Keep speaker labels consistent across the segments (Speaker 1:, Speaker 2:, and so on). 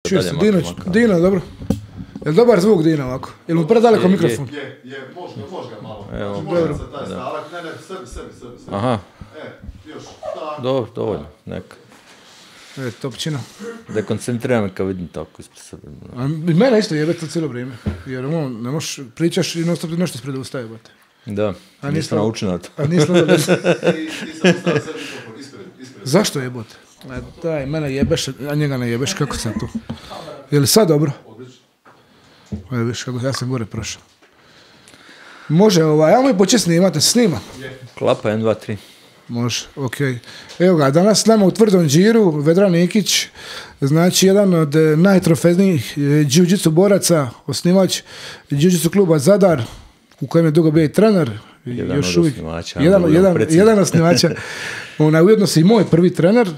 Speaker 1: Čuje
Speaker 2: dalje
Speaker 1: se, Dino, dobro. Je li dobar zvuk Dino ovako? Je li mu predaleko mikrofon?
Speaker 3: Može ga malo.
Speaker 2: Evo,
Speaker 3: znači, može se taj stavak, ne, sebi.
Speaker 2: Aha.
Speaker 3: Još, tako.
Speaker 2: Dobro, dovoljno, neka.
Speaker 1: Topčina.
Speaker 2: Dekoncentriram me kad vidim tako ispred sebe.
Speaker 1: I mene isto jebe to cijelo vrijeme. Jer ne možeš, pričaš i non-stop nešto ispred ustaje, bate.
Speaker 2: Da, nisam naučio na to.
Speaker 1: A nisam da
Speaker 3: Ti sam ostavio sebi mikrofon, ispred.
Speaker 1: Zašto jebote? Daj, mene jebeš, a njega ne jebeš, kako sam tu? Je li sad dobro?
Speaker 3: Odlično.
Speaker 1: Evo viš kako ja sam gore prošao. Može, ajmo i početi snimati, snima.
Speaker 2: Klapa 1, 2, 3.
Speaker 1: Može, okej. Evo ga, danas s nama u tvrdom džiru Vedran Nikić, znači jedan od najtrofejnijih jiu-jitsu boraca, osnivač jiu-jitsu kluba Zadar, u kojem je dugo bio i trener.
Speaker 2: Jedan
Speaker 1: još
Speaker 2: od
Speaker 1: uvijek,
Speaker 2: osnivača.
Speaker 1: jedan osnivača. Ujedno si i moj prvi trener.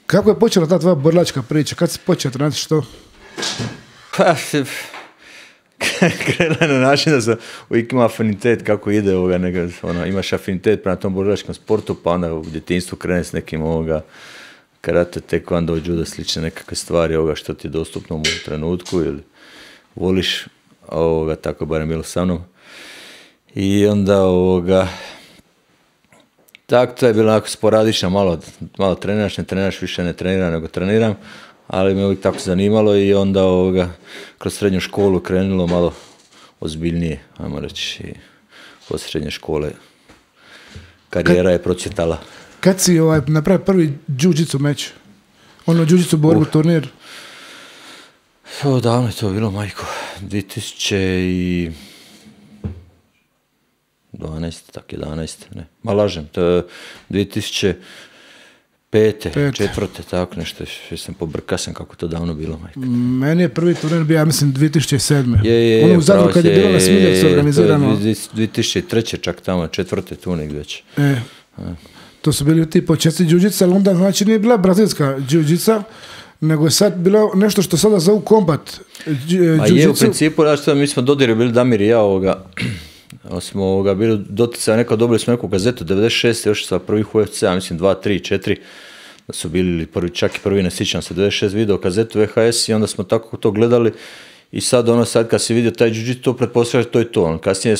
Speaker 1: Kako je počela ta tvoja borilačka priča? Kad si počeo trenirati što?
Speaker 2: Pa, krenula je na način da sam uvijek imao afinitet kako ide imaš afinitet prema tom borilačkom sportu, pa onda u djetinjstvu krene s nekim karate, taekwondo, judo, slične nekakve stvari što ti je dostupno u trenutku ili voliš, tako barem bilo sa mnom. I onda tako to je bilo onako sporadično, malo treniraš, ne treniraš, više ne treniram nego treniram, ali me uvijek tako zanimalo i onda kroz srednju školu krenulo malo ozbiljnije, ajmo reći, i poslije srednje škole karijera je procvjetala.
Speaker 1: Kad si napravio prvi jiu-jitsu meč? Jiu-jitsu borbu, turnir?
Speaker 2: Davno je to bilo, majko, 2012, tak 11, ne, ma lažem, to je 2005. četvrte, tako nešto, sam pobrka sam kako to davno bilo, majka.
Speaker 1: Meni je prvi turnir bio, ja mislim, 2007.
Speaker 2: Je,
Speaker 1: u Zadru kad je bilo na Smiljevcu organizirano.
Speaker 2: 2003. čak tamo, četvrte turnir već.
Speaker 1: To su bili ti početci jiu-jitsa, ali onda znači nije bila brazilska jiu-jitsa, nego je sad bilo nešto što sada zovu kombat jiu-jitsu.
Speaker 2: A je u principu, mi smo dodirali bili Damir i ja smo bili doticali, dobili smo neku gazetu 96. još sa prvih UFC, mislim 2, 3, 4, da su bili čak i prvi, ne sjećam se, 96 video kazetu VHS i onda smo tako to gledali i sad kad si vidio taj jiu-jitsu, to pretpostavljaš to je to. Kasnije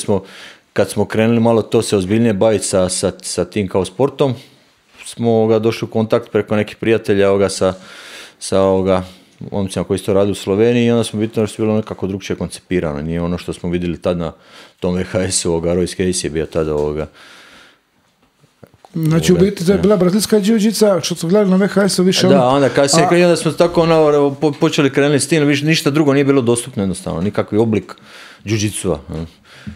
Speaker 2: kad smo krenuli malo to se ozbiljnije baviti sa tim kao sportom, smo došli u kontakt preko nekih prijatelja sa momcima koji su to radili u Sloveniji i onda smo vidjeli da su bilo nekako drugčije koncipirano. Nije ono što smo vidjeli tad na tom VHS-u, Royce Casey je bio tada
Speaker 1: Znači u biti to je bila brazilska jiu-jitsa, što su gledali na VHS-u više...
Speaker 2: Da, onda kasnije onda smo tako počeli krenuti s tim, ništa drugo nije bilo dostupno jednostavno, nikakvi oblik jiu-jitsua.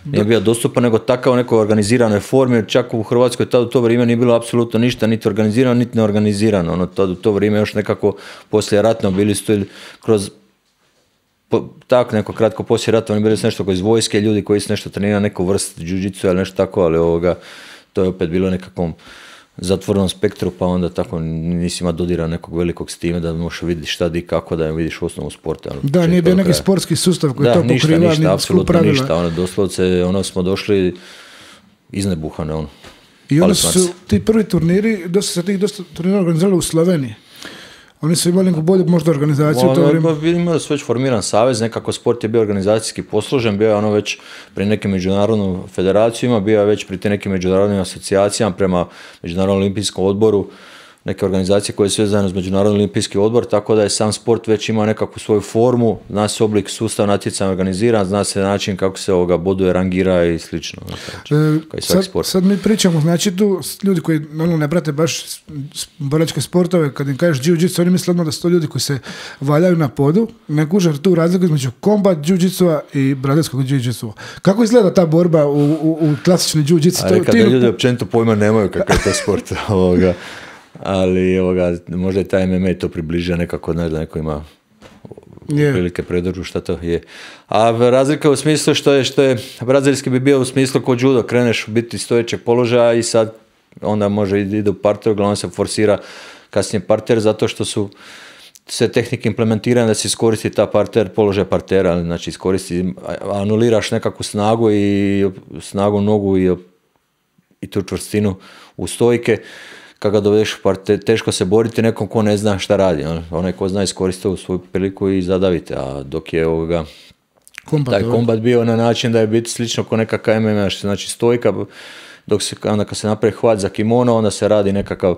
Speaker 2: Nije bio dostupan, nego takav u nekoj organiziranoj formi, čak u Hrvatskoj tad u to vrijeme nije bilo apsolutno ništa, niti organizirano, niti neorganizirano. Tad u to vrijeme još nekako poslije ratno bili su kroz tako neko kratko poslije rata, oni bili su nešto iz vojske, ljudi koji su nešto trenirali, neku vrst jiu-jitsu ili nešto tako, ali to je opet bilo nekakvom zatvorenom spektru, pa onda tako nisi ima dodira nekog velikog s time da možeš vidjeti šta di kako da vidiš osnovu sporta.
Speaker 1: Da, nije bio neki sportski sustav koji to pokriva,
Speaker 2: ništa, apsolutno ništa. Doslovce, smo došli iznebuhane.
Speaker 1: I onda su ti prvi turniri, dosta turnira organizirali u Sloveniji. Oni su imali neku bolju možda organizaciju u to vrijeme.
Speaker 2: Imali su već formiran savez, nekako sport je bio organizacijski posložen, bio je već pri nekim međunarodnim federacijama, bio je već pri te nekim međunarodnim asocijacijama prema Međunarodnom olimpijskom odboru, neke organizacije koje su vezane uz Međunarodni olimpijski odbor, tako da je sam sport već imao nekakvu svoju formu, zna se oblik sustav natjecanja organiziran, zna se način kako se boduje, rangira i slično.
Speaker 1: Sad mi pričamo, znači tu ljudi koji ne prate baš borilačke sportove, kad im kažeš jiu-jitsu, oni misle da su to ljudi koji se valjaju na podu, ne kuže tu razliku između kombat jiu-jitsua i brazilskog jiu-jitsua. Kako izgleda ta borba u klasični jiu-jitsu?
Speaker 2: Kada ljudi općenito pojma nemaju kakav je to sport, ali možda je taj MMA to približio nekako, da neko ima prilike predržu šta to je. A razlika u smislu što je brazilski bi bio u smislu kod judo, kreneš u biti stojećeg položaja i sad onda može ide u parter, uglavnom se forsira kasnije parter zato što su sve tehnike implementirane da se iskoristi ta parter, položaj partera, znači anuliraš nekakvu snagu i snagu nogu i tu čvrstinu u stojke. kad ga dovedeš u par, teško se boriti nekom ko ne zna šta radi. Onaj ko zna iskoristiti svoju priliku i zadavite, a dok je taj kombat bio na način da je biti slično ko nekakav MMA, što znači stojka, dok se, onda kad se napravi hvat za kimono, onda se radi nekakav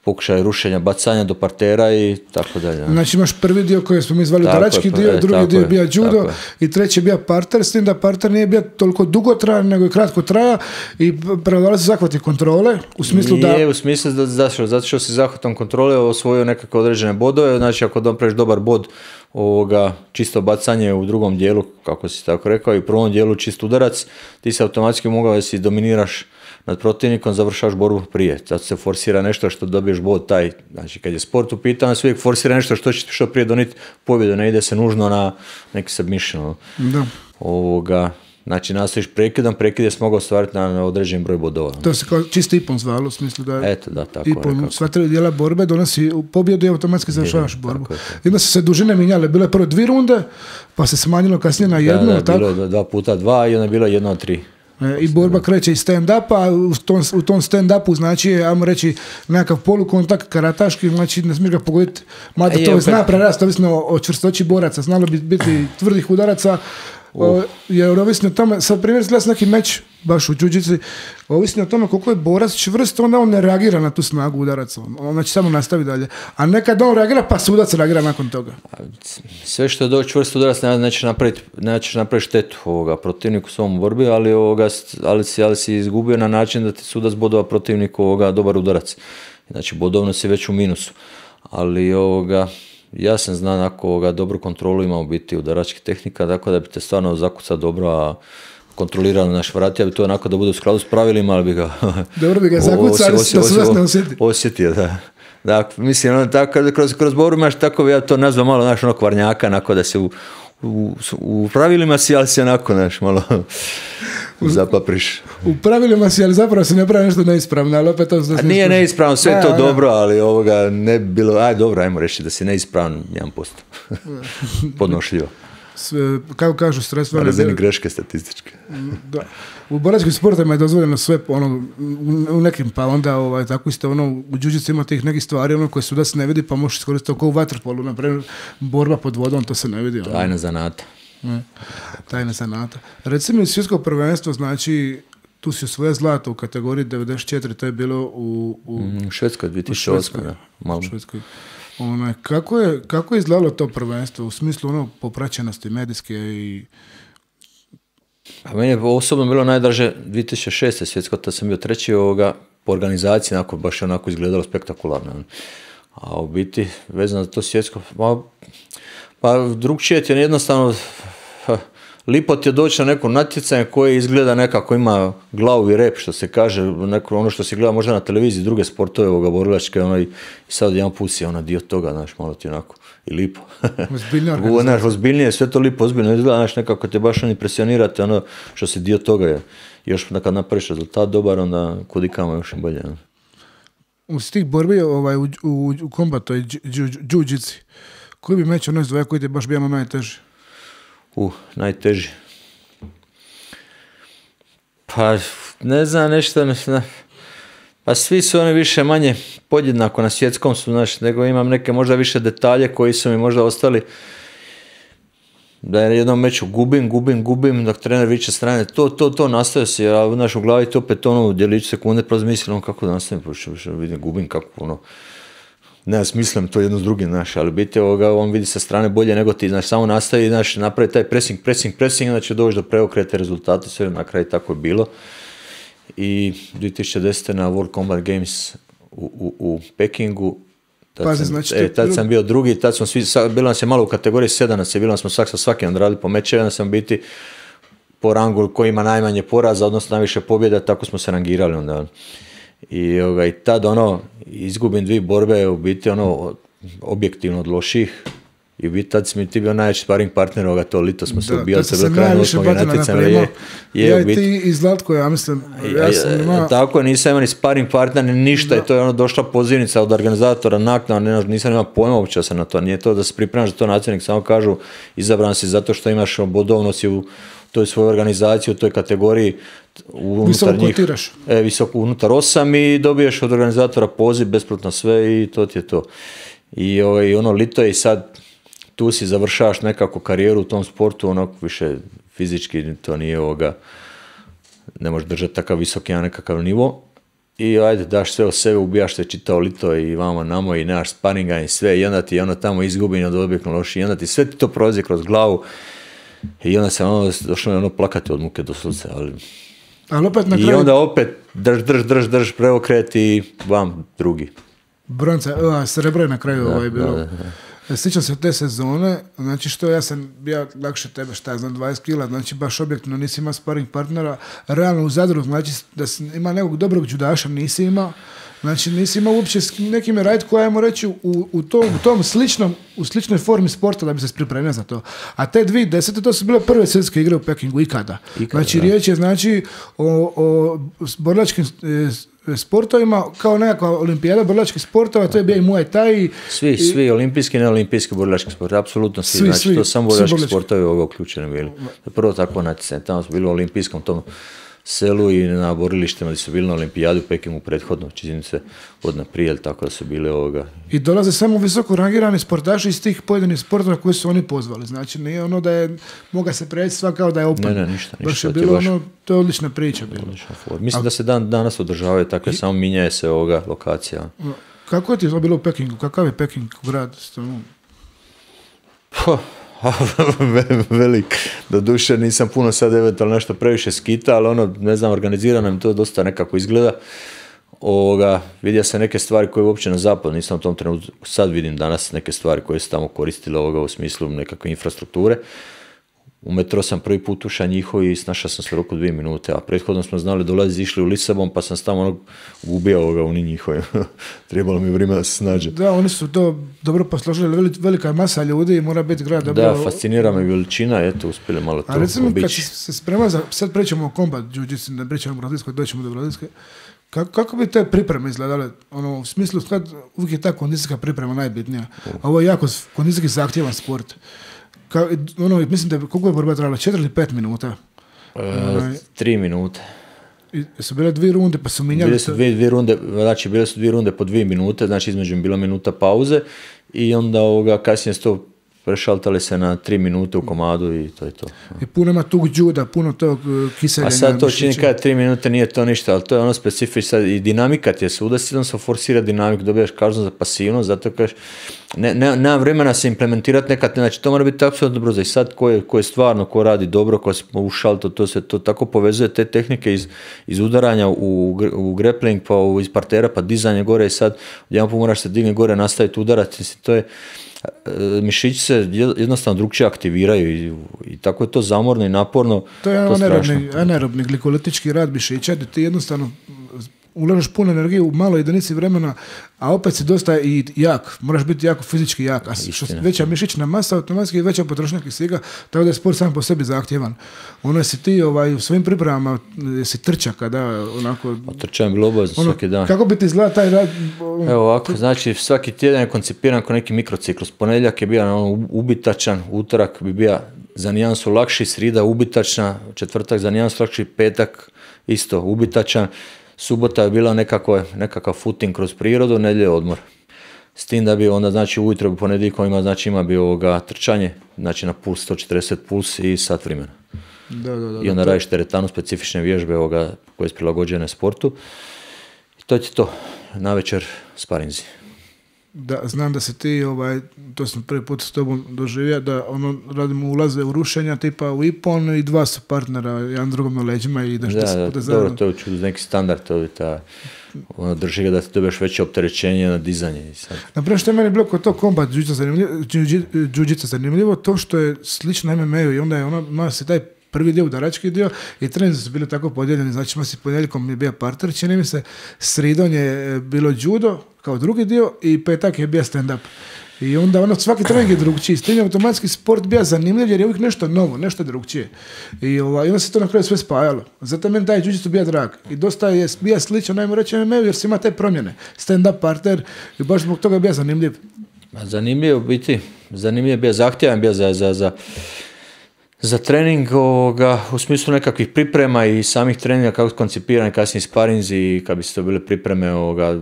Speaker 2: pokušaj rušenja, bacanja do partera i tako dalje.
Speaker 1: Znači imaš prvi dio koji smo mi zvali udarački dio, drugi dio je bio judo i treći je bio parter, s tim da parter nije bio toliko dugotrajan, nego je kratko traja i prevladali se zahvati kontrole, u smislu da...
Speaker 2: Nije, u smislu zato što si zahvatom kontrole osvojio nekakve određene bodove, znači ako napraviš dobar bod čisto bacanje u drugom dijelu, kako si tako rekao, i u prvom dijelu čist udarac, ti se automatski mogao da si dominiraš nad protivnikom, završaš borbu prije. Zato se forsira nešto što dobiješ bod taj. Znači, kad je sport u pitanju, se uvijek forsira nešto što će što prije doniti pobjedu, ne ide se nužno na neki submission. Da. Znači, nastojiš prekid je mogao ostvariti na određen broj bodova.
Speaker 1: To se kao čisti ipon zvalo, u smislu da je
Speaker 2: tako
Speaker 1: ipon, sva tri dijela borbe donosi pobjedu i automatski završavaš borbu. I onda su se dužine minjale, bile prvo 2 runde, pa se smanjilo kasnije na 1.
Speaker 2: Da, bilo je 2 puta 2 i onda je bilo 1 od 3.
Speaker 1: I borba kreće iz stand-upa, u tom stand-upu znači, ajmo reći, nekakav polukontakt karataški, znači ne smiješ ga pogoditi, mada to zna prerast, ovisno o čvrstoći boraca, znalo bi biti tvrdih udaraca, jer ovisno o tome, sad primjer gledaš neki meč, baš u džuđici, ovisno o tome koliko je borac čvrst, onda on ne reagira na tu snagu udaraca, on znači samo nastavi dalje, a nekad on reagira pa sudac reagira nakon toga.
Speaker 2: Sve što je do čvrst udarac nećeš napraviti štetu protivniku u svom borbi, ali si izgubio na način da ti sudac bodova protivniku dobar udarac, znači bodovno si već u minusu, ali ja sam znam ako dobru kontrolu imao biti udaračkih tehnika, tako da bi te stvarno zakucao dobro, a kontrolirano naš vratija bi to onako da bude u skladu s pravilima, ali bi ga...
Speaker 1: Dobro bi ga zakucao, ali da se vas ne osjeti.
Speaker 2: Osjetio, da. Da, mislim, kroz borbu imaš tako, ja to nazvam malo, kvarnjaka, onako da se u pravilima si, ali si onako, malo zapapriš.
Speaker 1: U pravilima si, ali zapravo se ne pravi nešto neispravno, ali opet to...
Speaker 2: Nije neispravno, sve je to dobro, ali ne bi bilo, dobro, ajmo reći da si neispravan 1%. Podnošljivo.
Speaker 1: Kako kažu, sredstva...
Speaker 2: Na razini greške statističke.
Speaker 1: Da. U boračkim sportovima je dozvoljeno sve, u nekim, pa onda tako isto, u džuđici ima tih nekih stvari, koje sudac ne vidi, pa možeš iskoristiti kao u vaterpolu, naprimjer, borba pod vodom, to se ne vidi.
Speaker 2: Tajna zanata.
Speaker 1: Tajna zanata. Reci mi, svjetsko prvenstvo, znači, tu si osvojio zlato u kategoriji 94, to je bilo u
Speaker 2: Švedskoj, 2008.
Speaker 1: U Švedskoj. Kako je izgledalo to prvenstvo u smislu popraćenosti medijske i...
Speaker 2: A meni je osobno bilo najdraže 2006. svjetsko, tad sam bio treći po organizaciji, baš onako izgledalo spektakularno. A u biti, vezano za to svjetsko, pa drugčije ti je jednostavno... Lipo ti je doći na neko natjecanje koje izgleda nekako ima glavu i rep, što se kaže, ono što se gleda možda na televiziji, druge sportove borilačke, i sad jedan put si dio toga, malo ti onako i lipo. Ozbiljnije, sve to lipo, ozbiljno izgleda, nekako te baš impresionirate, što si dio toga je. Još kad napraviš rezultat dobar, onda kudikamo još i bolje.
Speaker 1: U tih borbi u kombatu i džuđici, koji bi meč ono izdvoja koji ti je baš bio najteži?
Speaker 2: Najteži. Pa, ne znam, nešto, pa svi su oni više manje podjednako na svjetskom su, nego imam neke možda više detalje koji su mi možda ostali, da je jednom meču gubim, dok trener viče strane, to nastavio se, a u glavi to opet djelić sekunde, prvo mislim, kako da nastavim, vidim, gubim, kako ne smislim to jedno s drugim, ali biti on vidi sa strane bolje nego ti, samo nastavi, napravi taj pressing, znači doći do preokrete rezultata, sve na kraju tako je bilo. I 2010. na World Combat Games u Pekingu, tad sam bio drugi, tad smo svi, bilo nas je malo u kategoriji 7 nas je, bilo smo sa svakim odradili po mečeve, onda sam biti po rangu koji ima najmanje poraza, odnosno najviše pobjeda, tako smo se rangirali onda. I tad izgubim 2 borbe, u biti objektivno od loših, i u biti tad si mi ti bio najveći sparing partner, to lito smo se ubijali, se bilo kraj 8. natjecanja.
Speaker 1: Ja i ti i Zlatko, ja mislim,
Speaker 2: tako je, nisam imao ni sparing partner, ni ništa, i to je došla pozivnica od organizatora naknadno, nisam imao pojma uopće se na to, nije to da se pripremaš za to natjecanje, samo kažu izabran si zato što imaš bodovno si u toj svojoj organizaciji, u toj kategoriji unutar njih, visoko unutar 8 i dobiješ od organizatora poziv, besplatno sve i to ti je to. I ono lito je i sad tu si završavaš nekako karijeru u tom sportu, ono više fizički to nije ne možeš držati takav visoki nekakav nivo. I ajde, daš sve o sebe, ubijaš se čitao lito i vamo namo i nemaš sparinga i sve i onda ti ono tamo izgubi od objekno loši i onda ti sve ti to prolazi kroz glavu i onda se došlo plakati od muke do srca,
Speaker 1: ali opet na kraju...
Speaker 2: I onda opet drž, preokret i vam drugi.
Speaker 1: Bronca, srebro je na kraju bilo. Da. Sjećam se te sezone, znači što ja sam bio lakše tebe, šta znam, 20 kila, znači baš objektivno nisi imao sparing partnera, realno u Zadru, znači da ima nekog dobrog judaša, nisi imao, znači nisi imao uopće s nekim raditi koja, ajmo reći, u tom sličnoj formi sporta da bi se pripremio za to. A te 2010. to su bile prve svjetske igre u Pekingu ikada. Znači riječ je znači o borilačkim sportovima, kao nekakva olimpijada borilačkih sportova, to je bio i Muay Thai.
Speaker 2: Svi olimpijski i neolimpijski borilački sport, apsolutno svi. Znači to samo borilački sportovi uključeni bili. Prvo tako natjecanje, tamo su bili u olimpijskom tom selu i na borilištima gdje su bili na olimpijadu u Pekingu prethodno, čini se od naprijed, tako da su bili I
Speaker 1: dolaze samo visoko rangirani sportaši iz tih pojedinih sportova koje su oni pozvali. Znači nije ono da je moga se preći sva kao da je open.
Speaker 2: Ne, ništa.
Speaker 1: Baš je bilo to je odlična priča.
Speaker 2: Mislim da se danas održavaju takve, samo minjaje se lokacija.
Speaker 1: Kako je ti to bilo u Pekingu? Kakav je Peking grad?
Speaker 2: Velik. Doduše nisam puno sad eventualno nešto previše skita, ali ne znam, organizirano mi to dosta nekako izgleda. Vidio sam neke stvari koje uopće na zapadu nisam u tom trenutku, sad vidim danas neke stvari koje su tamo koristile u smislu nekakve infrastrukture. U metro sam prvi put ušao njihov i snašao sam se u roku 2 minute, a prethodno smo znali dolazi, išli u Lisabon, pa sam tamo gubio u njihovim. Trebalo mi vrijeme da se snađe.
Speaker 1: Da, oni su to dobro posložili, velika masa ljudi i mora biti grad.
Speaker 2: Da, fascinira me veličina, eto, uspjeli malo to obići. A recimo,
Speaker 1: kad se sprema sad pričamo o combat jiu-jitsu, ne pričamo o Brazilskoj, doćemo do Brazilske, kako bi te pripreme izgledale? U smislu, kad uvijek je ta kondicijska priprema najbitnija. Ovo je jako kondicijski zahtjevan sport. Mislim da koliko je borba trajala, 4 ili 5 minuta?
Speaker 2: 3 minute.
Speaker 1: I su bile 2 runde, pa su minjali...
Speaker 2: Bile su 2 runde, znači bile su 2 runde po 2 minute, znači između bila minuta pauze i onda kasnije su to prešaltali se na 3 minute u komadu i to je to.
Speaker 1: I puno ima tog juda, puno tog kiseljenja.
Speaker 2: A sad to čini kada 3 minute nije to ništa, ali to je specifično i dinamika ti je svuda, jednom se forsira dinamiku, dobijaš kaznu za pasivnost, zato kažeš, nema vremena se implementirati nekad, znači to mora biti apsolutno brzo i sad ko je stvarno, ko radi dobro, ko se ušal, to se to tako povezuje, te tehnike iz udaranja u grappling, pa iz partera, pa dizanje gore i sad jedan put moraš se digni gore, nastaviti udarati, to je mišići se jednostavno drugčije aktiviraju i tako je to zamorno i naporno.
Speaker 1: To je anaerobni glikolitički rad mišića gdje ti jednostavno ulažeš puno energije u maloj jedinici vremena, a opet si dosta i jak, moraš biti jako fizički jak, a veća mišićna masa automatski je veća potrošnja kisika, tako da je sport sam po sebi zahtjevan. Si ti u svojim pripremama si trča kada onako...
Speaker 2: Trča je bilo obavezno svaki dan.
Speaker 1: Kako bi ti izgledao taj rad?
Speaker 2: Evo ovako, znači svaki tjedan je koncipiran kao neki mikrociklus. Ponedjeljak je bio ubitačan, utorak bi bio za nijansu lakši, srida ubitačna, četvrtak za nijansu lakši, petak isto ubitačan. Subota je bila nekakav footing kroz prirodu, nedjelje odmor. S tim da bi onda, znači, ujutro ponedjeljkom ima bi trčanje, znači na puls 140 puls i sat vremena. I onda radiš teretanu, specifične vježbe koje su prilagođene sportu. I to je to. Navečer sparinzi.
Speaker 1: Da, znam da se ti, to sam prvi put s tobom doživio, da radimo ulaze u rušenja tipa u Ipon i 2 su partnera, jedan drugom na leđima i ideš
Speaker 2: dobro, to je neki standard, to je drži ga da ti dobiješ veće opterećenje na dizanje.
Speaker 1: Naprijed što je meni bilo kod to combat jiu-jitsu zanimljivo, to što je slično MMA-u i onda je ima se taj prvi dio, udarački dio i treninzi su bili tako podijeljeni, znači ponedjeljkom je bio parter, čini mi se, sridon je bilo judo kao drugi dio i petak je bio stand-up. I onda svaki trening je drugčiji. S tim je automatski sport bio zanimljiv jer je uvijek nešto novo, nešto drugčije. I onda se to na kraju sve spajalo. Zato meni taj jiu-jitsu bio drag. I dosta je bio sličan, najmo reći MMA-u jer se ima te promjene. Stand-up, parter i baš zbog toga je bio zanimljiv.
Speaker 2: Zanimljiv je bio zahtjevan bio za za trening u smislu nekakvih priprema i samih treninga, kako koncipirani kasnije sparinzi i kad bi se to bile pripreme,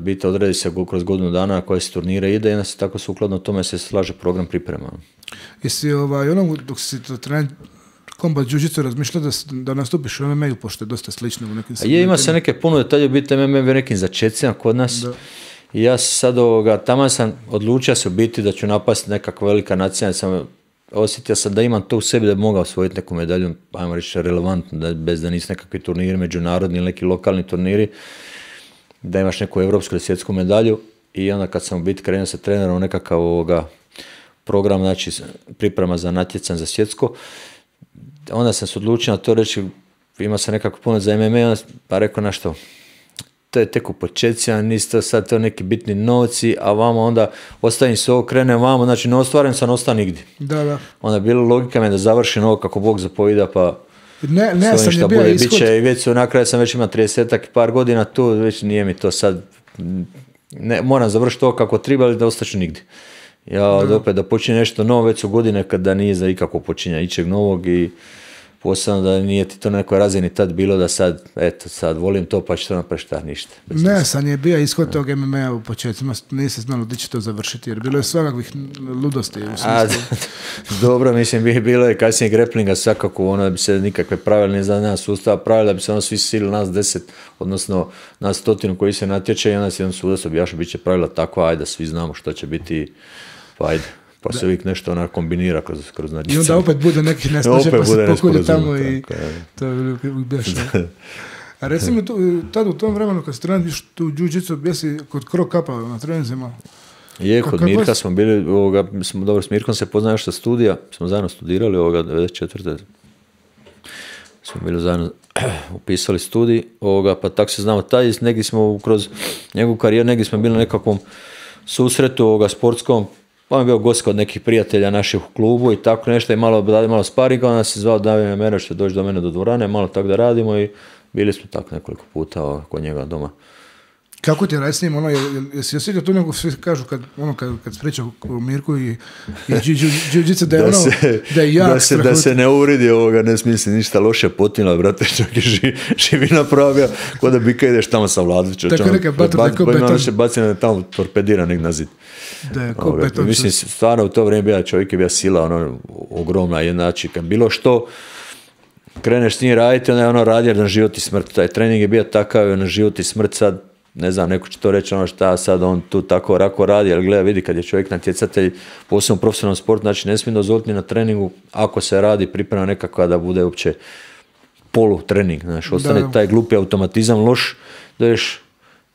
Speaker 2: biti odredi se kroz godinu dana koje se turnire ide i onda se tako sukladno tome se slaže program priprema.
Speaker 1: Jesi dok si to trening kombat jiu-jitsu razmišljao da nastupiš u MMA-u, pošto je dosta slično u nekim segmentima?
Speaker 2: Ima se neke puno, tad je biti MMA nekim začecima kod nas. Da. I ja sad tamo sam odlučio se u biti da ću napasti nekakva velika nacija, osjetio sam da imam to u sebi da bi mogao osvojiti neku medalju, ajmo reći relevantno, bez da nisu nekakvi turniri međunarodni ili neki lokalni turniri, da imaš neku evropsku ili svjetsku medalju. I onda kad sam u biti krenuo sa trenerom nekakav program, znači priprema za natjecanje za svjetsko, onda sam se odlučio na to reći, ima sam nekako puno za MMA, pa rekao na što, to je tek u početcima, nisu sad to neki bitni novci, a vamo onda ostavim se ovo, krenem vamo, znači ne ostvaren sam, ostao nigdje.
Speaker 1: Da.
Speaker 2: Onda je bila logika me da završim ovo kako Bog zapovida, pa
Speaker 1: ne sam je bio ishod.
Speaker 2: Biće, i već na kraju sam već imao 30-ak par godina tu, već nije mi to sad, moram završiti ovo kako treba, ali da ostaću nigdje. Ja opet da počinje nešto novo, već su godine kada nije za ikako počinja ičeg novog i posebno da nije ti to na nekoj razini tad bilo da sad, eto sad volim to pa ću to napraviti šta, ništa.
Speaker 1: Ne, sam je bio ishod tog MMA u početcima, nisi znalo gdje će to završiti jer bilo je svakakvih ludosti u smislu.
Speaker 2: Dobro, mislim, bilo je kasnije grapplinga svakako, da bi se nikakve pravila ne za nas sustava pravila, da bi se svi sili nas 10, odnosno nas 100 koji se natječe i onda se jedan sudac objašnja, bit će pravila takva, ajde, svi znamo što će biti, pa ajde. Pa se uvijek nešto kombinira kroz natjecanje. I
Speaker 1: onda opet bude nekih neslaže pa se pokulje tamo i to je bješno. A recimo tad u tom vremenu kad se treniraš tu jiu-jitsu, bjesi kod Krok Kapa na treninzima?
Speaker 2: Je, kod Mirka smo bili, dobro, s Mirkom se poznaje što studija, smo zajedno studirali, 94. smo bili zajedno upisali studij, pa tako se znamo taj, negdje smo kroz njegovu karijeru, negdje smo bili na nekakvom susretu sportskom, pa je bio gost kod nekih prijatelja naših u klubu i tako nešto i malo sparinga, onda se zvao Davide Mera što je doći do mene do dvorane, malo tako da radimo i bili smo tako nekoliko puta kod njega doma.
Speaker 1: Kako ti radi s njim, jesi osjetio tu nego svi kažu kad se priča o Mirku i jiu-jitsu da je jak
Speaker 2: da se ne uridi ne smisli ništa loše potinila, brate, čak je živi napravio, kod da bika ideš tamo sa Vladićem.
Speaker 1: Tako neka beton.
Speaker 2: Se bacina tamo torpedira nek na zid.
Speaker 1: Da je ko beton.
Speaker 2: Mislim, stvarno u to vrijeme bio čovjek je bio sila, ogromna, jednači, kad bilo što kreneš s njim raditi, onda je radio na život i smrt. Taj trening je bio takav, na život i smrt sad, ne znam, neko će to reći šta sad on tu tako rako radi, ali gleda, vidi kad je čovjek natjecatelj, posebno u profesionalnom sportu, znači ne smije dozvoliti ni na treningu, ako se radi priprema nekakva da bude uopće polu trening, znači ostane taj glupi automatizam loš, da ješ,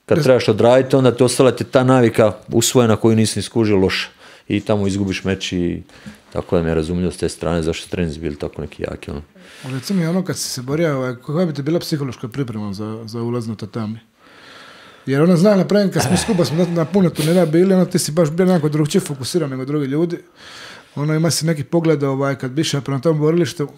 Speaker 2: kad trebaš odraditi, onda ti ostala ti ta navika usvojena koju nisi ni skužio loša i tamo izgubiš meč i tako da mi je razumljivo s te strane zašto treninzi bili tako neki jaki.
Speaker 1: Reci mi kad si se borio, koja bi ti bila psihološka priprema za ulaz na tatami? Jer zna napravim, kad smo skupa smo na puno turnira bili, ti si baš bio nekako drugčije fokusiran nego drugi ljudi. Ima si neki pogled kad bi išao prema tom borilištu.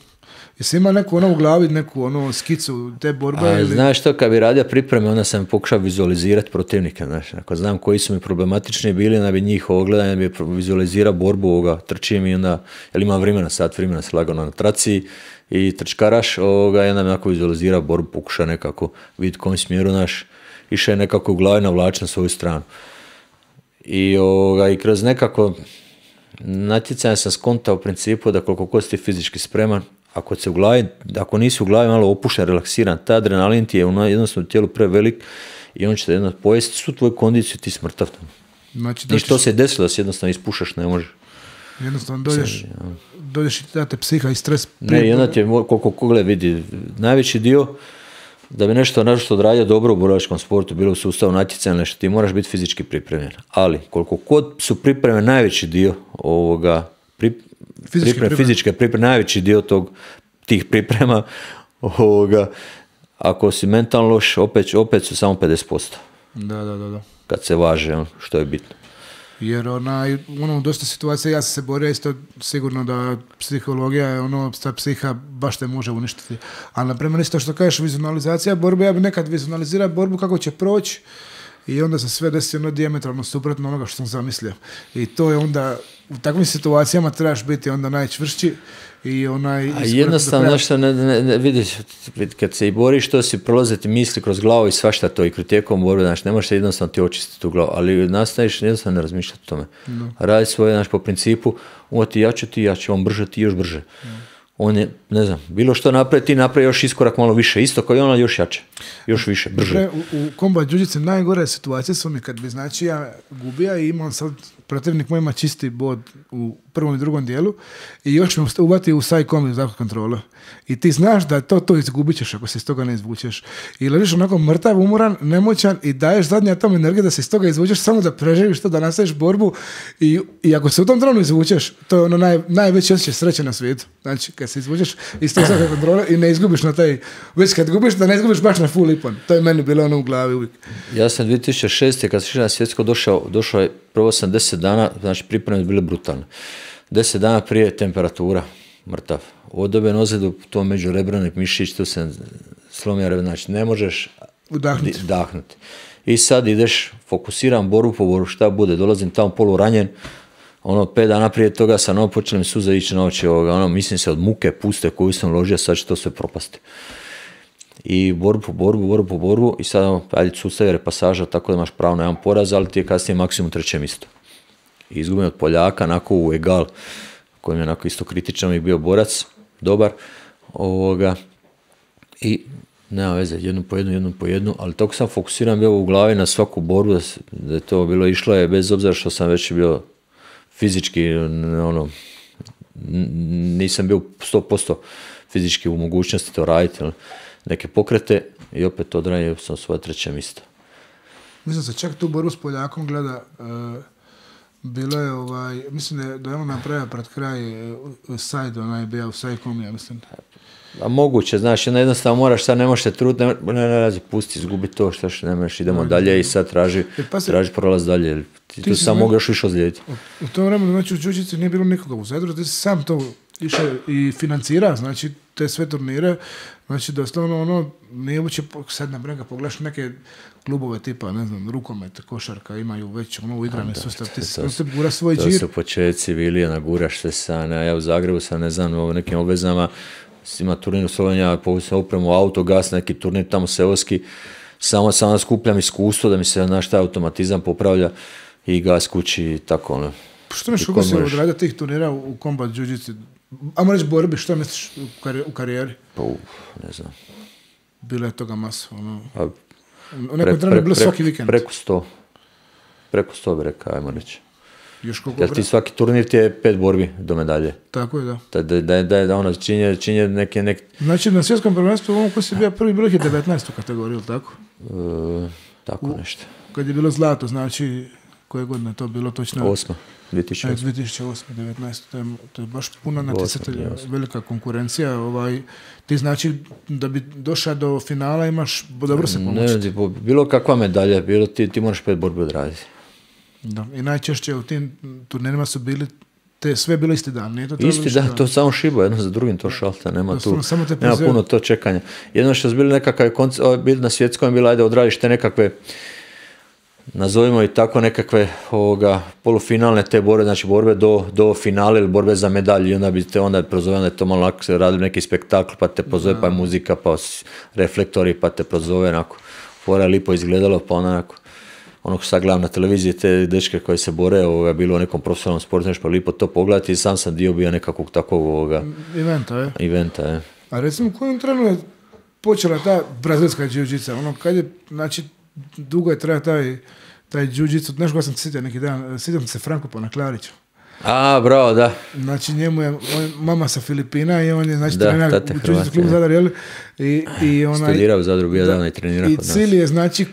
Speaker 1: Jesi ima neku u glavi, neku skicu te borbe? Ili...
Speaker 2: Znaš što, kad bi radio pripreme, onda sam pokušao vizualizirati protivnika. Znaš, ako znam koji su mi problematični bili, onda bi njih ogledao, onda bi vizualizirao borbu, trčim i onda, jer imam vremena, sat vremena se lagano na traci i trčkaraš, i onda bi onako vizualizirao borbu, pokušao nekako vidjeti kojim smjeru išao je nekako u glavi navlači na svoju stranu. I kroz nekako natjecanje sam skontao u principu da koliko god si ti fizički spreman, ako nisi u glavi malo opušten, relaksiran, taj adrenalin ti je jednostavno u tijelu prevelik i on će te jednostavno pojesti svu tvoju kondiciju, ti smrtav.
Speaker 1: Znači,
Speaker 2: i što se desilo da se jednostavno ispušaš, ne možeš.
Speaker 1: Jednostavno dođeš i da te psiha i stres.
Speaker 2: Ne, jedna ti je, koliko kogle vidi, najveći dio da bi nešto odradio dobro u borilačkom sportu, bilo u sustavu natjecanja, nešto, ti moraš biti fizički pripremljen. Ali, koliko god su pripreme najveći dio fizičke pripreme, najveći dio tih priprema, ako si mentalno loš, opet su samo 50%.
Speaker 1: Da.
Speaker 2: Kad se važe, što je bitno.
Speaker 1: Jer dosta situacija, ja sam se borio isto sigurno da psihologija, ta psiha baš te može uništiti. Ali, na primjer, isto što kažeš, vizualizacija borbe, ja bi nekad vizualizirao borbu kako će proći i onda se sve desi ono dijametralno suprotno onoga što sam zamislio. I to je onda, u takvim situacijama trebaš biti onda najčvršći i onaj...
Speaker 2: A jednostavno, nešto vidiš, kad se i boriš, to si prolaziti misli kroz glavu i svašta to i kroz tijekom borbe, znaš, ne možeš jednostavno ti očistiti tu glavu, ali nastaviš jednostavno ne razmišljati o tome. No. Radi svoje, znaš, po principu, on ti jače, on brže, ti još brže. No. On je, ne znam, bilo što napravi, ti napravi još iskorak malo više, isto kao i ona, još jače, još više, brže.
Speaker 1: U combat jiu-jitsu najgore situacije su mi kad bi, znači, ja gubija i imam sad, protivnik moj ima čisti bod u prvom i drugom dijelu i još me uvati u side combat zakon kontrola. I ti znaš da to izgubit ćeš ako se iz toga ne izvučeš. I ležiš onako mrtav, umoran, nemoćan i daješ zadnji atom energije da se iz toga izvučeš samo da preživiš to, da nastaviš borbu i ako se u tom trenu izvučeš, to je ono najveći osjećaj sreće na svijetu. Znači, kad se izvučeš iz tog zakon kontrole i ne izgubiš na taj, već kad gubiš, da ne izgubiš baš na full ipon. To je meni bilo ono u glavi uvijek.
Speaker 2: Ja sam 2006. kad sam išao na svjetsko došao je, prvo sam 10 dana, znači pripreme bile brutalne. 10 dana prije temperatura, mrtav. Odoben ozljedu, to međurebrani mišić, tu se slomio rebe, znači ne možeš udahnuti. I sad ideš, fokusiram borbu po borbu, šta bude, dolazim tamo poluranjen, 5 dana prije toga sam počeli mi suze ići na oči, mislim se od muke puste koju sam ložio, sad će to sve propasti. I borbu po borbu i sad ajde sustavi repasaža, tako da imaš pravo na jedan poraz, ali ti je kasnije maksimum 3. mjesto. I izgubim od Poljaka, onako u egal, koji je onako isto kritičan i bio borac, dobar, i nema veze, jednu po jednu, ali tako sam fokusiran bio u glavi na svaku borbu, da je to bilo išlo je, bez obzira što sam već bio fizički, nisam bio 100% fizički u mogućnosti to raditi, neke pokrete i opet odradio sam svoje 3. mjesto.
Speaker 1: Mislim se čak tu borbu s Poljakom gleda, bilo je mislim da je on napravio pred kraj side, je bio u side-com, ja mislim.
Speaker 2: A moguće, znaš, jednostavno moraš, sad ne možeš se truditi, ne, pusti, izgubi to, što ne možeš, idemo dalje i sad traži prolaz dalje, ti sam mogu još više ozlijediti.
Speaker 1: U tom vremenu, znači, u jiu-jitsu nije bilo nikoga u Zadru, ti si sam to išao i financira, znači, te sve turnire, znači, doslovno, nije uopće, sad na brega pogledaš neke klubove tipa, ne znam, rukomet, košarka, imaju već uigrane sustav, ti se gura svoj džir.
Speaker 2: To su početci bili, naguraš se ja u Zagrebu sam, ne znam, u nekim obvezama, ima turnir u Slovenija, povisam upremu autogas, neki turnir tamo seoski, samo skupljam iskustvo da mi se, znaš, taj automatizam popravlja i gas kući i tako,
Speaker 1: Što misliš kako se odradio tih turnira u combat jiu-jitsu? Ajmo reći borbi, što misliš u karijeri?
Speaker 2: Pa, ne znam.
Speaker 1: Bilo je toga masa, u nekoj trenu je bilo svaki vikend.
Speaker 2: Preko 100 bi rekao, ajmo reći.
Speaker 1: Jer
Speaker 2: ti svaki turnir ti je 5 borbi do medalje.
Speaker 1: Tako je, da.
Speaker 2: Da činje neke...
Speaker 1: Znači, na svjetskom prvenstvu, koji si bio prvi, bilo je 19. kategoriju, tako?
Speaker 2: Tako nešto.
Speaker 1: Kad je bilo zlato, znači, koje godine to bilo točno?
Speaker 2: 2008.
Speaker 1: 2008. 19. To je baš puno natjecatelja, velika konkurencija. Ti znači da bi došao do finala imaš dobro se pomoćiti.
Speaker 2: Ne, bilo kakva medalja, bilo ti moraš 5 borbi odraditi.
Speaker 1: Da, i najčešće u tim turnirima su bili sve bilo isti dan. Nije to
Speaker 2: isti dan, to samo šibo, jedno za drugim to šalta, nema puno to čekanja. Jedno što su bili nekakav bili na svjetskom, bilo ajde odradiš te nekakve, nazovimo i tako nekakve polufinalne te borbe, znači borbe do finale ili borbe za medalju i onda bi te onda prozove, onda je to malo onako se radili neki spektakl, pa te prozove, pa je muzika, pa reflektori, pa te prozove, onako, fora je lipo izgledalo, pa onako, sad gledam na televiziji te dečke koje se bore, bilo u nekom profesionalnom sportu, nešto pa lipo to pogledati i sam dio bio nekakvog takvog eventa, je.
Speaker 1: A recimo, u kojem trenu je počela ta brazilska jiu-jitsa? Kad je, znači, dugo je traja taj jiu-jitsu, nešto sam sjetio neki dan, sjećam se Franko Panaklariću.
Speaker 2: A, bravo, da.
Speaker 1: Znači, njemu je mama sa Filipina i on je, znači, trener u jiu-jitsu klubu Zadar, jel?
Speaker 2: Studirao u Zadru, bio davno i trenirao kod nas.
Speaker 1: I cilj je, znači,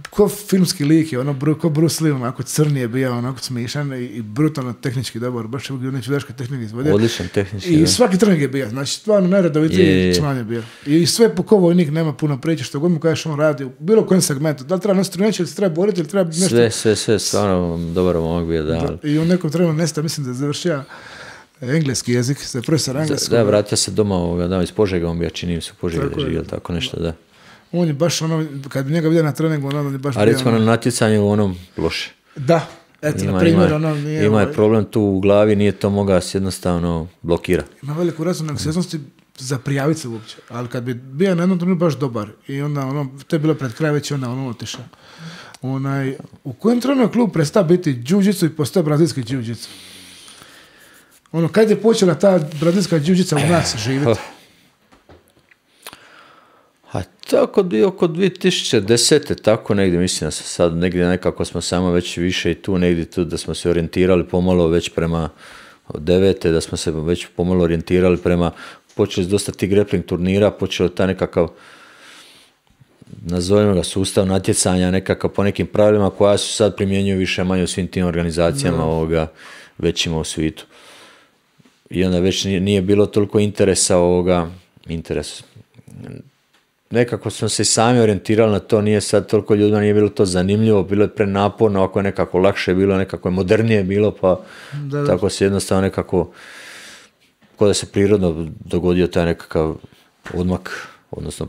Speaker 1: ko filmski lik je, ko Bruce Lee, onako crni je bio, onako smišan i brutalno tehnički dobar, baš je u čudaške tehnike izvodio.
Speaker 2: Odličan tehnički,
Speaker 1: I svaki trening je bio, znači stvarno najredovitiji član je bio. I sve po ko vojnik nema puno priče, što god mu kažeš on radi, u bilo kojem segmentu, da li treba nositi treneći ili se treba boriti ili treba nešto...
Speaker 2: Sve, stvarno dobar momak bio, da.
Speaker 1: I u nekom trenu nesta, mislim da je završio engleski jezik, se profesor engleskog.
Speaker 2: Da, vratio se doma, iz Požega, on bio, čini mi se u Požegi da živio, tako nešto, da.
Speaker 1: On je baš ono, kad bi njega vidio na treningu, on je baš...
Speaker 2: A recimo na natjecanju onom loše.
Speaker 1: Da, eto, na primjer, ono nije...
Speaker 2: Ima je problem tu u glavi, nije to mogao se jednostavno blokira.
Speaker 1: Ima veliku razinu anksioznosti za prijaviti se uopće, ali kad bi bio na jednom trenutku baš dobar i onda ono, to je bilo pred kraj već onda ono otišao. U kojem trenutku klub prestao biti jiu-jitsu i postao brazilski jiu-jitsu? Ono, kad je počela ta brazilska jiu-jitsa u nas živjeti?
Speaker 2: A tako bio oko 2010. tako negdje, mislim da sad negdje nekako smo samo već više i tu negdje tu da smo se orijentirali pomalo već prema 9. da smo se već pomalo orijentirali prema, počeli dosta ti grappling turnira, počeo ta nekakav, nazovimo ga, sustav natjecanja nekakav po nekim pravilima koja su sad primjenjuju više manje u svim tim organizacijama većima u svijetu. I onda već nije bilo toliko interesa nekako smo se sami orijentirali na to, nije sad toliko ljudima, nije bilo to zanimljivo, bilo je prenaporno, ako je nekako lakše bilo, nekako je modernije bilo, pa tako se jednostavno nekako, kao da se prirodno dogodio taj nekakav odmak, odnosno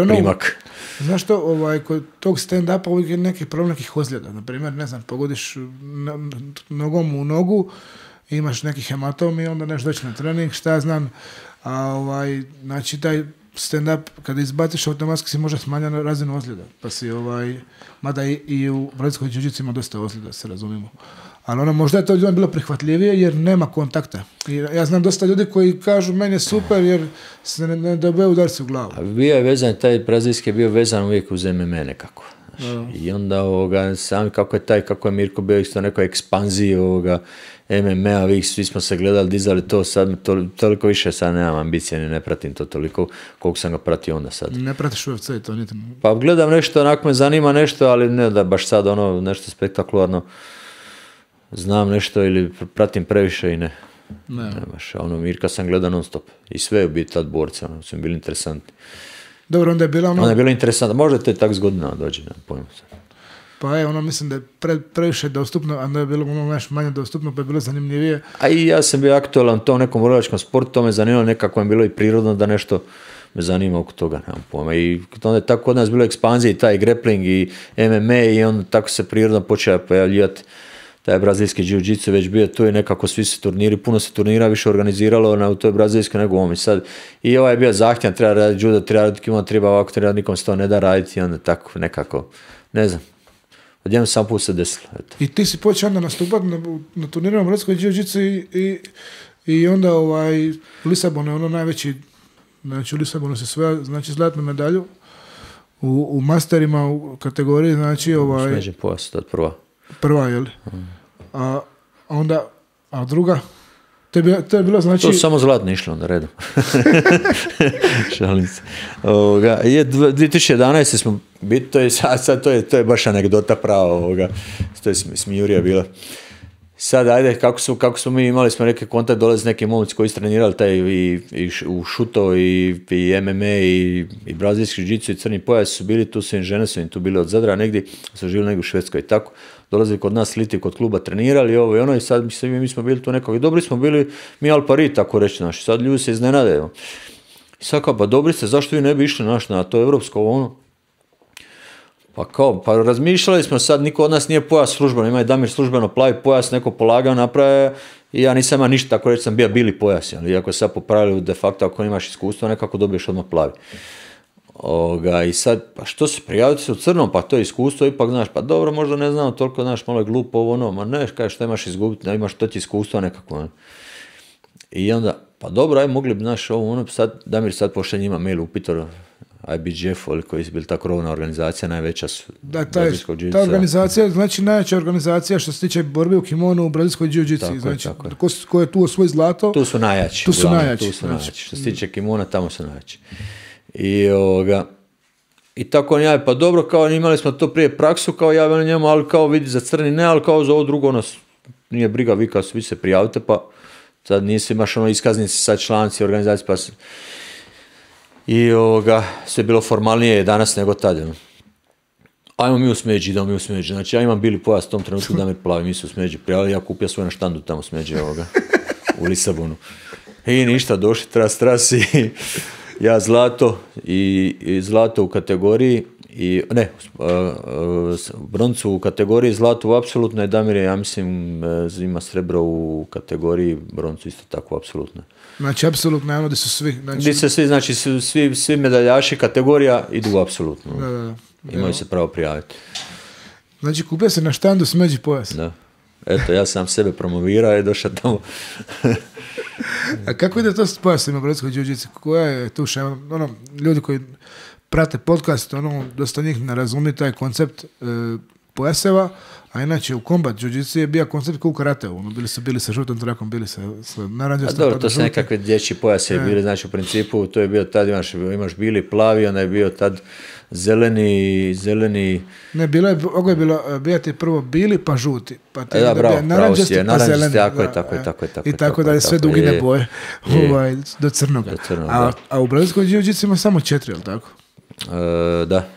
Speaker 2: primak.
Speaker 1: Znaš što, kod tog stand-upa uvijek je neki problem nekih ozljeda, na primjer, ne znam, pogodiš nogom u nogu, imaš neki hematom i onda nešto doći na trening, šta ja znam, znači taj stand-up, kada izbaciš automatski si može smanjati razinu ozljeda, pa si mada i u brazilskoj jiu-jitsu ima dosta ozljeda, se razumijemo. Ali ono, možda je to ljudima bilo prihvatljivije jer nema kontakta. I ja znam dosta ljudi koji kažu meni je super jer se ne dobije udarci u glavu.
Speaker 2: A bio je vezan, taj brazilski je bio vezan uvijek uz MMA nekako. I onda sami kako je Mirko bio isto nekoj ekspanziji MMA, svi smo se gledali, dizali to, sad toliko više sad nemam ambicije, ne pratim to toliko koliko sam ga pratio onda sad.
Speaker 1: Ne pratiš UFC to niti?
Speaker 2: Pa gledam nešto, onako me zanima nešto, ali ne da baš sad nešto spektakularno znam nešto ili pratim previše i ne. Ne baš, Mirka sam gledao non stop i sve je biti tad borci, su mi bili interesantni.
Speaker 1: Dobro, onda je bila
Speaker 2: Onda je bilo interesantno, možda te tak zgodina dođe, ne pojmo se.
Speaker 1: Pa mislim da je previše dostupno, a da je bilo manje dostupno, pa je bilo zanimljivije.
Speaker 2: A i ja sam bio aktualan u tom nekom borilačkom sportu, to me zanimalo, nekako je bilo i prirodno da nešto me zanima oko toga, nemam pojma. I onda je tako kod nas bilo ekspanzija i taj grappling i MMA i onda tako se prirodno počeo pojavljivati taj brazilski jiu-jitsu, već bio tu i nekako svi se turniri, puno se turnira više organiziralo u toj brazilskoj nego ovom. I sad i je bio zahtjevan, treba raditi judo, treba raditi kimono, treba ovako, treba nikom se to ne da raditi i onda tako nekako, ne znam. Odjednom sam put se desilo. Eto.
Speaker 1: I ti si počeo onda nastupati na turnirima brazilskoj jiu-jitsu i onda u Lisabonu je ono najveći, znači u Lisabonu se sve, znači zlatnu medalju u masterima u kategoriji, znači
Speaker 2: smeđen pojas, to je prva.
Speaker 1: Prva, jel? A druga? To je bilo znači...
Speaker 2: To samo zlatno išlo onda redom. Šalim se. 2011. smo biti, to je baš anegdota prava to je smijurija bila. Sad, ajde, kako smo mi imali smo neke kontakt, dolaze neki momci koji su trenirali taj i u šuto i MMA i brazilski jiu-jitsu i crni pojas su bili, tu su im žene su im tu bili od Zadra negdje, su živjeli negdje u Švedskoj i tako. Dolazili kod nas liti kod kluba, trenirali ovo i ono i sad mi smo bili tu nekako i dobri smo bili mi al pari tako reći naši, sad ljudi se iznenade. I sad kao, pa dobri ste, zašto vi ne bi išli na to evropsko Pa razmišljali smo sad, niko od nas nije pojas službeno, ima i Damir službeno plavi pojas, neko polagao naprave i ja nisam imao ništa, tako reći sam bio bili pojas, iako je sad popravili de facto ako imaš iskustvo, nekako dobiješ odmah plavi. I sad, pa što se prijaviti se u crnom, pa to je iskustvo, ipak znaš, pa dobro, možda ne znam, toliko znaš, malo je glupo ma ne, kaj što imaš izgubiti, ne imaš to ti iskustvo nekako. I onda, pa dobro, aj mogli bi, znaš, sad, Damir sad pošle njima mail upitor, IBJF, koji su bili ta krovna organizacija, najveća su brazilskog jiu-jitsu.
Speaker 1: Ta organizacija, znači najveća organizacija što se tiče borbe u kimonu u brazilskoj jiu-jitsu. Znači, ko je tu osvoj zlato?
Speaker 2: Tu su najjači. Što se tiče kimona, tamo su najjači. I tako on javi, pa dobro, kao imali smo to prije praksu, kao javljeno njemu, ali kao vidi za crni ne, ali kao za ovo drugo nas nije briga, vi kao svi se prijavite, pa sad nisi imaš iskaznici, sad članci organizacije, pa i sve bilo formalnije danas nego tada. Ajmo mi u smeđi, idemo mi u smeđi. Znači ja imam bili pojas u tom trenutku da me plavi, mi su u smeđi prijavili, ja kupio svoj na štandu tamo smeđi u Lisabonu. I ništa, došli tras Ja zlato i zlato u kategoriji broncu u kategoriji, zlato u apsolutno, i Damir je, ja mislim, ima srebro u kategoriji, broncu isto tako apsolutno.
Speaker 1: Znači, apsolutno je ono gdje su svi.
Speaker 2: Gdje se svi, znači, svi medaljaši kategorija idu u apsolutno.
Speaker 1: Da.
Speaker 2: Imaju se pravo prijaviti.
Speaker 1: Znači, kupio se na štandu smeđi pojas.
Speaker 2: Da. Eto, ja sam sebe promovirao i došao tamo.
Speaker 1: A kako ide to s pojasima u brodskoj jiu-jitsu? Koja je tu šema? Ljudi koji prate podcast, dosta njih ne razumije taj koncept pojaseva, a inače u combat jiu-jitsu je bio koncept kao u karateu. Bili sa žutom trakom, bili sa naranđastom.
Speaker 2: Dobro, to su nekakve dječji pojase bili, znači u principu to je bio tad, imaš bili, plavi, onda je bio tad zeleni...
Speaker 1: Ne, ovo je bio ti prvo bili pa žuti, pa ti
Speaker 2: naranđasti
Speaker 1: pa zeleni.
Speaker 2: Tako je.
Speaker 1: I tako da je sve dugine boje do crnoga. A u brazilskoj jiu-jitsu ima samo 4, je li tako?
Speaker 2: Da.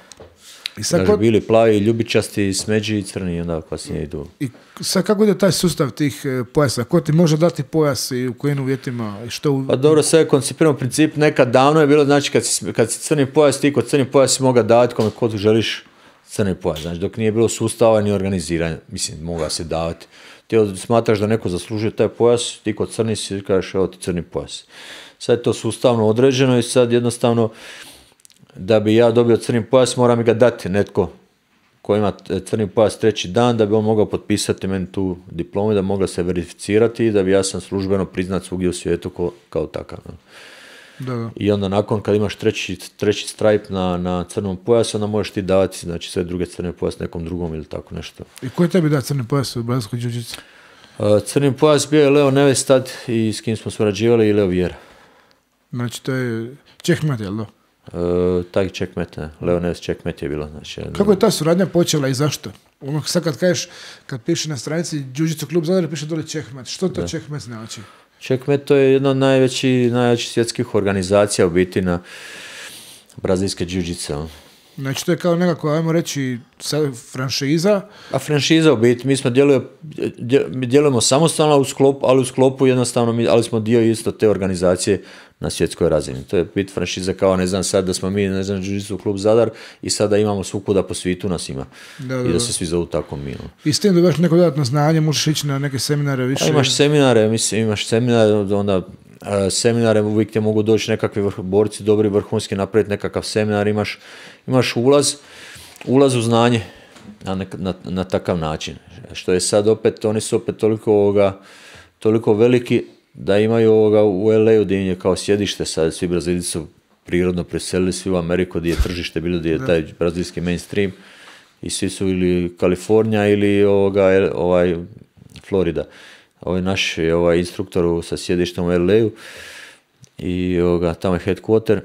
Speaker 2: Znači, bili, plavi, ljubičasti, smeđi i crni, onda kasnije idu. I
Speaker 1: sad kako ide taj sustav tih pojasa? Ko ti može dati pojas i u kojim uvjetima? I što
Speaker 2: Pa dobro, sve je koncipirano u principu. Nekad davno je bilo, znači kad si crni pojas, ti kod crni pojas si mogao davati kome kod želiš crni pojas. Znači, dok nije bilo sustava ni organiziranja, mislim, mogao se davati. Ti smatraš da neko zaslužuje taj pojas, ti kod crni si kažeš, evo ti crni pojas. Sad je to sustavno određeno i sad jednostavno da bi ja dobio crni pojas, mora mi ga dati netko ko ima crni pojas 3. dan, da bi on mogao potpisati meni tu diplomu, da mogla se verificirati i da bi ja sam službeno priznat svugdje u svijetu kao takav.
Speaker 1: Da.
Speaker 2: I onda nakon kad imaš treći stripe na crnom pojasu, onda možeš ti davati, znači, sve druge crne pojas nekom drugom ili tako nešto.
Speaker 1: I ko je tebi da crni pojas u brazilskoj jiu-jitsu?
Speaker 2: Crni pojas bio je Leo Neves tad i s kim smo surađivali, i Leo Vieira.
Speaker 1: Znači to je Čehmet, jel da?
Speaker 2: Taj Čekmet, Leo Neves Čekmet je bilo. Znači,
Speaker 1: kako je ta suradnja počela i zašto? Sad kad kažeš, kad piše na stranici Jiu-Jitsu klub Zadar, piše dole Čekmet. Što to Čekmet znači?
Speaker 2: Čekmet to je jedna od najvećih svjetskih organizacija u biti na brazilske jiu-jitsu.
Speaker 1: Znači to je kao nekako, ajmo reći, franšiza.
Speaker 2: A franšiza u biti, mi smo djelujemo samostalno ali u sklopu jednostavno, ali smo dio isto te organizacije na svjetskoj razini. To je bit franšiza kao, ne znam, sad da smo mi, ne znam, Jiu-Jitsu klub Zadar i sada imamo svukuda po svijetu nas ima. I da se svi zovu tako mi.
Speaker 1: I s tim dobiš neko dodatno znanje, možeš ići na neke seminare više?
Speaker 2: A imaš seminare, onda seminare uvijek te mogu doći nekakvi borci, dobri, vrhunski, napraviti nekakav seminar, imaš ulaz u znanje na takav način. Što je sad opet, oni su opet toliko veliki da imaju u LA-u gdje je kao sjedište, sad svi Brazilci su prirodno preselili svi u Ameriku gdje je tržište bilo, gdje je taj brazilski mainstream, i svi su ili Kalifornija ili Florida. Ovaj naš instruktor sa sjedištem u LA-u i tamo je headquarter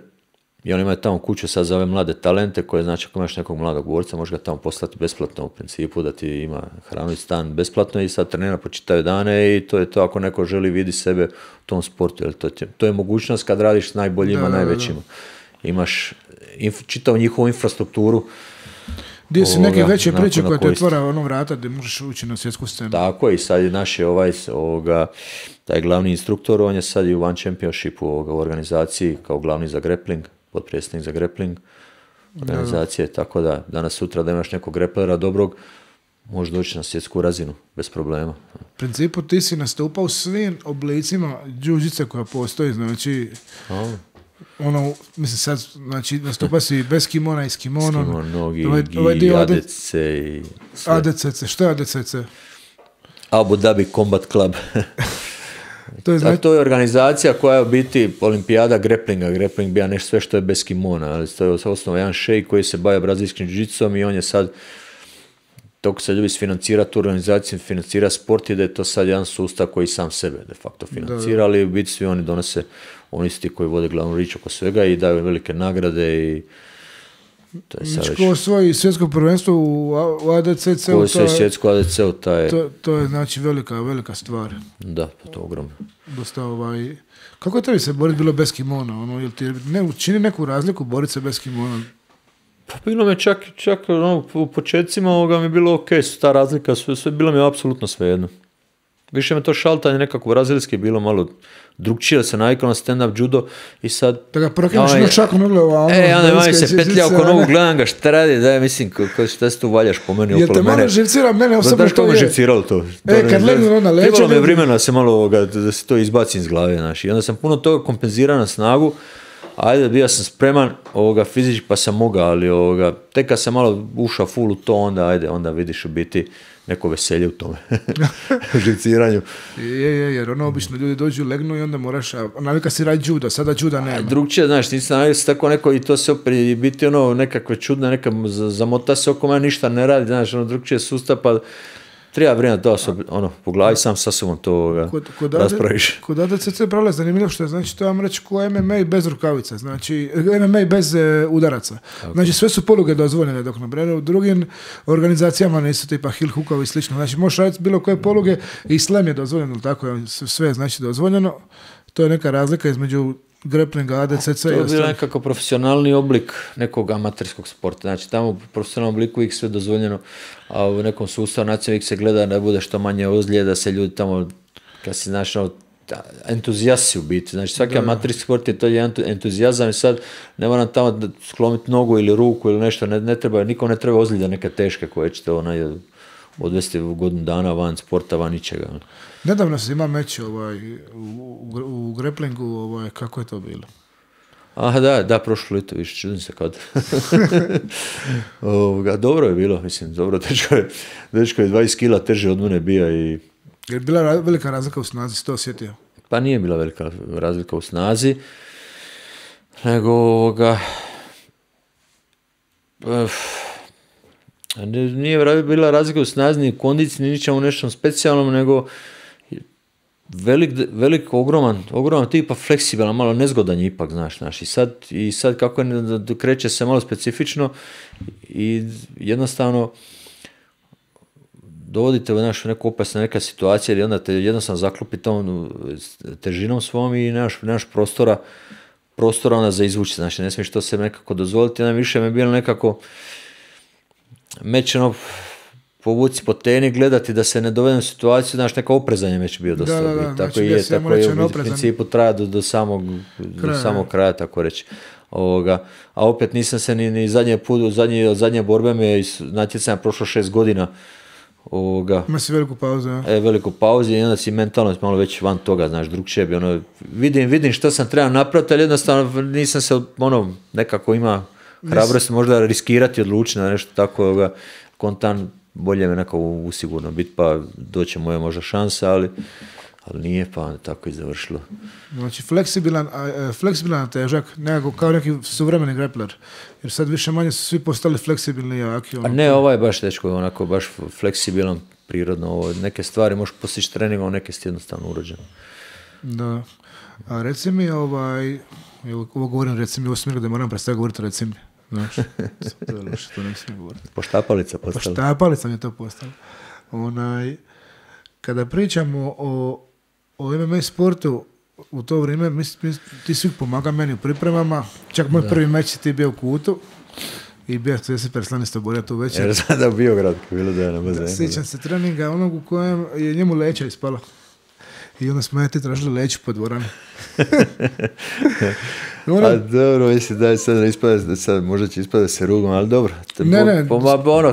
Speaker 2: i on ima tamo kuću sad za ove mlade talente koje, znači, ako imaš nekog mladog borca, možeš ga tamo poslati besplatno u principu, da ti ima hranu i stan besplatno i sad trenira po čitave dane i to je to ako neko želi vidi sebe u tom sportu. Jer to je mogućnost kad radiš s najboljima, najvećima. Imaš čitavu njihovu infrastrukturu.
Speaker 1: Gdje si neke veće priče koje ti otvara vrata gdje možeš ući na svjetsku scenu.
Speaker 2: Tako i sad je naš taj glavni instruktor, on je sad i u One Championshipu u organizaciji kao glavni za grappling, potpredsjednik za grappling organizacije, tako da danas sutra da imaš nekog grapplera dobrog, možeš doći na svjetsku razinu bez problema.
Speaker 1: U principu ti si nastupao u svim oblicima jiu-jitsa koja postoji, znači... mislim sad, znači nastupa si bez kimona i s kimonom.
Speaker 2: S nogi, i ADC i sve.
Speaker 1: ADCC, što je ADCC?
Speaker 2: Abu Dhabi Combat Club. To je organizacija koja je u biti olimpijada grapplinga. Grappling bija nešto sve što je bez kimona, ali to je osnovno jedan šejk koji se bavi brazilskim jiu-jitsom i on je sad, toko se ljubi financira tu organizaciju, financira sport i da je to sad jedan sustav koji sam sebe de facto financira, ali u biti svi oni donose, oni su ti koji vode glavnu riječ oko svega i daju velike nagrade i to je sad
Speaker 1: ko osvoji svjetsko prvenstvo u ADCC-u,
Speaker 2: ko osvoji svjetsko ADC-u,
Speaker 1: to je znači velika stvar.
Speaker 2: Da, to je ogromno.
Speaker 1: Dosta kako je tebi se boriti bilo bez kimona? Jel ti čini neku razliku boriti se bez kimona?
Speaker 2: Pa bilo mi čak u početcima mi je bilo ok, ta razlika, sve bilo mi je apsolutno svejedno. više me to šaltanje nekako brazilski bilo malo drugčije, se navikao na stand-up judo i sad...
Speaker 1: Da ga prokineš na šaku nogljeva,
Speaker 2: onda mami se petlja oko nogu, gledam ga, šta radi, daj, mislim, šta se tu valjaš po meni okolo mene.
Speaker 1: Jel te malo živcira, mene osobno to je.
Speaker 2: Da, me živciralo to.
Speaker 1: Kad legnu na leđe...
Speaker 2: Trebalo me vremena se malo da se to izbacim iz glave, znaš. I onda sam puno toga kompenzirao na snagu, ajde, bio sam spreman fizički pa sam mogao, ali tek kad sam malo ušao full u to, onda vidiš u biti neko veselje u tome, u živciranju.
Speaker 1: Jer obično ljudi dođu, legnu i onda moraš, navika si radi judo, sada juda nema.
Speaker 2: Drugčije, znaš, nisam navika se tako neko i to se opet biti nekakve čudne, neka zamota se oko mene, ništa ne radi, znaš, drugčije sustav, pa treba vrijeme da po glavi sam sa sobom to raspraviš.
Speaker 1: Kod ADCC pravila zanimljivo što je, znači to vam reći ko MMA bez rukavica, znači MMA bez udaraca. Okay. Znači sve su poluge dozvoljene, dok na u drugim organizacijama nisu tipa heel hookovi i slično. Znači možeš raditi bilo koje poluge i slam je dozvoljeno, tako sve je znači dozvoljeno. To je neka razlika između grapplinga, ADCC.
Speaker 2: To je bilo nekako profesionalni oblik nekog amaterskog sporta. Znači tamo u profesionalnom obliku uvijek sve dozvoljeno, a u nekom sustavu nacionalnih se gleda da bude što manje ozljeda, da se ljudi tamo, kad si znaš, entuzijasti u biti. Znači svaki amaterski sport je to jedan entuzijazam i sad ne moram tamo sklomiti nogu ili ruku ili nešto, nikom ne treba ozljeda neke teške koje ćete odvesti u godinu dana van sporta, van ničega.
Speaker 1: Nedavno se ima meč u grapplingu, kako je to bilo?
Speaker 2: Da, prošlo lito, više čudim se kad. Dobro je bilo, mislim, dobro, dečko je 20 kila teže od mene bio i...
Speaker 1: Je bila velika razlika u snazi, si to osjetio?
Speaker 2: Pa nije bila velika razlika u snazi, nego nije bila razlika u snazi ni u kondiciji, ni ničemu nešto specijalnom, nego velik, ogroman tipa fleksibilan, malo nezgodan je ipak, znaš. I sad kako je, kreće se malo specifično i jednostavno dovodite u neku opasnu neka situacija ili onda te jednostavno zaklupi tom težinom svom i nemaš prostora onda za izvući, znači ne smiješ to se nekako dozvoliti, više mi je bilo nekako meč povuci po teni, gledati da se ne dovede u situaciju, znaš, neka oprezanje već bio dosta. Tako je u principu traja do samog kraja, tako reći. A opet nisam se ni zadnje borbe mi je iz natjecanja prošlo 6 godina.
Speaker 1: Ima si veliku pauzu, ja?
Speaker 2: Veliku pauzu i onda si mentalno malo već van toga, znaš, drugčije bi vidim što sam trebao napraviti, ali jednostavno nisam se nekako ima hrabrost možda riskirati, odlučiti na nešto tako, kontan, bolje me nekako usigurno biti, pa doće moja možda šansa, ali nije, pa tako i završilo.
Speaker 1: Znači, fleksibilan težak, nekako kao neki suvremeni grappler, jer sad više manje su svi postali fleksibilni i jaki.
Speaker 2: A ne, ovaj baš dečko, onako baš fleksibilan, prirodno, neke stvari možeš postići treningom, neke si jednostavno urođen.
Speaker 1: Da, a reci mi, ovo govorim reci mi u smjeru da moram prestati govoriti reci mi. Znaš, to je loše, to ne smijem govoriti.
Speaker 2: Poštapalica postala.
Speaker 1: Poštapalica mi je to postala. Kada pričamo o MMA sportu, u to vrijeme ti svi pomaga meni u pripremama, čak moj prvi meč ti bio u Kutu i bio se perslanisto borio tu večer.
Speaker 2: Jer sada u Biograd, bilo da je na bazenu.
Speaker 1: Sjećam se treninga onog u kojem je njemu leća ispala. I onda smo ti tražili leću po dvorani.
Speaker 2: A dobro, mislim da sad ispada, sad možda će ispada se rugom, ali dobro.
Speaker 1: Ne.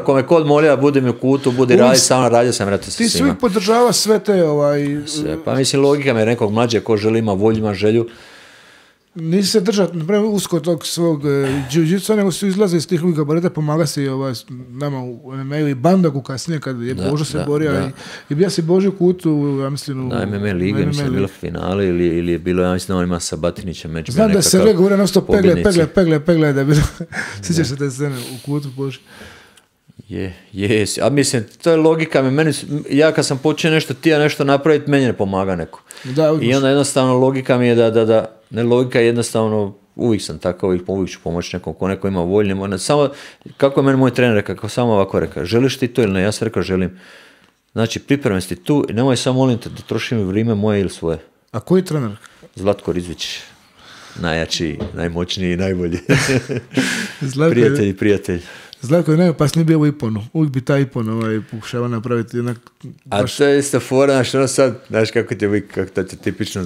Speaker 2: Kome kod molja, budi mi u Kutu, budi radi, samo radio sam, vrati se svima.
Speaker 1: Ti svi podržava sve te
Speaker 2: Sve, pa mislim logika me nekog mlađe, ko želi ima volju, ima želju.
Speaker 1: Nisi se držati usko tog svog jiu-jitsu, nego su izlaze iz tih gabarita, pomaga se nama u MMA-u i Bandagu kasnije kad je Božo se borio i bija si Božo u Kutu, ja mislim
Speaker 2: na MMA lige, mislim je bilo finale ili je bilo, ja mislim da on ima sa Batinićem meč.
Speaker 1: Znam da se govore nasto pegle, da je bilo, sjećaš se te scene u Kutu Božo.
Speaker 2: Je, a mislim, to je logika, ja kad sam počeo nešto napraviti, meni ne pomaga neko. I onda jednostavno logika mi je da ne, logika je jednostavno, uvijek sam tako, uvijek ću pomoći nekom, ko neko ima volje, samo, kako je meni moj trener rekao, samo ovako rekao, želiš ti to ili ne, ja sam rekao želim. Znači, pripremam si tu i nemoj samo molim te da trošim vrijeme moje ili svoje.
Speaker 1: A koji trener?
Speaker 2: Zlatko Rizvić. Najjači, najmoćniji i najbolji.
Speaker 1: Zlatko,
Speaker 2: prijatelj.
Speaker 1: Zlatko je najopasniji bio u Iponu. Uvijek bi taj Ipon pokušava napraviti jednak...
Speaker 2: A to je isto fora, znaš, ono sad, znaš kako ti je uvijek, kako to je tipično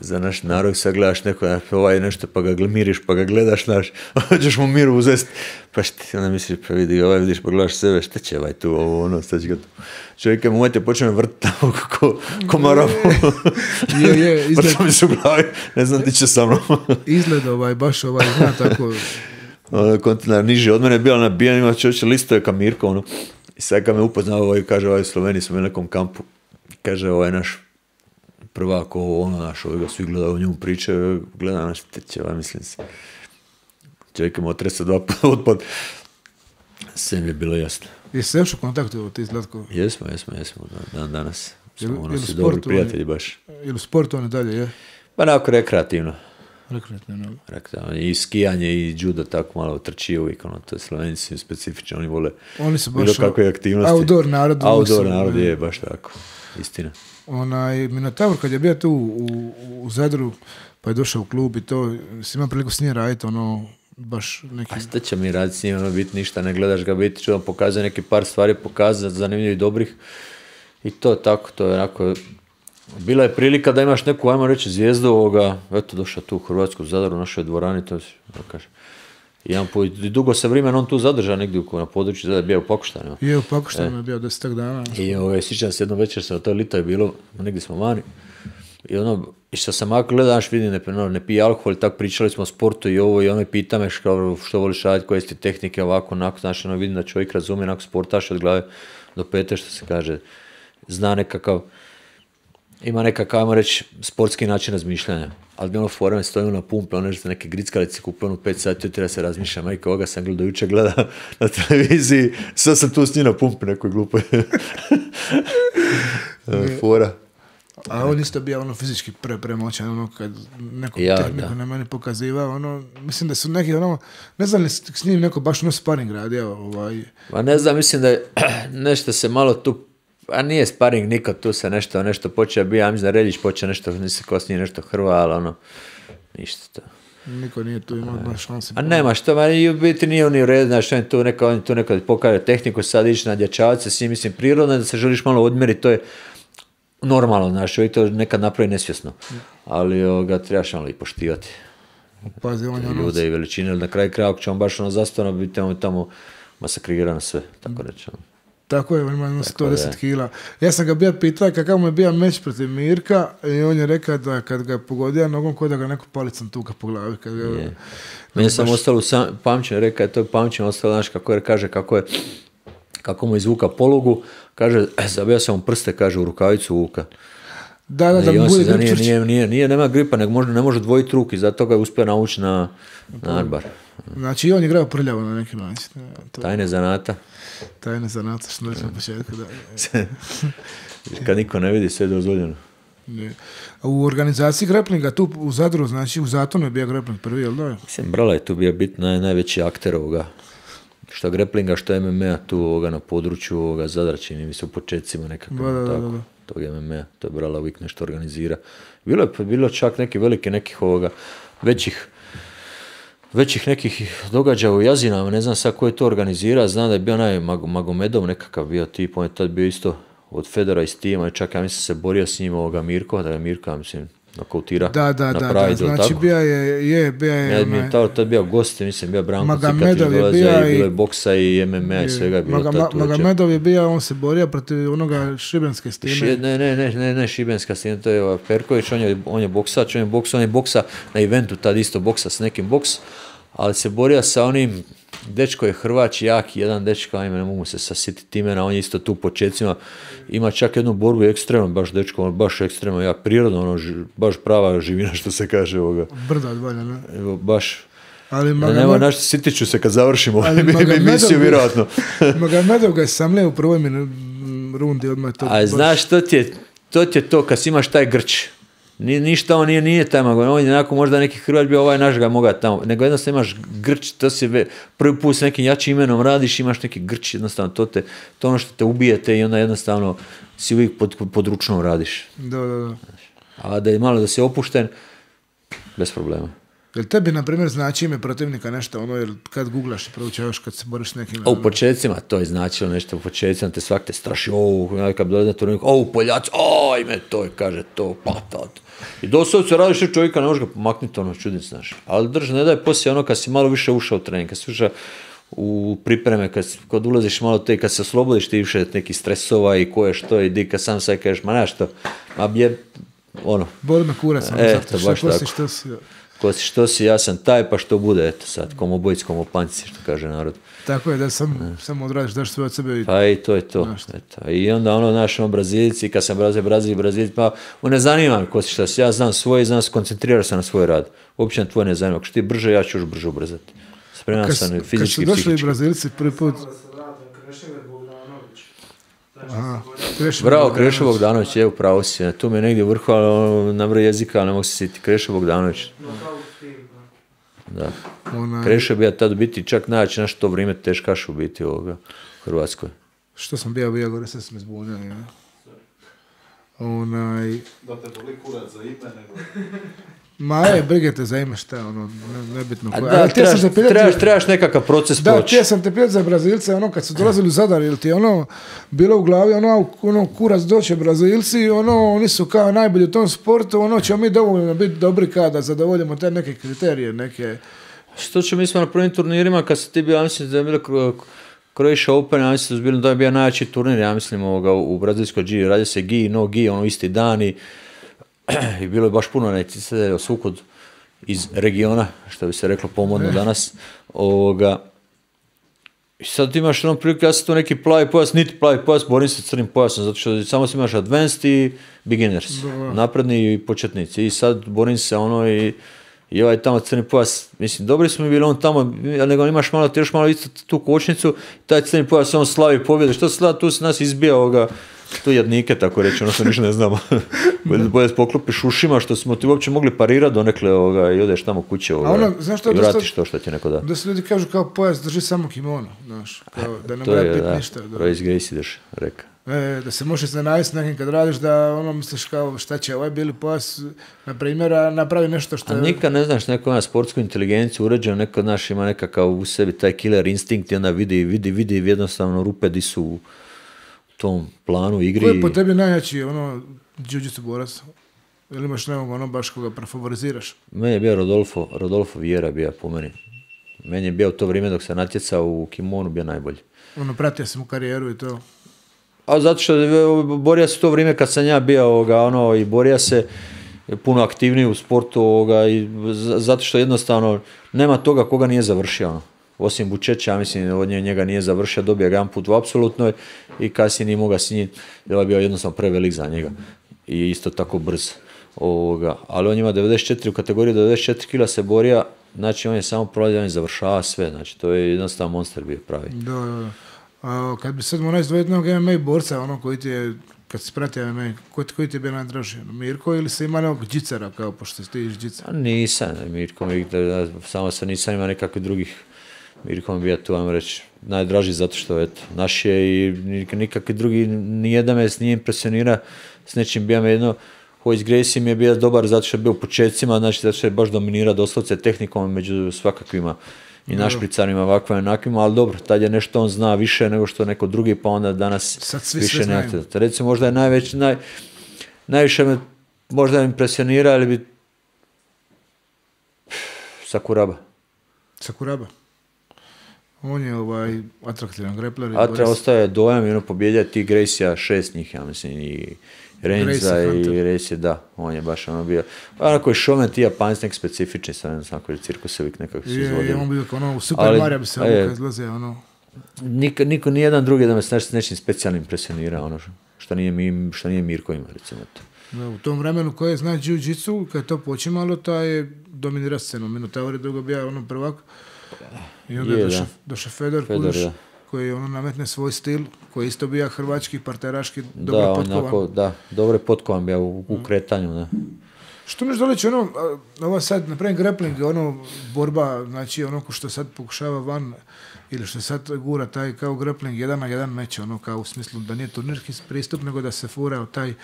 Speaker 2: za naš narod, sad gledaš neko, nešto pa ga miriš, pa ga gledaš, znaš, hoćeš mu miru uzest, pa onda misliš, pa vidi, vidiš, pa gledaš sebe, šta će tu, ono, sad će ga tu. Čovjek je mojte počne vrtiti tamo ko marabu. Vrta mi se u glavi, ne znam ti će sa mnom.
Speaker 1: Izgled baš zna tako.
Speaker 2: Kontinar niži, od mene je bila nabijan, ima čovječe listove ka Mirko, ono, i sad kad me upoznao, kaže, u Sloveniji smo u nekom kampu, kaže, naš prvak, naš, svi gledaju o njemu pričaju, gledam naš teče, mislim se. Čovjek ima otresa 2 puta otpad. Sve mi je bilo jasno.
Speaker 1: Jesi se još u kontaktu ti Zlatko?
Speaker 2: Jesmo, dan danas. Smo si dobri prijatelji baš.
Speaker 1: Ili u sportu oni dalje, je?
Speaker 2: Pa onako rekreativno.
Speaker 1: Rekreativno.
Speaker 2: I skijanje i judo tako malo trči uvijek, to je Slovenci specifično, oni vole
Speaker 1: oni su baš
Speaker 2: kakve aktivnosti.
Speaker 1: Outdoor narod.
Speaker 2: Outdoor narod je baš tako, istina.
Speaker 1: Minotaur kad je bio tu u Zadru, pa je došao u klub i to, si ima priliku s njim raditi, baš neki...
Speaker 2: A šta će mi raditi s njim, biti ništa, ne gledaš ga biti, ću vam pokazati neki par stvari, pokazati zanimljivih i dobrih i to tako, to je onako... Bila je prilika da imaš neku, ajmo reći, zvijezdu eto došao tu u Hrvatsku, Zadar, u našoj dvorani, to kaže. I dugo se vremen on tu zadržao negdje na području, da je bio u Pakoštanima.
Speaker 1: Je u Pakoštanima bio 10 dana.
Speaker 2: I sjećam se jednom večer, to lito je bilo, negdje smo vani. I što sam ako gledaš, vidim, ne pije alkohol, tako pričali smo o sportu i ovo, i ono pita me što voliš raditi, koje su ti tehnike, ovako, onako, znači, vidim da čovjek razumije, onako sportaš od glave do pete, što se kaže, zna nekakav, ima nekakav, ajmo reći, sportski način razmišljanja. Ali mi forme stojimo na pumpe, neke grickalice kupio 5 sati, treba se razmišljati, majka, ovoga sam jučer gleda na televiziji, sad sam tu s njim na pumpi nekoj glupoj. Fora.
Speaker 1: A on isto bio fizički premoćan, kad neku tehniku na meni pokazivao, mislim da su neki, ne znam li s njim neko baš sparing radio.
Speaker 2: Ma ne znam, mislim da je nešto se malo tu, a nije sparing nikad, tu se nešto počeo bio, ja mislim da Reljić počeo nešto, nisi kosnije nešto hrva, ali ništa to.
Speaker 1: Niko nije tu imao šanse.
Speaker 2: A nema što, i u biti nije on u redu, znaš, on tu nekad pokaže tehniku, sad ići na dječavce, s njim, mislim, prirodno da se želiš malo odmjeriti, to je normalno, znaš, čovjek to nekad napravi nesvjesno, ali ga trebaš malo i poštivati.
Speaker 1: Pazi,
Speaker 2: ljude i veličine, na kraju kraja, ako će on baš zastavno biti tamo masakrirano sve, tako reći.
Speaker 1: Tako je, on ima 110 kila. Ja sam ga bio pitao kakav mu je bio meč protiv Mirka i on je rekao da kad ga pogodio nogom kod da ga neko palicom tuka po glavi.
Speaker 2: Meni sam ostalo pamćenje, rekao je to pamćenje ostalo, znaš, kako mu izvuka polugu, kaže, zabija sam mu prste, kaže, u rukavicu vuka.
Speaker 1: Da mu bude grip čvrći.
Speaker 2: Nema gripa, nego ne može dvojiti ruki, zato ga je uspio naući na arbar.
Speaker 1: Znači i on je igrao prljavo na neki način.
Speaker 2: Tajne zanata,
Speaker 1: što reći na početku.
Speaker 2: Kad niko ne vidi, sve je dozvoljeno.
Speaker 1: U organizaciji greplinga tu u Zadru, znači u Zatonu je bio grepling prvi, jel da?
Speaker 2: Mislim, Brala je tu bio biti najveći akter ovoga. Što greplinga, što MMA tu na području Zadra, čini mi se u početcima nekako.
Speaker 1: Da.
Speaker 2: Tog MMA, to je Brala uvijek nešto organizira. Bilo čak neki veliki nekih većih nekih događaja u Jazinama, ne znam sad ko je to organizira, znam da je bio onaj Magomedov nekakav bio tip, on je tad bio isto od Fedora iz tima i čak ja mislim se borio s njim Mirko, da je Mirko, mislim, nokautira na Pride,
Speaker 1: znači bio je
Speaker 2: tad bio gost, mislim, bio Branko Cikatić dolazio i bilo je boksa i MMA i svega je bilo tad.
Speaker 1: Magomedov je bio, on se borio protiv onoga Šibenske stime.
Speaker 2: Ne Šibenska stina, to je Perković, on je boksač, on je boksa na eventu, tad isto boksa s nekim boks, ali se borio sa onim, dečko je Hrvač, jaki, jedan dečko, ajme, ne mogu se sasjetiti imena, on je isto tu u početcima, ima čak jednu borbu ekstremno, baš dečko, baš ekstremno, jak, prirodno, baš prava živina, što se kaže ovoga.
Speaker 1: Brda od valja, ne?
Speaker 2: Baš. Nema našto, sitit ću se kad završimo emisiju, vjerojatno.
Speaker 1: Magomedov ga je samlio u prvoj rundi odmah to.
Speaker 2: A znaš, to ti je to, kad imaš taj grč. Ništa on nije taj Magomedov, on je onako možda neki Hrvat bio, ovaj naš ga moga tamo, nego jednostavno imaš grč, to si prvi put s nekim jačim imenom radiš, imaš neki grč, jednostavno to ono što te ubijete i onda jednostavno si uvijek pod ručnom radiš.
Speaker 1: Da.
Speaker 2: A da je malo da si opušten, bez problema.
Speaker 1: Jel tebi, na primjer, znači ime protivnika nešto, ono, jer kad googlaš i proučavaš kad se boriš s nekim...
Speaker 2: A u početcima to je značilo nešto, u početcima te svak te straši, kad dođe na turnik, Poljaci, ime to je, kaže to, patat. I doslovce radiš što čovjeka, ne možeš ga pomaknuti, ono, čudin znaš. Ali ne daj poslije ono kad si malo više ušao u trening, kad si ušao u pripreme, kad ulaziš malo te, kad se oslobodiš ti više nekih stresova i koje što i di, kad sam sad kažeš, ma znaš što, ma je, ono.
Speaker 1: Boli me kurac,
Speaker 2: to baš tako. Ko si što si, ja sam taj, pa što bude, eto sad, komu bojic, komu panci, što kaže narod.
Speaker 1: Tako je, da samo odradiš, daš sve od sebe.
Speaker 2: Pa i to je to. Eto. I onda naš Brazilci, kad sam Brazilci, pa ne zanima me ko si šta si, ja znam svoje, znam se koncentrirati se na svoj rad. Uopće na tvoje ne zanima, ako što ti brže, ja ću još brže ubrzati. Spreman sam fizički, psihički.
Speaker 1: Kad su došli Brazilci prvi put...
Speaker 2: Bravo, Krešo Bogdanović, je upravo si. Tu mi je negdje vrhu, ali na vrh jezika, ali ne mogu se sjetiti. Krešo Bogdanović. Da. Krešo je bio tad biti čak najjači naš to vrijeme teškaš u biti ovoga u Hrvatskoj.
Speaker 1: Što sam bio gore, sve sam izbunjao.
Speaker 3: Da te boli kurac za ime, nego...
Speaker 1: brige te za ime šta, nebitno.
Speaker 2: Trebaš nekakav proces proći.
Speaker 1: Da, sam te pitati za Brazilce, kad su dolazili u Zadar, ili ti bilo u glavi, kurac doće Brazilci, oni su kao najbolji u tom sportu, ćemo mi dovoljno biti dobri kada zadovoljimo te neke kriterije, neke...
Speaker 2: Što će mi smo na prvim turnirima, kad se ti bio, ja mislim da je bilo Croatia Open, ja mislim da je bio najjači turnir, ja mislim u brazilskoj G, radi se G, no G, isti dani. I bilo je baš puno necise svukud iz regiona, što bi se reklo pomodno danas. I sad imaš priliku, ja sam tu neki plavi pojas, niti plavi pojas, borim se crnim pojasom, zato što samo si imaš advanced i beginners, napredni i početnici. I sad borim se i ovaj tamo crni pojas, mislim, dobri smo mi bili tamo, nego imaš malo, ti još malo isto tu kočnicu, taj crni pojas, slavi pobjede, što slavi, tu se nas izbija tu jadnike, tako reći, što ništa ne znamo. Bolje poklopiš ušima, što smo ti uopće mogli parirati donekle i odeš tamo kuće i vratiš to što ti neko da.
Speaker 1: Da se ljudi kažu kao pojas drži samo kimono, znaš, da ne mora biti ništa.
Speaker 2: Royce Gracie ideš, reka.
Speaker 1: Da se možeš zanaviti s nekim kad radiš, da misliš kao šta će ovaj bili pojas, na primjer, napravi nešto što...
Speaker 2: A nikad ne znaš, neko ima sportsku inteligenciju uređenu, neko naš ima nekakav u sebi taj killer instinkt i onda vidi jednostavno rupe di su u tom planu igri.
Speaker 1: Ko je po tebi najjači jiu-jitsu borac? Ili imaš nekog baš koga prefavoriziraš?
Speaker 2: Meni je bio Rodolfo Vieira bio po meni. Meni je bio u to vrijeme dok se natjecao u kimonu bio najbolji.
Speaker 1: Pratio sam u karijeru i to?
Speaker 2: A zato što borio se to vrijeme kad sam ja bio i borio se puno aktivniji u sportu i zato što jednostavno nema toga koga nije završio. Osim Bučeća, ja mislim, od njega nije završio, dobio ga jedan put u apsolutnoj i kasnije nije mogao s njim, jer je bio jednostavno prevelik za njega i isto tako brz. Ali on ima 94, u kategoriji 94 kila se borio, znači on je samo prolazio, on je završava sve, znači to je jednostavno monster bio pravi.
Speaker 1: Da. A kad bi sad morao izdvojiti jednog MMA borca, koji ti je, kad si pratio MMA, koji ti je bio najdraži? Mirko ili se ima nekog džicara, kao pošto ti iš džica?
Speaker 2: Nisam, Mirko, samo se nisam imao nekakvih drugih. Mirko mi bio tu, vam reći, najdraži zato što, eto, naš je i nikakvi drugi, nijedan me nije impresionira s nečim, bio me jedno, Royce Gracie mi je bio dobar zato što je bio u početcima, znači zato što je baš dominirao doslovce tehnikom među svakakvima i našpricarima, ovakvima i onakvima, ali dobro, tad je nešto on zna više nego što neko drugi, pa onda danas više ne. Recimo, možda je najviše me možda impresionira, ali bi Sakuraba.
Speaker 1: On je atraktivan grepler.
Speaker 2: Ostaje dojam i pobjeđa ti Gracie-a 6 njih, ja mislim, i Renza i Gracie, da, on je baš bio. Onako je šomen ti Japanci nek specifični, sad ne znam, koji cirkusevik nekako se izvodio.
Speaker 1: On bio u Super Mario bi se obuka izlazio,
Speaker 2: Niko, nijedan drugi da me s nečim specijalnim impresionira, što nije Mirko ima, recimo to.
Speaker 1: U tom vremenu koje zna jiu-jitsu, kad je to počimalo, taj je dominira scenu. Minotaur dugo bio prvak. I onda je došao Fedor Kuduš, koji nametne svoj stil, koji isto bio hrvački, parteraški, dobro potkovan.
Speaker 2: Da, dobro je potkovan bio u kretanju. Da.
Speaker 1: Što mi doleći ovo sad, napravim grappling, borba, znači ko što sad pokušava van, ili što sad gura taj kao grappling 1 na 1 meč, kao u smislu da nije turnirski pristup, nego da se fura taj,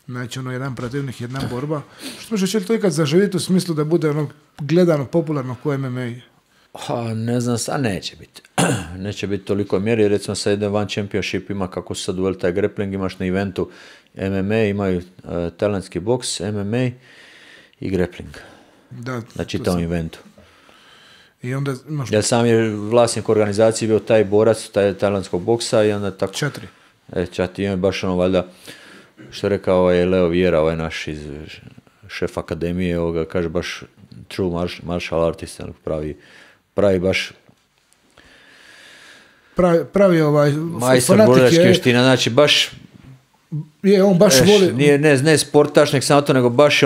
Speaker 1: znači jedan protivnik, jedna borba. Što može će li to ikad zaživjeti u smislu da bude gledano, popularno ko MMA?
Speaker 2: Ne znam, sad neće biti. Neće biti toliko mjeri, recimo sad jedan One Championship ima, kako su sad uveli taj grappling, imaš na eventu MMA, imaju tajlandski boks, MMA i grappling.
Speaker 1: Da,
Speaker 2: na čitavom eventu.
Speaker 1: I onda imaš...
Speaker 2: Ja sam je vlasnik organizacije bio taj borac, tajlandskog boksa i onda tako...
Speaker 1: 4.
Speaker 2: Čati, ima baš valjda, što je rekao Leo Vieira, naš iz šef akademije, kaže baš true martial artist, pravi baš
Speaker 1: pravi
Speaker 2: majstor borilačke vještina, znači baš
Speaker 1: je, on baš voli...
Speaker 2: Nije, ne sportaš, nek samo to, nego baš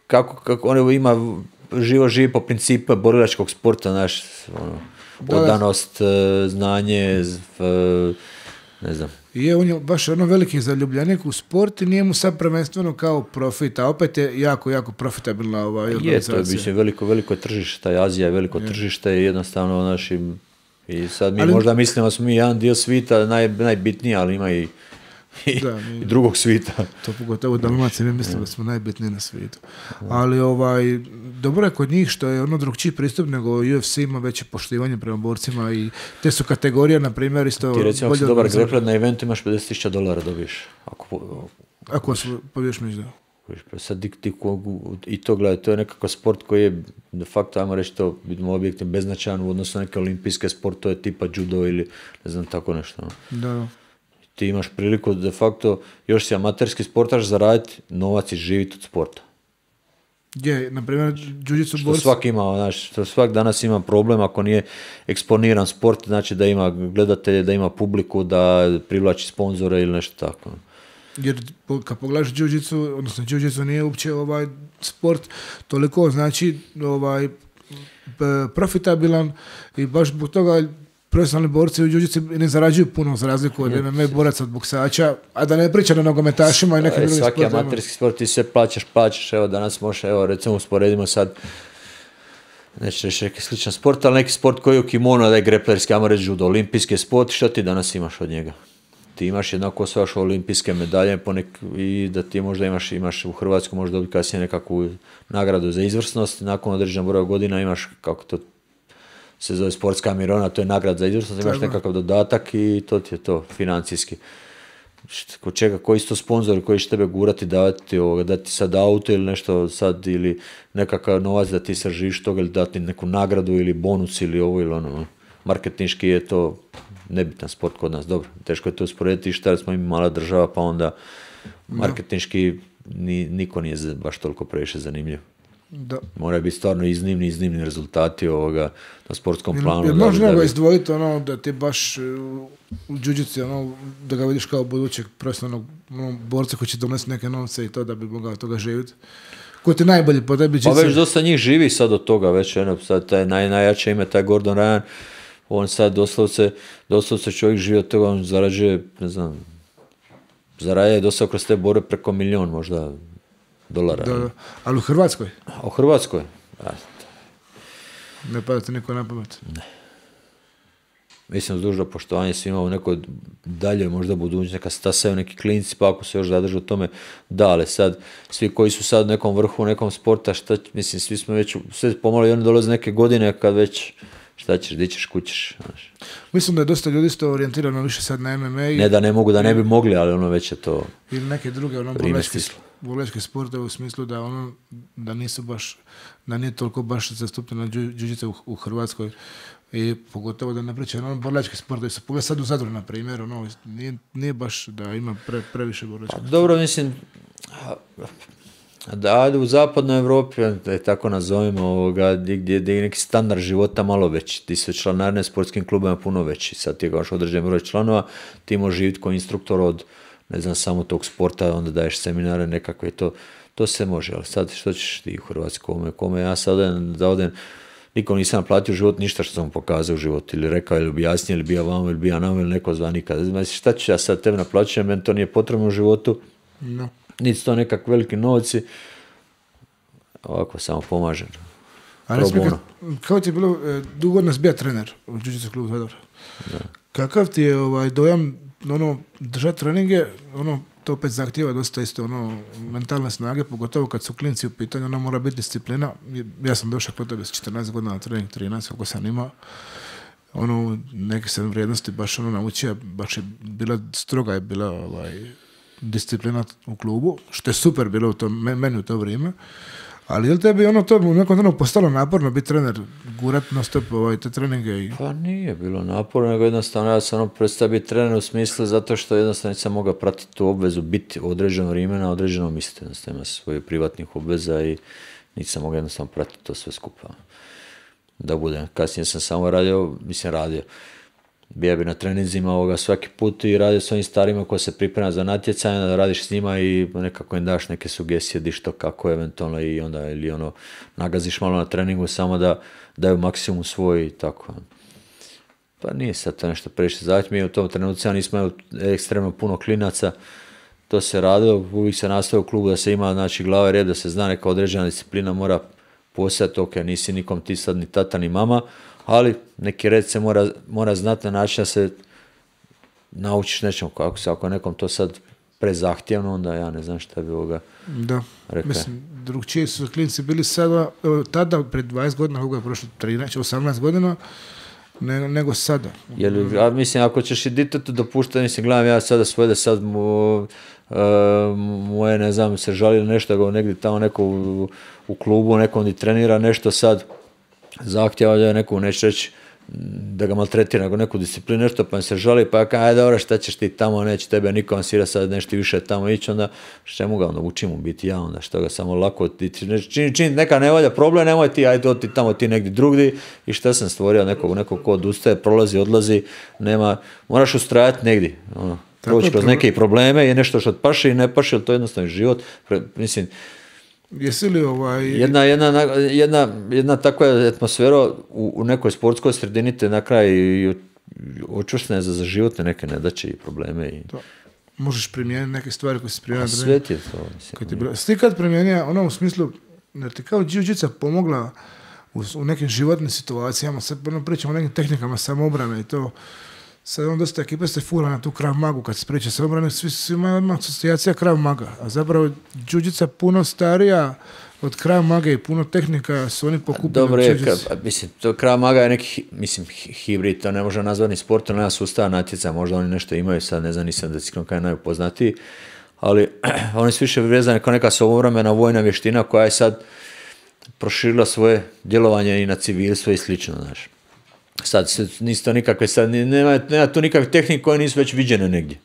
Speaker 2: kako on ima živi po principu borilačkog sporta, znaš, odanost, znanje, ne znam.
Speaker 1: Je, on je baš veliki zaljubljenik u sport i nije mu sad prvenstveno kao profit, a opet je jako, jako profitabilna organizacija.
Speaker 2: Je, to je veliko tržište, taj Azija je veliko tržište i jednostavno našim, i sad mi možda mislimo da smo mi jedan dio svita najbitniji, ali ima i drugog svita.
Speaker 1: To pogotovo u Dalmaciji, mi mislimo da smo najbitniji na svijetu. Ali dobro je kod njih što je drugčiji pristup nego UFC ima veće poštivanje prema borcima i te su kategorije, na primjer, isto...
Speaker 2: Ti recimo, ako si dobar grappler na eventu imaš $50,000 dobiješ.
Speaker 1: Ako pobiješ meč, da.
Speaker 2: Sad i to gledaj, to je nekakav sport koji je de facto, ajmo reći to, vidimo objektivno beznačajan u odnosu na neke olimpijske sportove tipa judo ili ne znam tako nešto.
Speaker 1: Da.
Speaker 2: Ti imaš priliku de facto, još si amaterski sportaš, zaraditi novac i živjeti od sporta.
Speaker 1: Je, na primjer, jiu-jitsu
Speaker 2: borci. Što svak danas ima problem ako nije eksponiran sport, znači da ima gledatelje, da ima publiku, da privlači sponzore ili nešto tako.
Speaker 1: Jer kad pogledaš jiu-jitsu, odnosno jiu-jitsu nije uopće sport toliko, znači profitabilan i baš zbog toga profesionalni borci u jiu-jitsu ne zarađuju puno za razliku od MMA boraca od boksača, a da ne priča na nogometašima i nekim drugim sportima.
Speaker 2: Svaki amaterski sport ti se plaćaš, evo danas možeš, evo recimo usporedimo sad, neću reći neki sličan sport, ali neki sport koji je u kimono, da je greplerski, ajmo reći judo, olimpijski sport, što ti danas imaš od njega? Ti imaš jednako osvajaš olimpijske medalje i da ti možda imaš u Hrvatskoj možda dobiti kasnije nekakvu nagradu za izvrsnost, nakon određenog broja godina imaš, kako to se zove, sportska mirovina, to je nagrada za izvrsnost, imaš nekakav dodatak i to ti je to financijski. Kod čega, koji su to sponzori koji će tebe gurati, dati sad auto ili nešto sad, ili nekakav novac da ti se živiš toga, ili dati neku nagradu ili bonus ili ovo ili ono. Marketinški je to nebitan sport kod nas, dobro, teško je to usporediti, šta smo mi mala država, pa onda marketinški niko nije baš toliko previše zanimljiv.
Speaker 1: Da.
Speaker 2: Mora biti stvarno iznimni rezultati na sportskom planu.
Speaker 1: Možda ga izdvojiti da ti baš u jiu-jitsu, da ga vidiš kao budućeg profesionalnog borca koji će donesti neke novce i to da bi mogao toga živjeti. Ko ti najbolji po tebi jiu-jitsu?
Speaker 2: Pa već dosta njih živi sad od toga, već sad taj najjače ime, taj Gordon Ryan, on sad doslovce čovjek živi od toga, on zarađuje, ne znam, zarađuje dosta kroz te borbe preko $1,000,000 možda dolara.
Speaker 1: Da, ali u Hrvatskoj?
Speaker 2: U Hrvatskoj?
Speaker 1: Ne pada ti niko na pamet?
Speaker 2: Ne. Mislim, s dužno poštovanje svima u nekoj dalje možda budućnosti, neka stasaju neki klinci, pa ako se još zadrže u tome, da, ali sad, svi koji su sad u nekom vrhu, u nekom sporta, mislim, svi smo već, sve pomalo i oni dolaze neke godine kad već, šta ćeš, di ćeš, kućeš. Znaš.
Speaker 1: Mislim da je dosta ljudi isto orijentirano više sad na MMA.
Speaker 2: Ne da ne mogu, da ne bi mogli, ali već je to
Speaker 1: ili neke druge borilačke sportove u smislu da nisu baš, da nije toliko baš zastupljeno jiu-jitsu u Hrvatskoj. I pogotovo da ne pričaju borilački sportovi. Pogled sad u Zadru, na primjer, nije baš da ima previše borilačkih.
Speaker 2: Dobro, mislim, da u zapadnoj Europi, da tako nazovemo, gdje je neki standard života malo veći, ti su članarine sportskim klubima puno veći, sad ti imaš određen broj članova, ti možeš živjeti kao instruktor od, ne znam, samo tog sporta, onda daješ seminare nekakve, to se može, ali sad što ćeš ti u Hrvatskoj, kome ja sad odem, nikom nisam naplatio život, ništa što sam mu pokazao u život, ili rekao, ili objasnio, ili bio vam, ili bio nam, ili neko zva nikada. Znači, šta ću ja sad tebe naplaćujem, meni to nije potrebno u životu, niti to nekak veliki novci, ovako samo pomažem.
Speaker 1: A kao ti je bilo, dugo nas bija trener u Jiu-Jitsu klubu Zadar. Kakav ti je dojam, držati treninge, to opet zahtijeva dosta isto, mentalne snage, pogotovo kad su klinci u pitanju, mora biti disciplina. Ja sam došao kod tebe s 14 godina na trening, 13, kako sam imao. Neke sam vrijednosti baš naučio, baš je bila stroga je bila disciplina u klubu, što je super bilo meni u to vrijeme. Ali je li tebi to u nekom trenutku postalo naporno biti trener, gurat na stop te treninge?
Speaker 2: Pa nije bilo naporno, nego jednostavno ja sam prestao biti trener u smislu zato što jednostavno nisam mogao pratiti tu obvezu biti određeno vrijeme na određenom mjestu. Jednostavno ima svoje privatnih obveza i nisam mogao jednostavno pratiti to sve skupa. Da bude. Kasnije sam samo radio. Bija bi na treninzima svaki put i radio s ovim starima koji se priprema za natjecanje, da radiš s njima i nekako im daš neke sugestije di što kako eventualno i onda nagaziš malo na treningu samo da daju maksimum svoj i tako. Pa nije sad to nešto previše zahtjev. Mi u tom trenutku nismo imali ekstremno puno klinaca. To se radilo, uvijek se nastavio u klubu da se ima glava i red, da se zna neka određena disciplina mora postojati, ok, nisi nikom ti sad ni tata ni mama, ali neki red se mora znati na način da se naučiš nečemu. Ako nekom to sad prezahtjevno, onda ja ne znam šta bi ovoga rekao.
Speaker 1: Mislim, drugčiji su klinci bili sada, tada pred 20 godina, kako je prošlo 13, 18 godina, nego sada.
Speaker 2: Mislim, ako ćeš i ditetu dopuštati, gledam ja sada svoje da sad moje, ne znam, se žali nešto, negdje tamo neko u klubu, nekom di trenira nešto sad, zahtjeva da je neku, neće reći da ga maltretira, nego neku disciplinu, nešto, pa im se žali, pa ja kaj, dobro, šta ćeš ti tamo, neće tebe niko ansira sad nešto više tamo ići, onda čemu ga, onda učim mu biti ja, onda što ga samo lako, čini neka nevolja, problem, nemoj ti, ajde ti tamo, ti negdje drugdje, i šta sam stvorio, nekog ko odustaje, prolazi, odlazi, nema, moraš ustrajati negdje, proći kroz neke probleme, je nešto što paši i ne paši, ali to je jednostavno život, mislim.
Speaker 1: Jesi li
Speaker 2: jedna takva atmosfera u nekoj sportskoj sredini te na kraju očvrstne za životne neke nedaće i probleme.
Speaker 1: Možeš primijeniti neke stvari koje si primijenio.
Speaker 2: Svet je to.
Speaker 1: Ti kad primijenio, u smislu, da ti kao Jiu-Jitsu pomogla u nekim životnim situacijama, sad pričamo o nekim tehnikama samoobrane i to. Sad dosta ekipa se fura na tu Krav Magu, kad se priča samobrane, svi ima asocijacija Krav Maga, a zapravo Jiu-Jitsu puno starija od Krav Mage i puno tehnika su oni pokupili.
Speaker 2: Dobro je, to Krav Maga je neki, hibrid, to ne može nazvati ni sport, nema sustava natjeca, možda oni nešto imaju, sad ne znam, nisam da si kaj najpoznatiji, ali oni su više vezani kao neka samobrana vojna vještina koja je sad proširila svoje djelovanje i na civilstvo i slično, znaš. Sad nisu to nikakve, sad nema tu nikakve tehnike koje nisu već viđene negdje.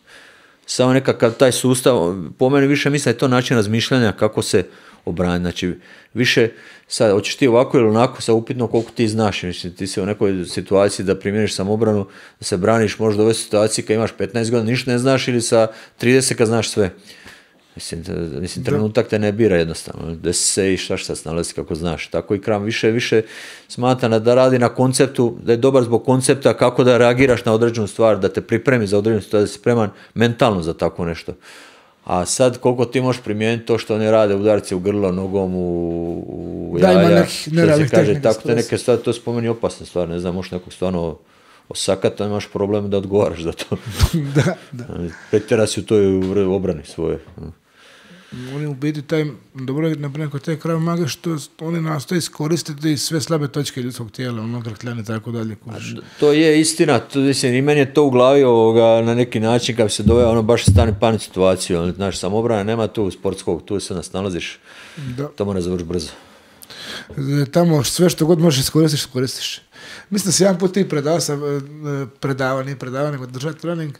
Speaker 2: Samo nekakav taj sustav, po meni više mislim da je to način razmišljanja kako se obraniti. Znači više, sad hoćeš ti ovako ili onako, sad upitno koliko ti znaš. Mislim, ti si u nekoj situaciji da primjeniš samobranu, da se braniš možda u ovoj situaciji kad imaš 15 godina ništa ne znaš ili sa 30 kad znaš sve. Mislim, trenutak te ne bira jednostavno, da se i šta snalazi kako znaš. Tako i Krav više smatra da radi na konceptu, da je dobar zbog koncepta kako da reagiraš na određenu stvar, da te pripremi za određenu stvar, da si spreman mentalno za tako nešto. A sad koliko ti možeš primijeniti to što oni rade, udarci u grlo, nogom, u jaja, što se kaže, tako te neke stvari, to spomeni opasne stvari, ne znam, možeš nekog stvarno osakati, imaš problem da odgovaraš za to.
Speaker 1: Da.
Speaker 2: Pretjera si u toj obrani svoje.
Speaker 1: Oni u biti dobro je naprimjer kod te Krav Mage što oni nastoje iskoristiti sve slabe točke ljudskog tijela, grkljane i tako dalje.
Speaker 2: To je istina, mislim, i meni je to u glavi na neki način kad bi se doveo baš stani panic situaciju, znaš, samobrana nema tu sportskog, tu se nas nalaziš, to mora završi brzo.
Speaker 1: Tamo sve što god možeš iskoristiš. Mislim da si jedan put ti predavao, nego držati trening,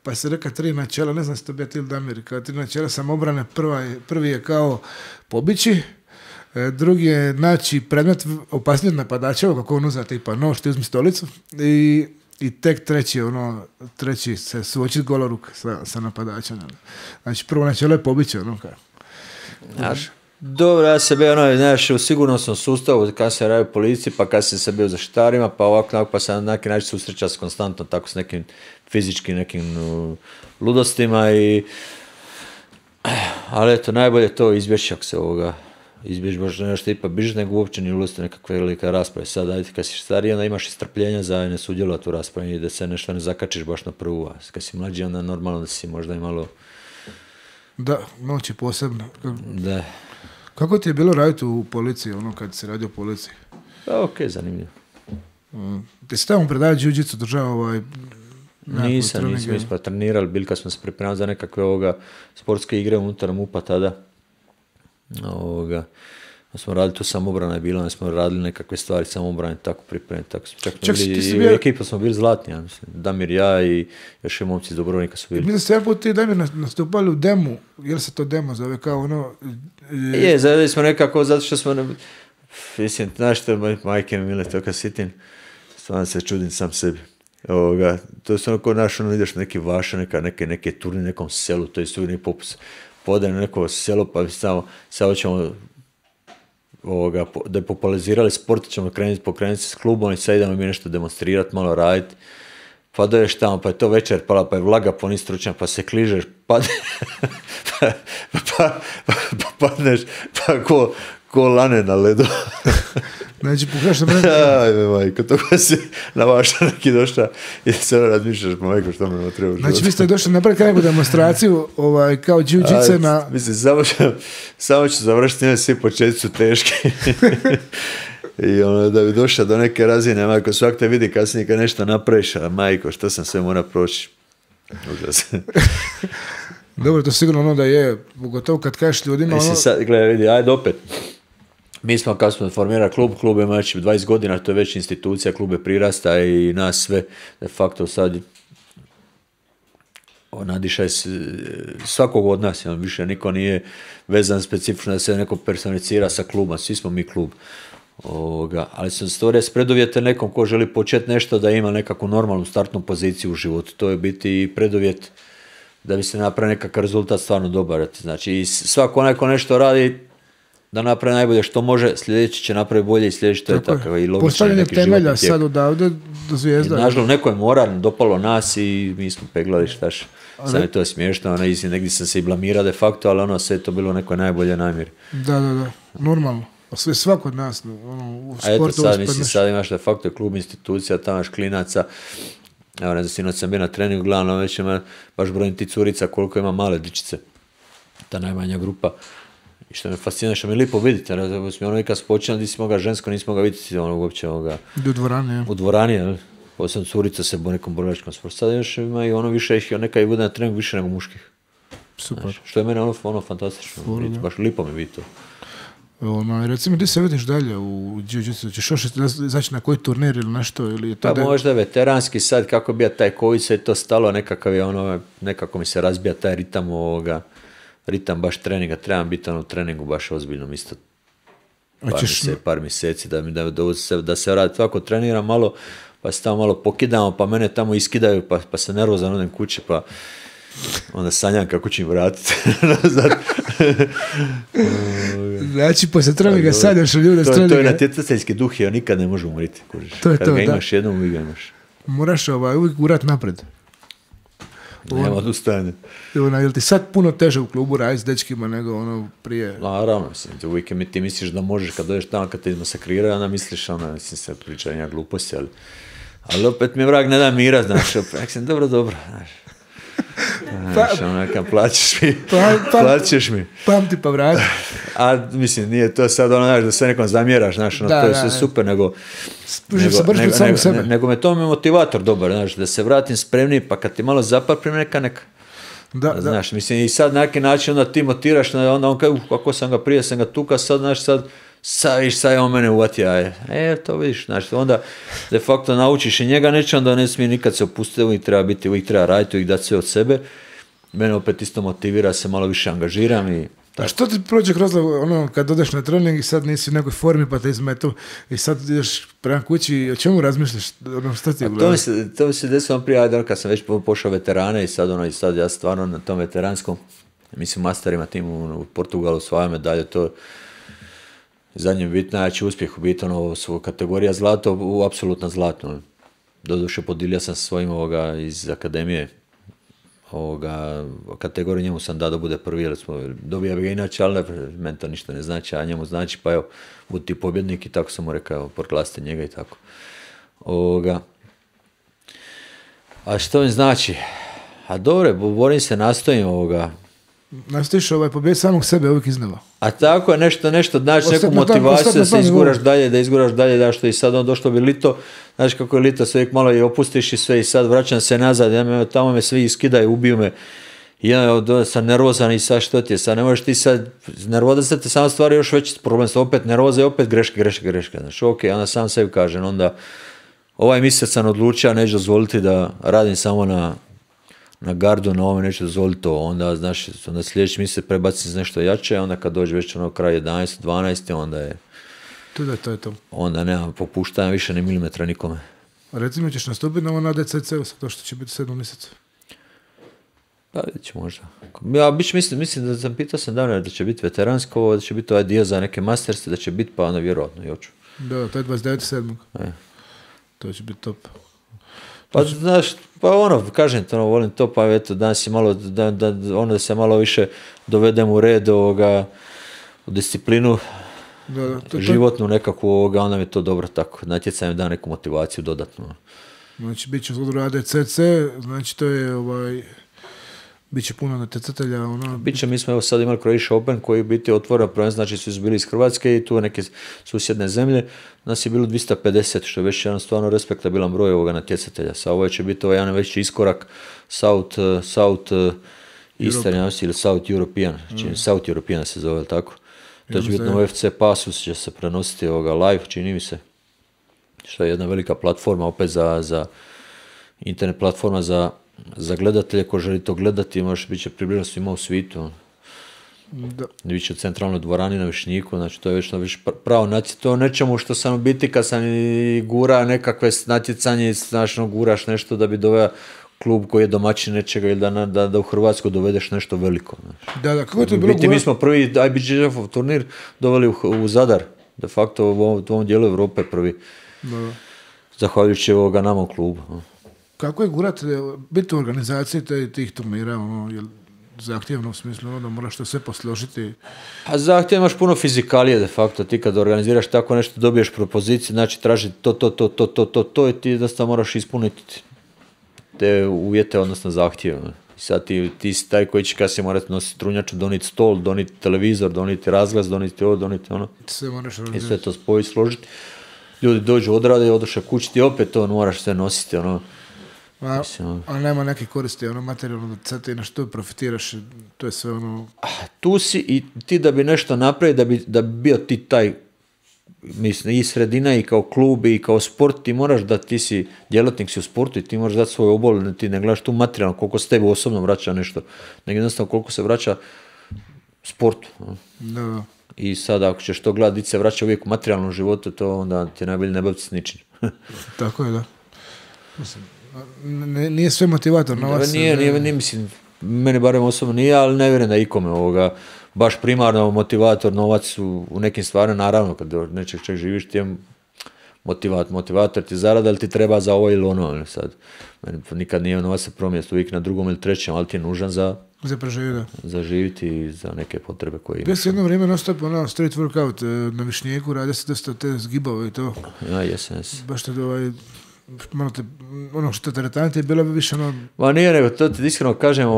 Speaker 1: pa se reka 3 načela, ne znam se to bio ti ili Damir, kao 3 načela samobrane, prvi je kao pobići, drugi je naći predmet opasniji od napadačeva, kako on uzme tipa nož, ti uzmi stolicu, i tek treći se suočiti goloruk sa napadačem. Znači prvo načelo je pobići,
Speaker 2: Dobro, ja se bio, znaš, u sigurnosnom sustavu, kad se radi u policiji, pa kad se bio za štarima, pa ovako, pa se na neki način susreća s konstantno, tako s nekim fizičkim nekim ludostima ali eto, najbolje to izbjeći ako se izbjeći baš nešto ipak biš, nego uopće nije ulaziti nekakve velike rasprave. Sad, ajde, kad si stariji, onda imaš i strpljenja za ne sudjelovati u raspravi i da se nešto ne zakačiš baš na prvu. A kad si mlađi, onda normalno da si možda i malo...
Speaker 1: Da, noć je posebno.
Speaker 2: Da.
Speaker 1: Kako ti je bilo raditi u policiji, kad si radio u policiji?
Speaker 2: Pa, okej, zanimljivo.
Speaker 1: Ti si tamo predavati jiu-jitsu, držao
Speaker 2: Nisam, mi smo trenirali, bili kad smo se pripremali za nekakve sportske igre unutar MUP-a tada. Smo radili tu samobrana je bila, smo radili nekakve stvari samobrane, tako pripremiti, tako smo čak bili, i u ekipu smo bili zlatni, ja mislim, Damir, ja i još je momci iz Dubrovnika su bili.
Speaker 1: Mislim ste jedan put ti Damir nastupali u demu, jel se to demo zove kao
Speaker 2: zaveli smo nekako, zato što smo, mislim, znaš što majke mi mile, to kad sitim, stvarno se čudim sam sebi. To su ko naš, ideš na neki vaša, neke turni, nekom selu, to je uvijek popus, podaj na neko selo, pa samo ćemo da je popularizirali sport, ćemo pokrenuti se s klubom i sad idemo mi nešto demonstrirati, malo raditi. Pa doješ tamo, pa je to večer pala, pa je vlaga, pa nisi stručan, pa se kližeš, pa padneš, pa ko lane na ledu.
Speaker 1: Znači, pokraš na mene.
Speaker 2: Ajme, majko, toga si na vaša neki došla i se razmišljaš, majko, što me treba u životu.
Speaker 1: Znači, vi ste došli napraviti neku demonstraciju, kao jiu-jitsu na...
Speaker 2: Mislim, samo ću završiti, svi početci su teški. I da bi došla do neke razine, majko, svak te vidi kasnije kad nešto napraviš, a majko, što sam sve mora proći. Užas.
Speaker 1: Dobro, to sigurno da je, pogotovo kad kažeš ljudima...
Speaker 2: Mislim, sad, gledaj, vidi, ajde opet. Mi smo, kad smo formirali klub ima već 20 godina, to je već institucija, klub je prirasta i nas sve, de facto sad nadišaj svakog od nas, više niko nije vezan specifično da se neko personificira sa klubom, svi smo mi klub. Ali sam stvorio s preduvjete nekom ko želi početi nešto da ima nekakvu normalnu startnu poziciju u životu. To je biti i preduvjet da bi se napravio nekakav rezultat stvarno dobar. Znači, svako onaj ko nešto radi, da napravi najbolje što može, sljedeći će napraviti bolje i sljedeći to je takav i logično.
Speaker 1: Postavljanje temelja sad odavde do Zvijezda.
Speaker 2: Nažalost, neko je moral, dopalo nas i mi smo peglali štaš. Sad je to smiješno, negdje sam se i blamirao de facto, ali sve je to bilo nekoj najbolje namjeri.
Speaker 1: Da, normalno. Sve svako od nas u sportu.
Speaker 2: A eto sad imaš de facto klub institucija, tamo imaš klinaca. Evo, ne znam, sinoć sam bio na treningu, glavno već ima baš brojim ti curica koliko ima male dičice. Ta najmanja grupa. I što me fascinira, što me lijepo vidite, kad smo počeli, nisi mogao žensko, nisi mogao vidjeti uopće
Speaker 1: u dvorani, ja.
Speaker 2: U dvorani, posebno curica se u nekom borilačkom sportu. Sad još ima i više ih, neka i bude na treningu više nego muških.
Speaker 1: Super.
Speaker 2: Znači, što je mene fantastično, baš lijepo mi vidi to.
Speaker 1: Recimo, ti se vidiš dalje u jiu-jitsu, ćeš još izaći na koji turnir ili nešto? Ili
Speaker 2: pa možda veteranski sad, kako bi taj COVID se to stalo, nekako mi se razbija taj ritam baš treninga, trebam biti u treningu baš ozbiljno isto par mjeseci da se radi. Tako treniram malo, pa se tamo malo pokidamo, pa mene tamo iskidaju, pa se nervozan odem kući, pa onda sanjam kako ću im vratiti nazad.
Speaker 1: Znači, poslije treninga sanjaš ljude s treninga.
Speaker 2: To je natjecateljski duh i on nikad ne može umriti. Kad ga imaš jednom, uvijek ga imaš.
Speaker 1: Moraš uvijek gurat napred.
Speaker 2: Nema odustajanja.
Speaker 1: Jel ti sad puno teže u klubu raditi s dečkima nego prije?
Speaker 2: Naravno, uvijek ti misliš da možeš kad dođeš tamo, kad te izmasakriraju, onda misliš, se pričanja gluposti, ali opet mi vrag ne da mira, znaš, dobro, znaš. Plaćeš mi.
Speaker 1: Pamti pa vrati.
Speaker 2: A mislim, nije to sad da sve nekom zamjeraš, znaš, to je sve super, nego me to je motivator dobar, znaš, da se vratim spremni, pa kad ti malo zapaprim neka. Znaš, mislim, i sad na neki način onda ti motiraš, onda on kaže, kako sam ga prije, sam ga tuka, sad, znaš, sad je on mene uvatio, to vidiš, znači, onda de facto naučiš i njega neće, onda ne smije nikad se opustiti, uvijek treba raditi, uvijek dati sve od sebe. Mene opet isto motivira, se malo više angažiram i...
Speaker 1: A što ti prođe kroz kad odeš na trening i sad nisi u nekoj formi pa te izmetu i sad ideš prema kući i o čemu razmišljaš? Što ti
Speaker 2: to mi se desilo prije, kad sam već pošao veterane i sad ja stvarno na tom veteranskom, mislim masterima tim u Portugalu svoje medalje, to zadnji bit najjači uspjeh u biti, su kategorija zlato, apsolutno zlatno. Doduše podilio sam sa svojim iz akademije, kategoriju, njemu sam dao da bude prvi, jer smo dobija ga inače, ali meni to ništa ne znači, a njemu znači, pa evo, budi ti pobjednik i tako sam mu rekao, proglasite njega i tako. A što mi znači? A dobro, borim se, nastojim
Speaker 1: Nastojiš pobjedi samog sebe uvijek iznova.
Speaker 2: A tako je nešto, znači neku motivaciju da se izguraš dalje, da što i sad došlo bi lito, znaš kako je lito, sve uvijek malo i opustiš i sve i sad vraćam se nazad, tamo me svi iskidaju, ubiju me. I ja sam nervozan i sad što ti je, sad ne možeš ti sad, nervoza te samo stvari još veći problem, opet nervoza i opet greške, znači onda sam sebi kažem, onda ovaj mjesec sam odlučio, neću dozvoliti da radim samo na gardu, na ovome neću dozvoliti to, onda sljedeći mjesec prebacim se nešto jače, onda kad dođe već kraj 11, 12, onda je...
Speaker 1: To je to.
Speaker 2: Onda nema popuštanja više ni milimetra nikome.
Speaker 1: A recimo ćeš nastupiti na ADCC-u sa to što će biti 7 mjeseca?
Speaker 2: Pa vidjet ću možda. Ja mislim da sam pitao davno da će biti veteransko, da će biti ovaj dio za neke masterse, da će biti, pa onda vjerojatno i hoću.
Speaker 1: Da, to je 29.7. To će biti top.
Speaker 2: Pa znaš, kažem to, volim to, pa eto, danas je malo, da se malo više dovedem u red u disciplinu, životnu nekakvu, onda mi je to dobro tako, natjecanje da neku motivaciju dodatno.
Speaker 1: Znači, bit će zgodno ADCC, znači to je Biće puno natjecatelja.
Speaker 2: Biće, mi smo evo sad imali Croatia Open koji biti otvoren prvenstvo, znači svi su bili iz Hrvatske i tu neke susjedne zemlje. Nas je bilo 250, što je već jedan stvarno respektabilan broj ovoga natjecatelja. Sa ovo će biti jedan veći iskorak South Eastern ili South European, South European se zove, tako? To će biti na UFC pasu, će se prenositi live, čini mi se. Što je jedna velika platforma, opet za internet platforma za gledatelje, ko želi to gledati, možeš biti će približno svima u svijetu. Biće u centralnoj dvorani na Višnjiku, znači to je već pravo natjecanje. To nečemu što sam u biti kad sam i gura nekakve natjecanje, znači guraš nešto da bi doveo klub koji je domaćin nečega ili da u Hrvatsku dovedeš nešto veliko. Znači.
Speaker 1: Da, kako je to bilo
Speaker 2: mi smo prvi IBJJF turnir doveli u Zadar, de facto u ovom dijelu Europe prvi. Da. Zahvaljujući nama u klubu.
Speaker 1: Kako je gurati, biti u organizaciji tih turnira, je zahtjevno u smislu, da moraš to sve posložiti?
Speaker 2: A zahtjevno imaš puno fizikalije, de facto, ti kad organiziraš tako nešto, dobiješ propoziciju, znači traži to i ti jednostavno moraš ispuniti te uvjete, odnosno zahtjeve. I sad ti si taj koji će kasnije morati nositi strunjaču, doniti stol, doniti televizor, doniti razglas, doniti ovo, doniti ono.
Speaker 1: Sve moraš organizirati.
Speaker 2: I sve to spojiti, složiti. Ljudi dođu odrade, odoše kući, ti opet to moraš sve nositi,
Speaker 1: A nema neke koristi, materijalno da sad ti na što profitiraš, to je sve
Speaker 2: Tu si i ti da bi nešto napravio, da bi bio ti taj, mislim, i sredina i kao klub i kao sport, ti moraš da ti si djelatnik si u sportu i ti moraš dati svoj obol, ti ne gledaš tu materijalno koliko se tebi osobno vraća nešto, nego jednostavno koliko se vraća sportu.
Speaker 1: Da.
Speaker 2: I sad ako ćeš to gledati, se vraća uvijek u materijalnom životu, to onda ti je najbolje ne baviti s ničim.
Speaker 1: Tako je, da. Mislim, nije sve motivator novac.
Speaker 2: Nije, mislim, meni barem osobno nije, ali ne vjerujem da ikome baš primarno motivator novac u nekim stvarima, naravno kad nečeg čeg živiš ti je motivator ti zarada, ali ti treba za ovo ili ono. Sad, meni nikad nije novac se promjesti uvijek na drugom ili trećem, ali ti je nužan za živjeti i za neke potrebe koje imaš.
Speaker 1: Gdje si jedno vrijeme non-stop street workout na Višnjiku, radi se dosta te zgibove i to.
Speaker 2: Ja, jesam.
Speaker 1: Baš te malo te, što teretanje je bilo bi više
Speaker 2: Ma nije, nego to ti iskreno kažem,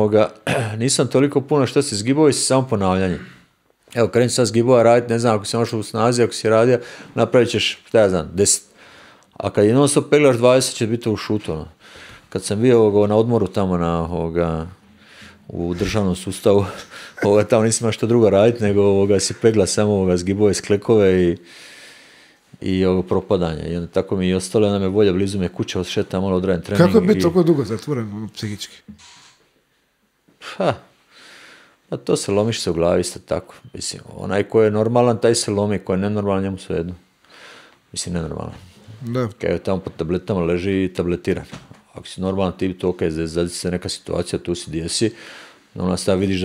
Speaker 2: nisam toliko puno što si zgibovi, si samo ponavljanje. Evo, krenim sad zgibova raditi, ne znam, ako si možeš u snazi, ako si radio, napravit ćeš, 10. A kad jednom se peglaš 20, će biti u šutu. Kad sam bio na odmoru tamo u državnom sustavu, tamo nisam imao što drugo raditi, nego si pegla samo zgibove, sklekove i propadanja. I onda tako mi i ostalo, onda me volja blizu me kuća, odšetam, malo odradim trening.
Speaker 1: Kako je biti toliko dugo zatvoren, psihički?
Speaker 2: A to se lomiš se u glavi isto tako. Mislim, onaj ko je normalan, taj se lomi, ko je nenormalan, njemu svejedno. Mislim, nenormalan.
Speaker 1: Da.
Speaker 2: Kaj je tamo po tabletama leži i tabletiran. Ako si normalan, ti to zadi se neka situacija, tu si gdje si, onda sad vidiš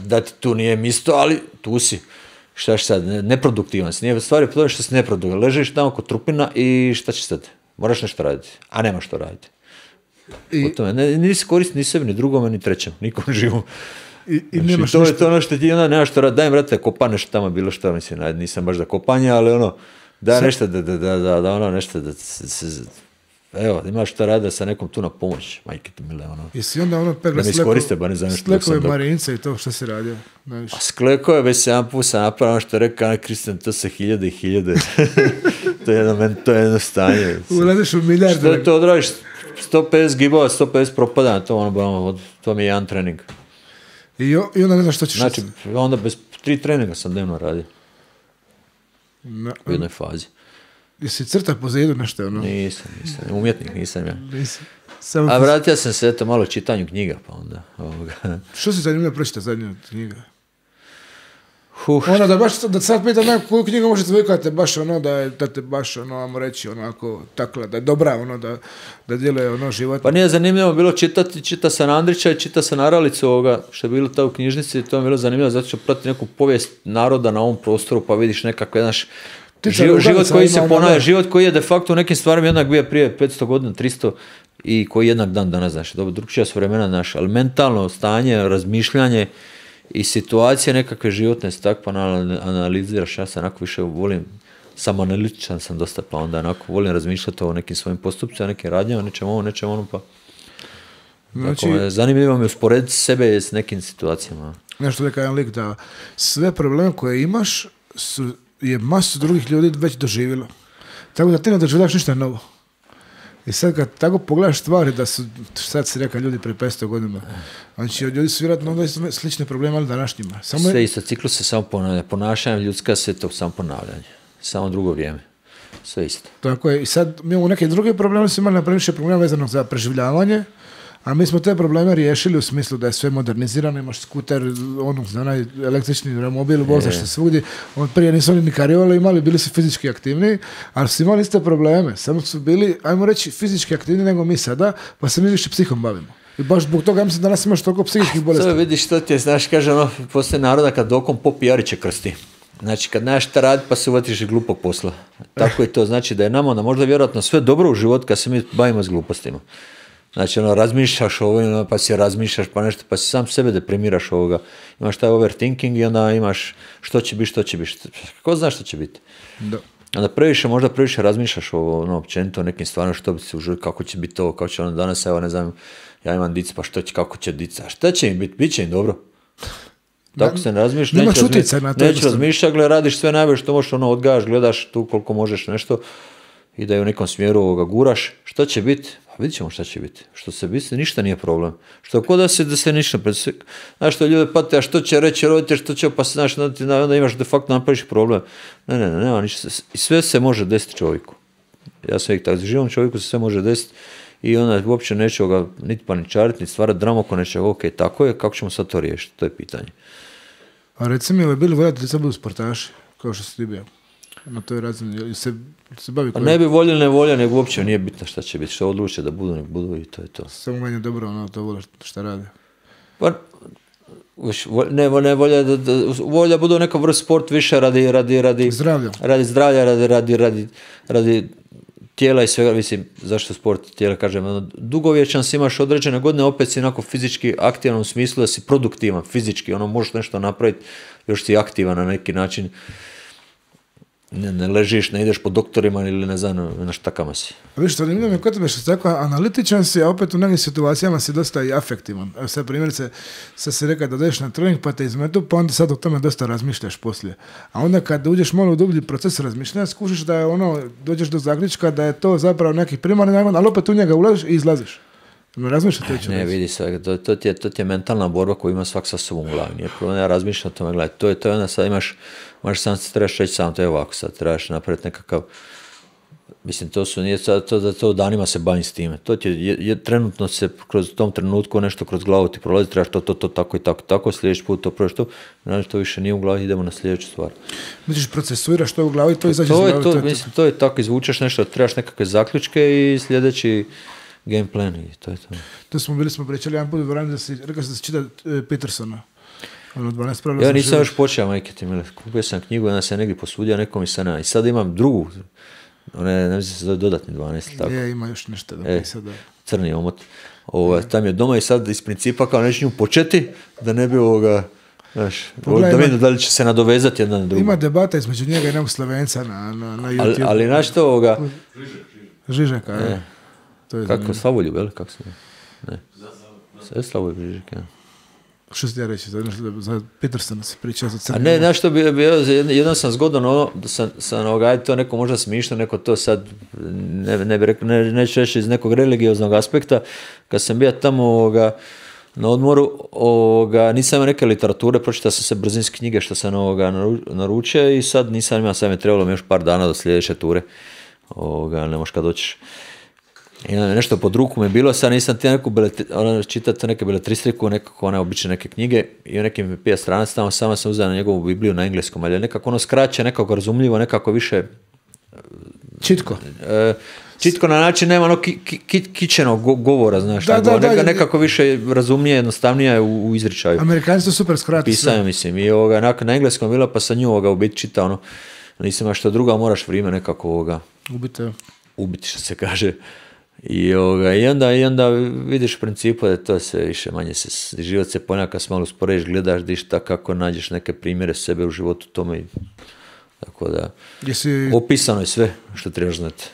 Speaker 2: da ti tu nije mjesto, ali tu si. Šta će sad, neproduktivan si, nije stvari to što si neproduktivan, ležiš tamo kod trupina i šta će sad, moraš nešto raditi, a nema što raditi. O tome. Nisi korisni ni sebi, ni drugome, ni trećem, nikom živom.
Speaker 1: I
Speaker 2: znači,
Speaker 1: nemaš
Speaker 2: to
Speaker 1: ništa.
Speaker 2: je to ono što ti onda nemaš što radi. Daj, brate, kopa nešto tamo, bilo što, mislim, nisam baš za kopanje, ali ono, daj nešto da ono, nešto da se evo, imaš što rada sa nekom tu na pomoć, majke ti mile, ono.
Speaker 1: Jesi onda ono pegla
Speaker 2: Slekove
Speaker 1: Marince i to što si radio?
Speaker 2: A Sklekove već 7 puta sam napravio, što je rekao Kristijan, to se 1000 i 1000. to je jedno stanje.
Speaker 1: Ulaziš u milijarde.
Speaker 2: Što je to odradiš? 150 gibova, 150 propadanja, to mi je jedan trening.
Speaker 1: I onda ne znaš što ćeš...
Speaker 2: Znači, onda bez 3 treninga sam dnevno radio. U jednoj fazi.
Speaker 1: Jesi crta po zidu nešto? Ono?
Speaker 2: Nisam. Umjetnik nisam ja.
Speaker 1: Samo
Speaker 2: a vratio sam se eto malo čitanju knjiga, pa onda
Speaker 1: Što si zanimljivo pročitati zadnju knjiga? Ono da sad pitam koju knjigu možete vikati baš ono da te baš ono, ajmo reći, onako takla, da je dobra, ono da djeluje ono život.
Speaker 2: Pa nije zanimljivo bilo čita sam Andrića i čita sam Naralicu ovoga, što je bilo ta u knjižnici, to je bilo zanimljivo zato što prati neku povijest naroda na ovom prostoru, pa vidiš nekakve naš život koji se ponavlja, život koji je de facto u nekim stvarima jednak bio prije 500 godina, 300 i koji jednak dan danas, znaš, dobro, drugčija su vremena naša, ali mentalno stanje, razmišljanje i situacije nekakve životne se tako pa analiziraš, ja sam onako više volim, samo analitičan sam dosta, pa onda onako volim razmišljati o nekim svojim postupcima, nekim radnjama, nečem ono, pa znači, zanimljivo mi je usporediti sebe s nekim situacijama.
Speaker 1: Nešto rekao jedan lik da sve probleme koje imaš je masu drugih ljudi već doživjelo. Tako da ti ne doživljaš ništa novo. I sad kad tako pogledaš stvari da su, sad si rekao ljudi pre 500 godina, znači ljudi su vjerojatno onda slične probleme, ali današnjima.
Speaker 2: Sve isto, ciklus se samo ponavlja. Ponašanje ljudska se to samo ponavljanje. Samo drugo vrijeme. Sve isto.
Speaker 1: Tako je. I sad mi imamo neke druge probleme, smo imali na previše problema vezanog za preživljavanje, a mi smo te probleme riješili u smislu da je sve modernizirano, imaš skuter, onaj električni remobil, vozaš se svugdje. Prije nisu oni ni kariole imali, bili su fizički aktivni, ali su imali iste probleme. Samo su bili, ajmo reći, fizički aktivni nego mi sada, pa se mi više psihom bavimo. I baš zbog toga, ja mislim, danas imaš toliko psihičkih bolesti.
Speaker 2: To vidiš što ti je, znaš, kaže postoje naroda kad dokom pop jariće krsti. Znači, kad nemaš šta raditi, pa se uvatiš glupog posla. Tako je to, znači da je nama onda možda vjerojatno sve dobro u životu kad se mi bavimo s glupostima. Znači, razmišljaš ovo, pa si razmišljaš, pa nešto, pa si sam sebe deprimiraš ovoga. Imaš taj overthinking i onda imaš što će biti. Ko zna što će biti?
Speaker 1: Da.
Speaker 2: Onda možda previše razmišljaš ovo, općenito o nekim stvarima, što bi se uživio, kako će biti ovo, kako će ono danas, evo, ne znam, ja imam dica, pa kako će dica, a šta će im biti? Biće im dobro. Tako se ne razmišljaš, neću razmišljati, radiš sve najbolje što možeš, odgajaš, gledaš tu koliko možeš nešto i da je u nekom smjeru guraš. Što će biti? Vidjet ćemo šta će biti. Što se biti, ništa nije problem. Što kod da se ništa predsjek. Znaš što ljude pate, a što će reći roditelj, što će, pa znaš, onda imaš de facto napraviš problem. Ne, nema ništa. I sve se može desiti čovjeku. Ja sam uvijek tako, živom čovjeku se sve može desiti i onda uopće neće ga niti paničariti, niti stvarati dramu oko nečega. Ok, tako je, kako ćemo sad to riješiti? To je pitanje.
Speaker 1: A reci mi, bili voljati da sad budu sportaši, kao što si ti bio? Na toj razini se bavi koji...
Speaker 2: Ne bi voljeli, ne volja, nego uopće nije bitno šta će biti, što odluče da budu, nek budu i to je to.
Speaker 1: Samo manje dobro, to vole šta rade.
Speaker 2: Pa, ne volja, volja budu neka vrst sport više radi
Speaker 1: zdravlja.
Speaker 2: Radi zdravlja, radi tijela i svega, mislim, zašto sport tijela, kažem, dugovječan si, imaš određene godine, opet si onako fizički aktivan u smislu da si produktivan, fizički, možeš nešto napraviti, još si aktivan na neki način. Ne ležiš, ne ideš po doktorima ili ne znam, na štakama si.
Speaker 1: Viš, to zanimljivo mi kod tebe što si tako analitičan si, a opet u nekim situacijama si dosta i afektivan. Evo sad primjerice, sad si rekao da odeš na trening pa te izmetu, pa onda sad o tome dosta razmišljaš poslije. A onda kad uđeš malo u dublji proces razmišljanja, skušiš da je dođeš do zaključka da je to zapravo neki primarni nagon, ali opet u njega ulaziš i izlaziš.
Speaker 2: Ne, vidi se, to ti je mentalna borba koju ima svak sa sobom u glavi. Nije problem, ja razmišljam o tome, gledaj, to je onda sad imaš sam se trebaš reći sam, to je ovako sad, trebaš napraviti nekakav, mislim, nije to danima se bavim s time, to ti je trenutno se kroz tom trenutku nešto kroz glavu ti prolazi, trebaš to, tako i tako, sljedeći put to prođeš to, znači to više nije u glavi, idemo na sljedeću stvar.
Speaker 1: Misliš, procesuiraš to u glavi, to izađe iz glavi?
Speaker 2: Mislim, to je tako, izvučeš nešto, trebaš nekakve zaključke i sljedeći game plan i to je to.
Speaker 1: To smo pričali jedan put u vremenu da si rekao da si čita Petersona.
Speaker 2: Ja nisam još počeo, majke ti mile. Kupio sam knjigu, onda sam negdje posudio nekom i sad imam drugu. ne mislim se zove dodatni 12, tako.
Speaker 1: Ima još nešto da pisati.
Speaker 2: Crni omot. Tam je doma i sad iz principa kao neću nju početi, da ne bi znaš, da vidim da li će se nadovezati jedna na drugu.
Speaker 1: Ima debata između njega i nekog Slovenca na YouTube.
Speaker 2: Ali znaš to
Speaker 1: Žižeka, je.
Speaker 2: Kako, Slavoljub, jel? Kako se ne? Sve Slavoljub Žižek, ja.
Speaker 1: Što ti ja reći, za Petersona se pričao za crni.
Speaker 2: A ne, znaš što bi bio, jednom sam zgodan ajde to neko možda smišno, neko to sad, ne bi rekao, neću reći iz nekog religioznog aspekta, kad sam bio tamo na odmoru, nisam imao neke literature, pročitao sam se brzinske knjige što sam naručio i sad nisam imao, sad mi je trebalo još par dana do sljedeće ture, ne možeš kad doćiš. I nešto pod ruku mi je bilo, sad nisam ti neku čitati neke beletristiku, nekako one obične neke knjige i u nekim pija stranac tamo, samo sam uzeo na njegovu Bibliju na engleskom, ali nekako ono skraće, nekako razumljivo, nekako više... Čitko na način nema ono kičenog govora, znaš, nekako više razumnije, jednostavnije je u izričaju.
Speaker 1: Amerikanci su super skrati sve.
Speaker 2: Pisanje, mislim, i na engleskom bilo, pa sam nju u biti čitao, nisam ima što druga, moraš vrijeme nekako ubiti, što se kaže. I onda vidiš u principu da to se više manje život se ponekad malo usporediš, gledaš dišta kako nađeš neke primjere sebe u životu tome. Tako da, opisano je sve što trebaš znati.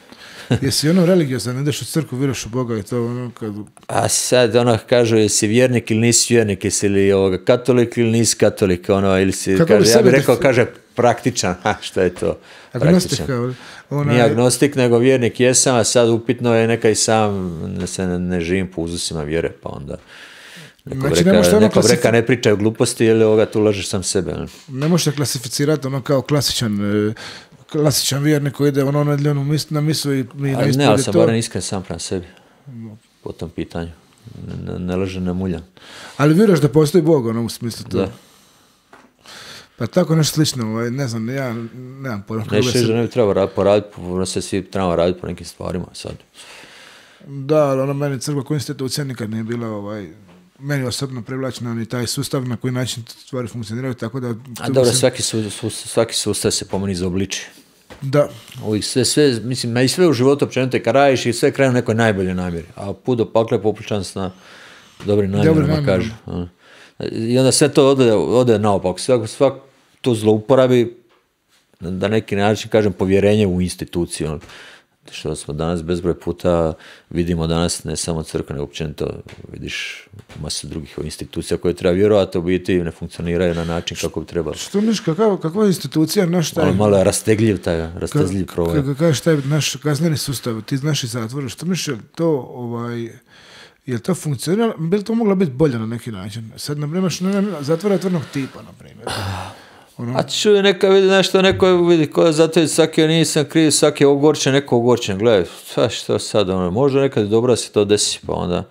Speaker 1: Jesi religiozan, ideš u crkvu, vjeruješ u Boga i to kad...
Speaker 2: A sad kažu, jesi vjernik ili nisi vjernik, jesi li katolik ili nisi katolik, ili si, ja bih rekao, kaže praktičan, šta je to?
Speaker 1: Agnostik,
Speaker 2: Nije agnostik, nego vjernik jesam, a sad upitno je neka i sam se ne živim po uzusima vjere, pa onda neko reka ne pričaju gluposti, ili tu lažeš sam sebe.
Speaker 1: Ne možeš klasificirati kao klasičan vjernik koji ide na misu i na ispovjedi.
Speaker 2: Ne, ali sam barem iskren sam prema sebi po tom pitanju. Ne lažem, ne muljam.
Speaker 1: Ali vjeruješ da postoji Bog, u smislu to?
Speaker 2: Da.
Speaker 1: Pa tako nešto slično, ne znam, ja nemam pojma.
Speaker 2: Nećeš da ne bi trebao poraditi, se svi trebamo raditi po nekim stvarima sad.
Speaker 1: Da, ali meni crkva kao institucija nikad nije bila meni osobno privlačena ni taj sustav na koji način stvari funkcioniraju, tako da...
Speaker 2: A dobro, svaki sustav se po meni izobliči.
Speaker 1: Da.
Speaker 2: Sve, mislim, i sve u životu općenito kad radiš i sve kraju u nekoj najboljoj namjeri, a put do pakla je popričan s na dobrim namjerama, kažu. I onda sve to ode naopako. Svak to zlouporabi da neki način, kažem, povjerenje u instituciju. Što smo danas bezbroj puta vidimo danas, ne samo crkva, nego općenito vidiš masu drugih institucija koje treba vjerovati, u biti ne funkcioniraju na način kako bi trebalo.
Speaker 1: Što misliš, kakva je institucija naš taj...
Speaker 2: Malo je rastezljiv problem.
Speaker 1: Kako kažeš taj naš kazneni sustav, ti znaš i zatvore, što misliš, je to funkcioniralo, bi li to moglo biti bolje na neki način? Sad, na primjer, zatvora otvornog tipa, na primjer.
Speaker 2: A čuj, neka vidi nešto, neko vidi ko zato svaki nisam kriv, svaki je ogorčen, neko ogorčen, gledaj, što sad, možda nekad dobro se to desi, pa onda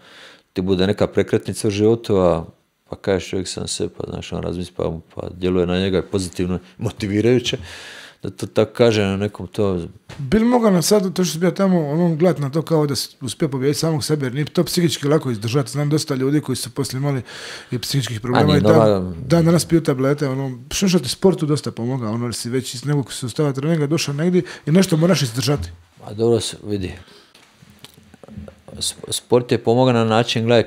Speaker 2: ti bude neka prekretnica u životu, pa kažeš čovjek sam se, pa znaš, on razmisli, pa djeluje na njega pozitivno, motivirajuće, da to tako kaže na nekom to...
Speaker 1: Bil mogao na sad, to što si bio tamo, gledat na to kao da uspije pobijediti samog sebe, jer nije to psihički lako izdržati. Znam dosta ljudi koji su poslije imali i psihičkih problema i danas piju tablete, što ti sportu dosta pomoga, jer si već iz nekog sustava treninga došao negdje i nešto moraš izdržati.
Speaker 2: A dobro se vidi. Sport je pomogao na način, gledaj,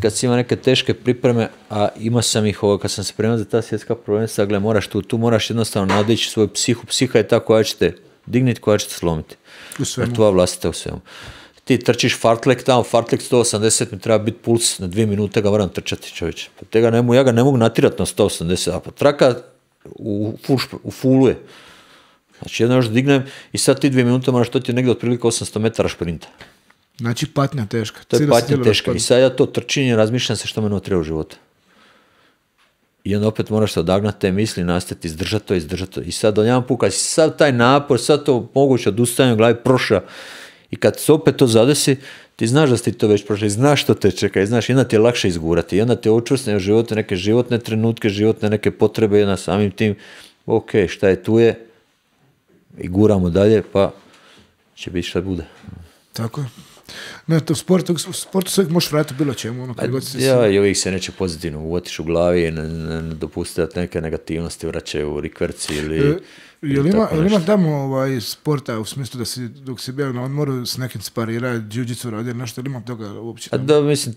Speaker 2: kad si ima neke teške pripreme, a ima sam ih kad sam se spremao za ta svjetska prvenstva, gledaj, tu moraš jednostavno nadići svoju psiha je ta koja će te digniti, koja će te slomiti.
Speaker 1: U svemu.
Speaker 2: Tvoja vlastita u svemu. Ti trčiš fartlek tamo, fartlek 180, mi treba biti puls, na 2 minute ga moram trčati, čovječe. Pa ja ga ne mogu natirati na 180, a pa traka u fulu je. Znači jedno još dignem i sad ti 2 minute moraš, to ti je negdje otprilike 800 metara šprinta.
Speaker 1: Znači patnja teška.
Speaker 2: To je patnja teška. I sad ja to trčinje, razmišljam se što meni treba u životu. I onda opet moraš se odagnati te misli, nastaviti, izdržati to. I sad jedan put, kad si sad taj napor, sad to moguće odustajanje u glavi prošla. I kad se opet to zadesi, ti znaš da si to već prošli, znaš što te čeka i znaš, jedna ti je lakše izgurati. I onda te očvrsne u životu neke životne trenutke, životne neke potrebe, jedna samim tim, ok, šta je tu je, i guramo dalje, pa će biti šta bude.
Speaker 1: Tako je. Ne, to u sportu se uvijek možeš vratiti bilo čemu. Ono,
Speaker 2: I uvijek se neće pozitivno uvotiš u glavi i ne dopustiti da neke negativnosti vraćaju u rikverci ili...
Speaker 1: Jel ima tamo sporta u smislu da si, dok si bio na odmoru s nekim sparirao, jiu-jitsu radio, nešto, ili ima toga uopće?
Speaker 2: Da, mislim,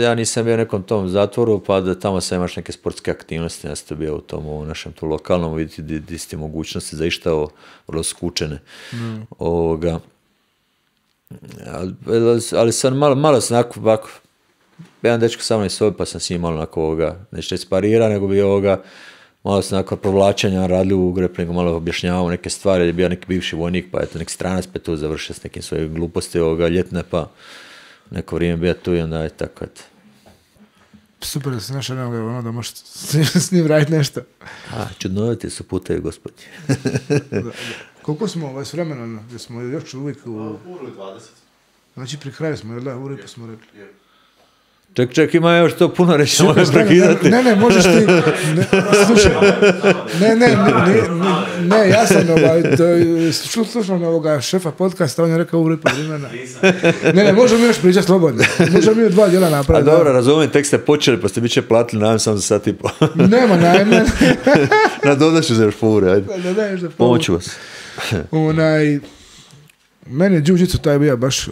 Speaker 2: ja nisam bio u nekom tom zatvoru, pa da tamo sam imaš neke sportske aktivnosti, ja sam bio u tom našem tu lokalnom, vidjeti di ste mogućnosti za išta vrlo skučene. Ali sam malo sam ovako, jedan dečko sa mnom iz sobe, pa sam s njim malo onako neće sparira, nego bi malo sam onako provlačenja radili u greplingu, malo objašnjavao neke stvari, je bio neki bivši vojnik, pa eto neki stranac, pa tu završio s nekim svojim gluposti ljetne, pa neko vrijeme bio tu i onda je tako eto.
Speaker 1: Super da se našao nekoga, da možeš s njim raditi nešto.
Speaker 2: Čudnoviti su putevi, gospodi.
Speaker 1: Da. Koliko smo s vremenom, jer smo još uvijek u...
Speaker 3: Uru 20.
Speaker 1: Znači pri kraju smo, jel da, uru i pa smo rekli.
Speaker 2: Ček, ima još to puno reći, možeš prekidati.
Speaker 1: Ne, možeš ti... Slušaj, ne, ja sam slušam ovoga šefa podcasta, on je rekao uru i pa vremena. Ne, možemo još pričati slobodno. Možemo mi 2 dijela napraviti.
Speaker 2: A dobro, razumijem, tek ste počeli, pa ste bit će platili, najem sam za sat i po.
Speaker 1: Nema najme.
Speaker 2: Nadodat ću za još po ure, ajde. Pomoću vas.
Speaker 1: Meni je jiu-jitsu taj bio baš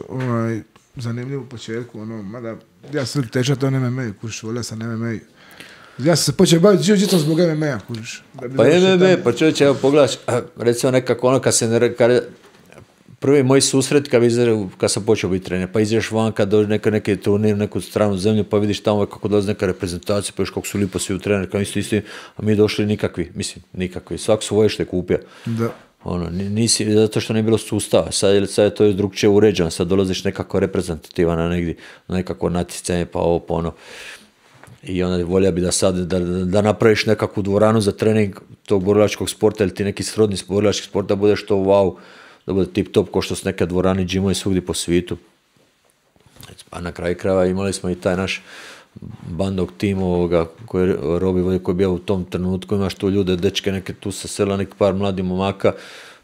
Speaker 1: zanimljiv u početku, mada ja sam tečat on MMA, kužiš, volio sam MMA. Ja sam se počeo baviti jiu-jitsom zbog MMA, kužiš.
Speaker 2: Pa MMA, pa čovječe, evo pogledaš, recimo nekako prvi moj susret kad sam počeo biti trener, pa izađeš van kad dođe neki turnir, neku stranu zemlju, pa vidiš tamo kako dolazi neka reprezentacija, pa još kako su lipo svi u trener, kao isti, a mi došli nikakvi, svako svoje što je kupio.
Speaker 1: Da.
Speaker 2: Nisi, zato što nije bilo sustava, sad je to drugčije uređeno, sad dolaziš nekako reprezentativan na negdje, nekako natjecanje, pa ovo, pa ono. I onda volja bi da sad, da napraviš nekakvu dvoranu za trening tog borilačkog sporta ili ti neki srodni borilački sport, da budeš to wow, da bude tip top, ko što su neke dvorane, džimovi svugdje po svijetu. A na kraju krajeva imali smo i taj naš bandog tim koji Robi koji je bio u tom trenutku, imaš tu ljude, dečke neke tu sa sela, neki par mladih momaka,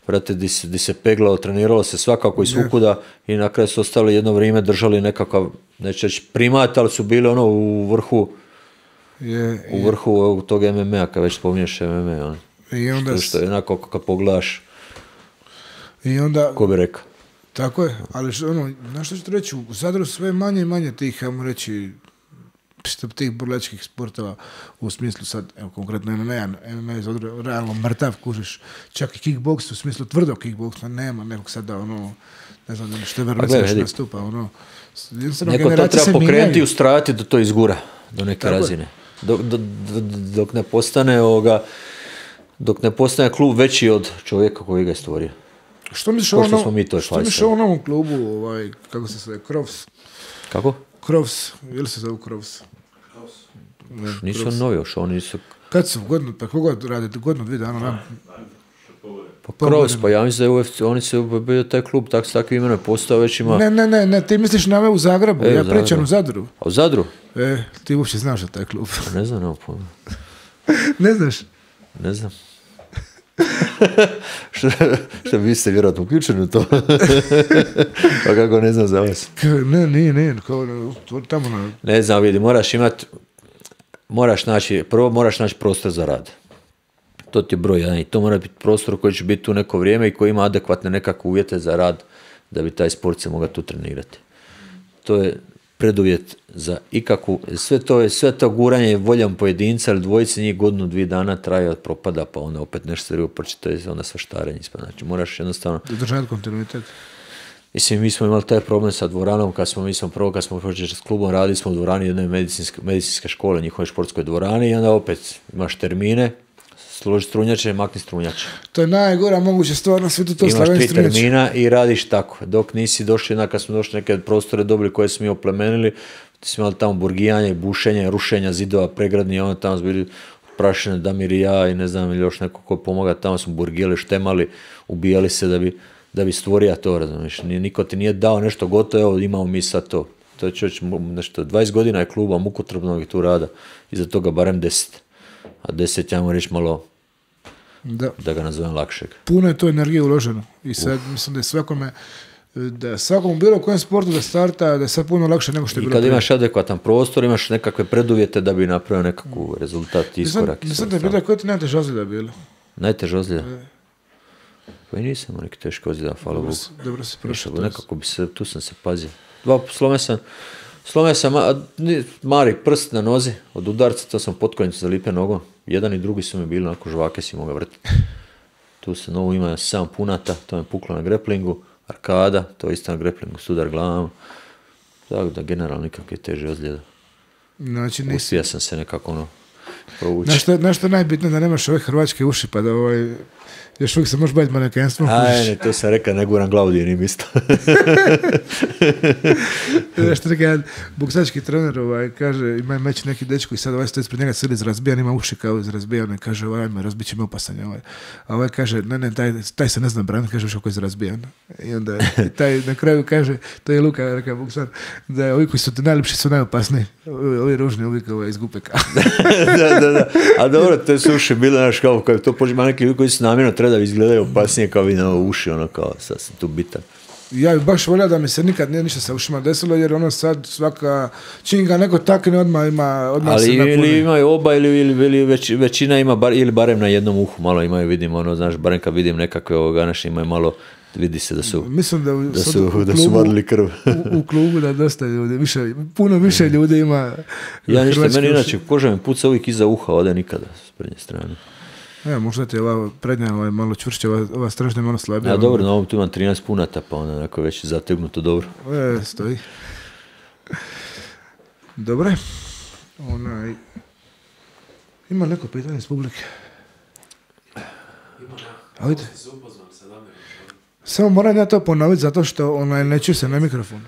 Speaker 2: vrate, di se peglao, treniralo se svakako i svukuda i na kraju su ostali jedno vrijeme, držali nekakav, neće reći primat, ali su bili u vrhu u vrhu tog MMA-a, kad već spominješ MMA.
Speaker 1: I onda
Speaker 2: što je onako kad pogledaš,
Speaker 1: i onda,
Speaker 2: ko bi rekao.
Speaker 1: Tako je, ali znaš što ću reći, u Zadru sve manje i manje tih, ajmo reći, tih borilačkih sportova u smislu sad, evo konkretno MMA je Zadru realno mrtav, kužiš, čak i kickboks u smislu tvrdog kickboksa nema nekog sada, ne znam što je verovatno još nastupa,
Speaker 2: neko to treba pokrenuti i ustrajati da to izgura do neke razine. Dok ne postane klub veći od čovjeka koji ga je stvorio.
Speaker 1: Što misliš o novom klubu, kako se zove, Krovs?
Speaker 2: Kako?
Speaker 1: Krovs, ili se zove Krovs?
Speaker 2: Nisu novi još, oni su...
Speaker 1: Kad su, koliko radite, godinu, 2 dana?
Speaker 2: Pa Krovs, pa ja mislim da je UFC, oni su bio taj klub, takvi imena postao već ima...
Speaker 1: Ne, ti misliš na u Zagrebu, ja pričam u Zadru.
Speaker 2: A u Zadru?
Speaker 1: Ti uopće znaš za taj klub.
Speaker 2: Ne znam, nemam pojma.
Speaker 1: Ne znaš?
Speaker 2: Ne znam. Što vi ste vjerojatno uključeni u to? Pa kako ne znam za vas?
Speaker 1: Nije, tamo na...
Speaker 2: Ne znam, vidi, moraš naći prostor za rad. To ti je broj jedan i to mora biti prostor koji će biti tu neko vrijeme i koji ima adekvatne nekakve uvjete za rad da bi taj sport se mogao tu trenirati. To je preduvjet za ikakvu, sve to guranje je voljom pojedinca ili dvojice, njih godinu, 2 dana traje od propada, pa onda opet nešto se uprči, to je onda svaštarenje. Znači moraš jednostavno...
Speaker 1: Držati kontinuitet.
Speaker 2: Mislim, mi smo imali taj problem sa dvoranom, kad smo počeli s klubom, radili smo u dvorani jedne medicinske škole, njihove športskoj dvorani i onda opet imaš termine, složi strunjače, makni strunjače.
Speaker 1: To je najgora moguća stvar na svijetu, to slavljanje strunjače.
Speaker 2: Imaš 3 termina i radiš tako. Dok nisi došli, kad smo došli neke prostore dobili koje smo mi oplemenili, ti smo imali tamo burgijanje, bušenje, rušenja zidova, pregradni, onda tamo smo bili prašene Damir i ja i ne znam ili još neko ko pomoga, tamo smo burgijali, štemali, ubijali se da bi stvorio to, razumiješ. Niko ti nije dao nešto gotovo, evo imamo mi sad to. To je čovječ, nešto, 20 godina je kluba mukotrpnog i tu rada, iza toga barem 10. A 10, ja mu reći malo, da ga nazovem lakšeg.
Speaker 1: Puno je to energije uloženo i sad mislim da je svakome, da svakom bilo kojem sportu da starta, da je sad puno lakše nego što je bilo.
Speaker 2: I kad imaš adekvatan prostor, imaš nekakve preduvjete da bi napravio nekakav rezultat, iskorak.
Speaker 1: Mislim da je bilo koje ti najteže ozljeda bilo?
Speaker 2: Najteže ozljeda? Pa i nisam neki teško ozljeda, hvala Bogu.
Speaker 1: Dobro si prošao.
Speaker 2: Nekako bi se, tu sam se pazio. Slome sam mari prst na nozi od udarca, to sam potkonjicu zalipio nogom. Jedan i drugi su mi bili, onako žvake si moga vrtiti. Tu se novu ima 7 punata, to me puklo na greplingu. Arkada, to je isto na greplingu, sudar glavom. Tako da generalno nikakve teže ozljede.
Speaker 1: Znači,
Speaker 2: uspio sam se nekako provući.
Speaker 1: Nešto najbitnije da nemaš ove hrvačke uši, pa da još uvijek se možeš baviti manekenstvom.
Speaker 2: Ne, to sam rekao, ne guram glavu dijenim isto.
Speaker 1: Nešto rekao, jedan boksački trener kaže, ima meč neki dečko i sad stoji ispred njega cijeli izrazbijan, ima uši kao izrazbijan i kaže, ajme, razbit će me opasan. A kaže, ne, taj se ne zna braniti, kaže, kako je izrazbijan. I onda taj na kraju kaže, to je Luka, rekao boksar, da ovi koji su najljepši su najopasniji. Ovi ružni uvijek izgupe kao.
Speaker 2: Da. A dobro, te su uši bile, znaš, kao to požima neki ljudi koji su namjerno treba da izgledaju opasnije kao vi na uši, kao sad sam tu bitan.
Speaker 1: Ja bih baš volio da mi se nikad nije ništa sa ušima desilo, jer sad svaka čim ga neko takne odmah
Speaker 2: ali
Speaker 1: se napuni.
Speaker 2: Ili imaju oba ili većina ima ili barem na jednom uhu malo imaju, vidim znaš, barem kad vidim nekakve naše imaju malo, vidi se da su
Speaker 1: mislim
Speaker 2: da su vadili krv.
Speaker 1: u klubu da dosta ljudi, puno više ljudi ima.
Speaker 2: Ja ništa, meni inače koža mi puca uvijek iza uha, ode nikada s prednje strane.
Speaker 1: Možda ti je ova prednja malo čvršća, ova stražnja je malo slabija.
Speaker 2: Ja dobro, na ovom tu imam 13 punata, pa onda onako već zategnuto dobro.
Speaker 1: Stoji. Dobre. Ima neko pitanje iz publike? Ajde. Samo moram ja to ponoviti zato što ne čuje se na mikrofon.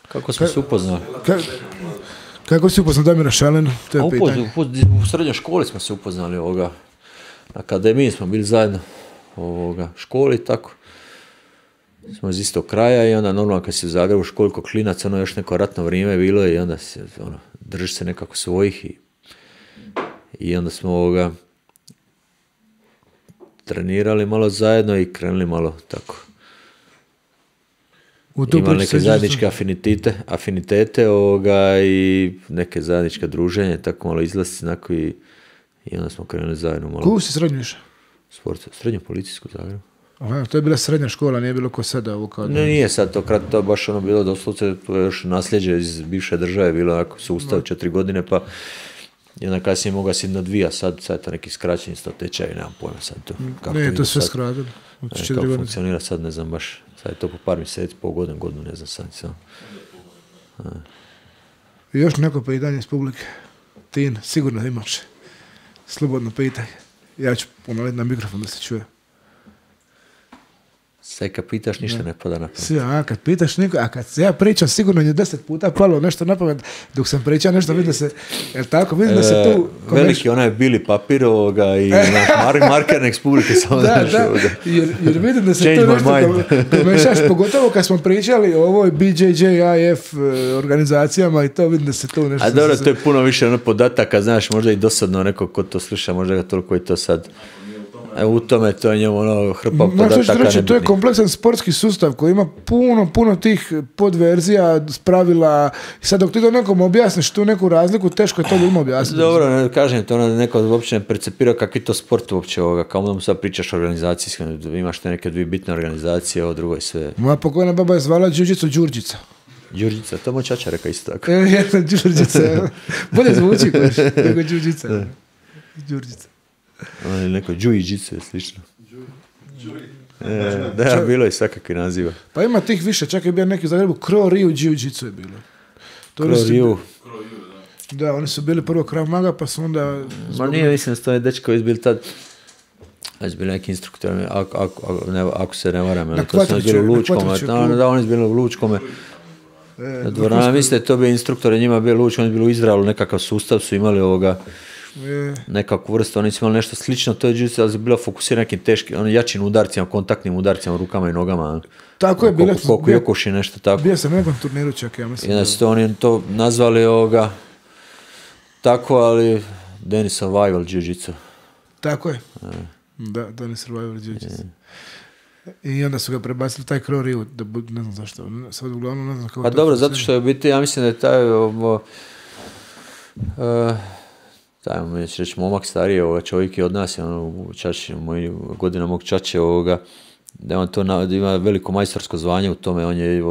Speaker 2: Kako smo se upoznali?
Speaker 1: Kako si upoznao Damira Šalina? To je pitanje.
Speaker 2: U srednjoj školi smo se upoznali na akademiji smo bili zajedno školi, tako. Smo iz istog kraja i onda normalno kad si u Zagrebu školi ko klinac, još neko ratno vrijeme bilo i onda se, držiš se nekako svojih i onda smo trenirali malo zajedno i krenuli malo tako. Imali neke zajedničke afinitete i neke zajedničke druženje, tako malo izlasci i onda smo krenuli zajedno malo.
Speaker 1: Koju si srednju išao?
Speaker 2: Srednju policijsku Zagrebu.
Speaker 1: Aha, to je bila srednja škola, nije bilo ko sada ovo kao...
Speaker 2: Ne, nije sad to baš bilo doslovce, to je još nasljeđe iz bivše države, bilo sustav 4 godine, pa i onda kasnije mogao si na 2, a sad je to neki skraćeni tečaj, nemam pojma sad to.
Speaker 1: Ne, to sve skratilo.
Speaker 2: Kako funkcionira sad, ne znam baš, sad je to po par mjeseci, po godinu, ne znam sad.
Speaker 1: I još neko pitanje iz publike. Tin, sigurno imaš. Slobodno pitaj. Ja ću ponoviti na mikrofon da se čuje.
Speaker 2: Sad kad pitaš ništa ne pada na pamet.
Speaker 1: Kad pitaš niko, a kad se ja pričam sigurno je 10 puta palo nešto na pamet. Dok sam pričao nešto vidim da se, jel tako, vidim da se tu...
Speaker 2: Veliki onaj bili papir i markernek s publike samo
Speaker 1: jer vidim da se to nešto pomešaš, pogotovo kad smo pričali o ovoj BJJIF organizacijama i to vidim da se tu nešto...
Speaker 2: A dobro, to je puno više podataka, znaš, možda i dosadno neko ko to sluša, možda ga toliko i to sad... U tome to je njemu hrpa podataka nebitnih.
Speaker 1: To je kompleksan sportski sustav koji ima puno tih podverzija, pravila. I sad dok ti to nekom objasniš tu neku razliku, teško je to ljudima objasniti.
Speaker 2: Dobro, ne kažem to, neko uopće ne percepira kakvi to sport uopće kao da mu sad pričaš o organizaciji, imaš te neke dvije bitne organizacije, ovo drugo je sve.
Speaker 1: Moja pokojna baba je zvala Đurđicu Đurđica.
Speaker 2: Đurđica, to moj čača reka isto tako.
Speaker 1: Đurđica, bolje zvuči nego Đurđica. Đurđica.
Speaker 2: Neko Đujiđicu je slično. Da, bilo je svakakvi naziva.
Speaker 1: Pa ima tih više, čak je bio neki u Zagrebu, Kro Riju Đujiđicu je bilo.
Speaker 2: Kro Riju.
Speaker 1: Da, oni su bili prvo Krav Maga, pa su onda...
Speaker 2: Ma nije, mislim da su to dečko izbili tad, bili neki instruktori, ako se ne varam, to su bili u Lučkome, da, oni su bili u Lučkome. Dvorana, mislite, to bi instruktori, njima bili u Lučkome, oni su bili u Izraelu, nekakav sustav su imali nekakvu vrstu, oni su imali nešto slično, to je Jiu-Jitsu, ali je bilo fokusirano nekim teškim, jačim udarcima, kontaktnim udarcima, rukama i nogama.
Speaker 1: Tako je bilo.
Speaker 2: Koliko Jokoši, nešto tako.
Speaker 1: Bio sam na nekom turniru čak, ja mislim.
Speaker 2: I da su to oni to nazvali tako, ali Danish Survival Jiu-Jitsu.
Speaker 1: Tako je. Da, Danish Survival Jiu-Jitsu. I onda su ga prebacili taj Crow Rio, ne znam zašto, sad uglavnom ne znam kako
Speaker 2: pa
Speaker 1: to
Speaker 2: dobro,
Speaker 1: funkcionira.
Speaker 2: zato što je u biti, ja mislim da je taj, mi će reći, momak stariji, čovjek je od nas, čači, godina mog čače, da on to da ima veliko majstorsko zvanje u tome, on je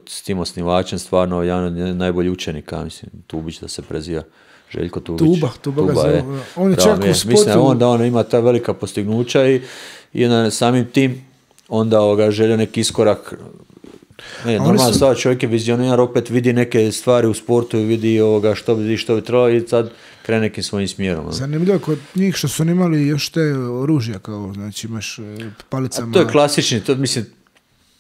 Speaker 2: s tim osnivačem stvarno jedan od najboljih učenika, mislim, Tubić da se preziva. Željko Tubić.
Speaker 1: Tuba ga zove. On je čak u sportu.
Speaker 2: Mislim da on ima ta velika postignuća i samim tim onda želio neki iskorak. Normalno stvar, čovjek je vizionar, opet vidi neke stvari u sportu i vidi što bi trebalo i sad krene nekim svojim smjerom.
Speaker 1: Zanimljivo kod njih što su imali još te oružja, kao, znači imaš palicama.
Speaker 2: A to je klasični,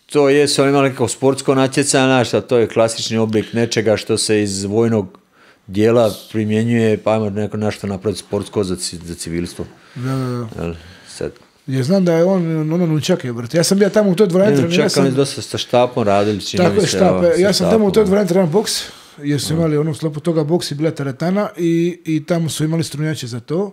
Speaker 2: to je, su imali nekako sportsko natjecanje, a to je klasični oblik nečega što se iz vojnog dijela primjenjuje, pa ajmo nešto napraviti sportsko za civilstvo.
Speaker 1: Da.
Speaker 2: Sad.
Speaker 1: Ja znam da je on nunčak je vrt. Ja sam bio tamo u toj dvorani trenirao.
Speaker 2: Čak oni dosta sa štapom radili.
Speaker 1: Tako je, štape. Ja sam tamo u toj dvorani trenirao boks, jer su imali u sklopu toga boks i bila teretana i tamo su imali strunjače za to.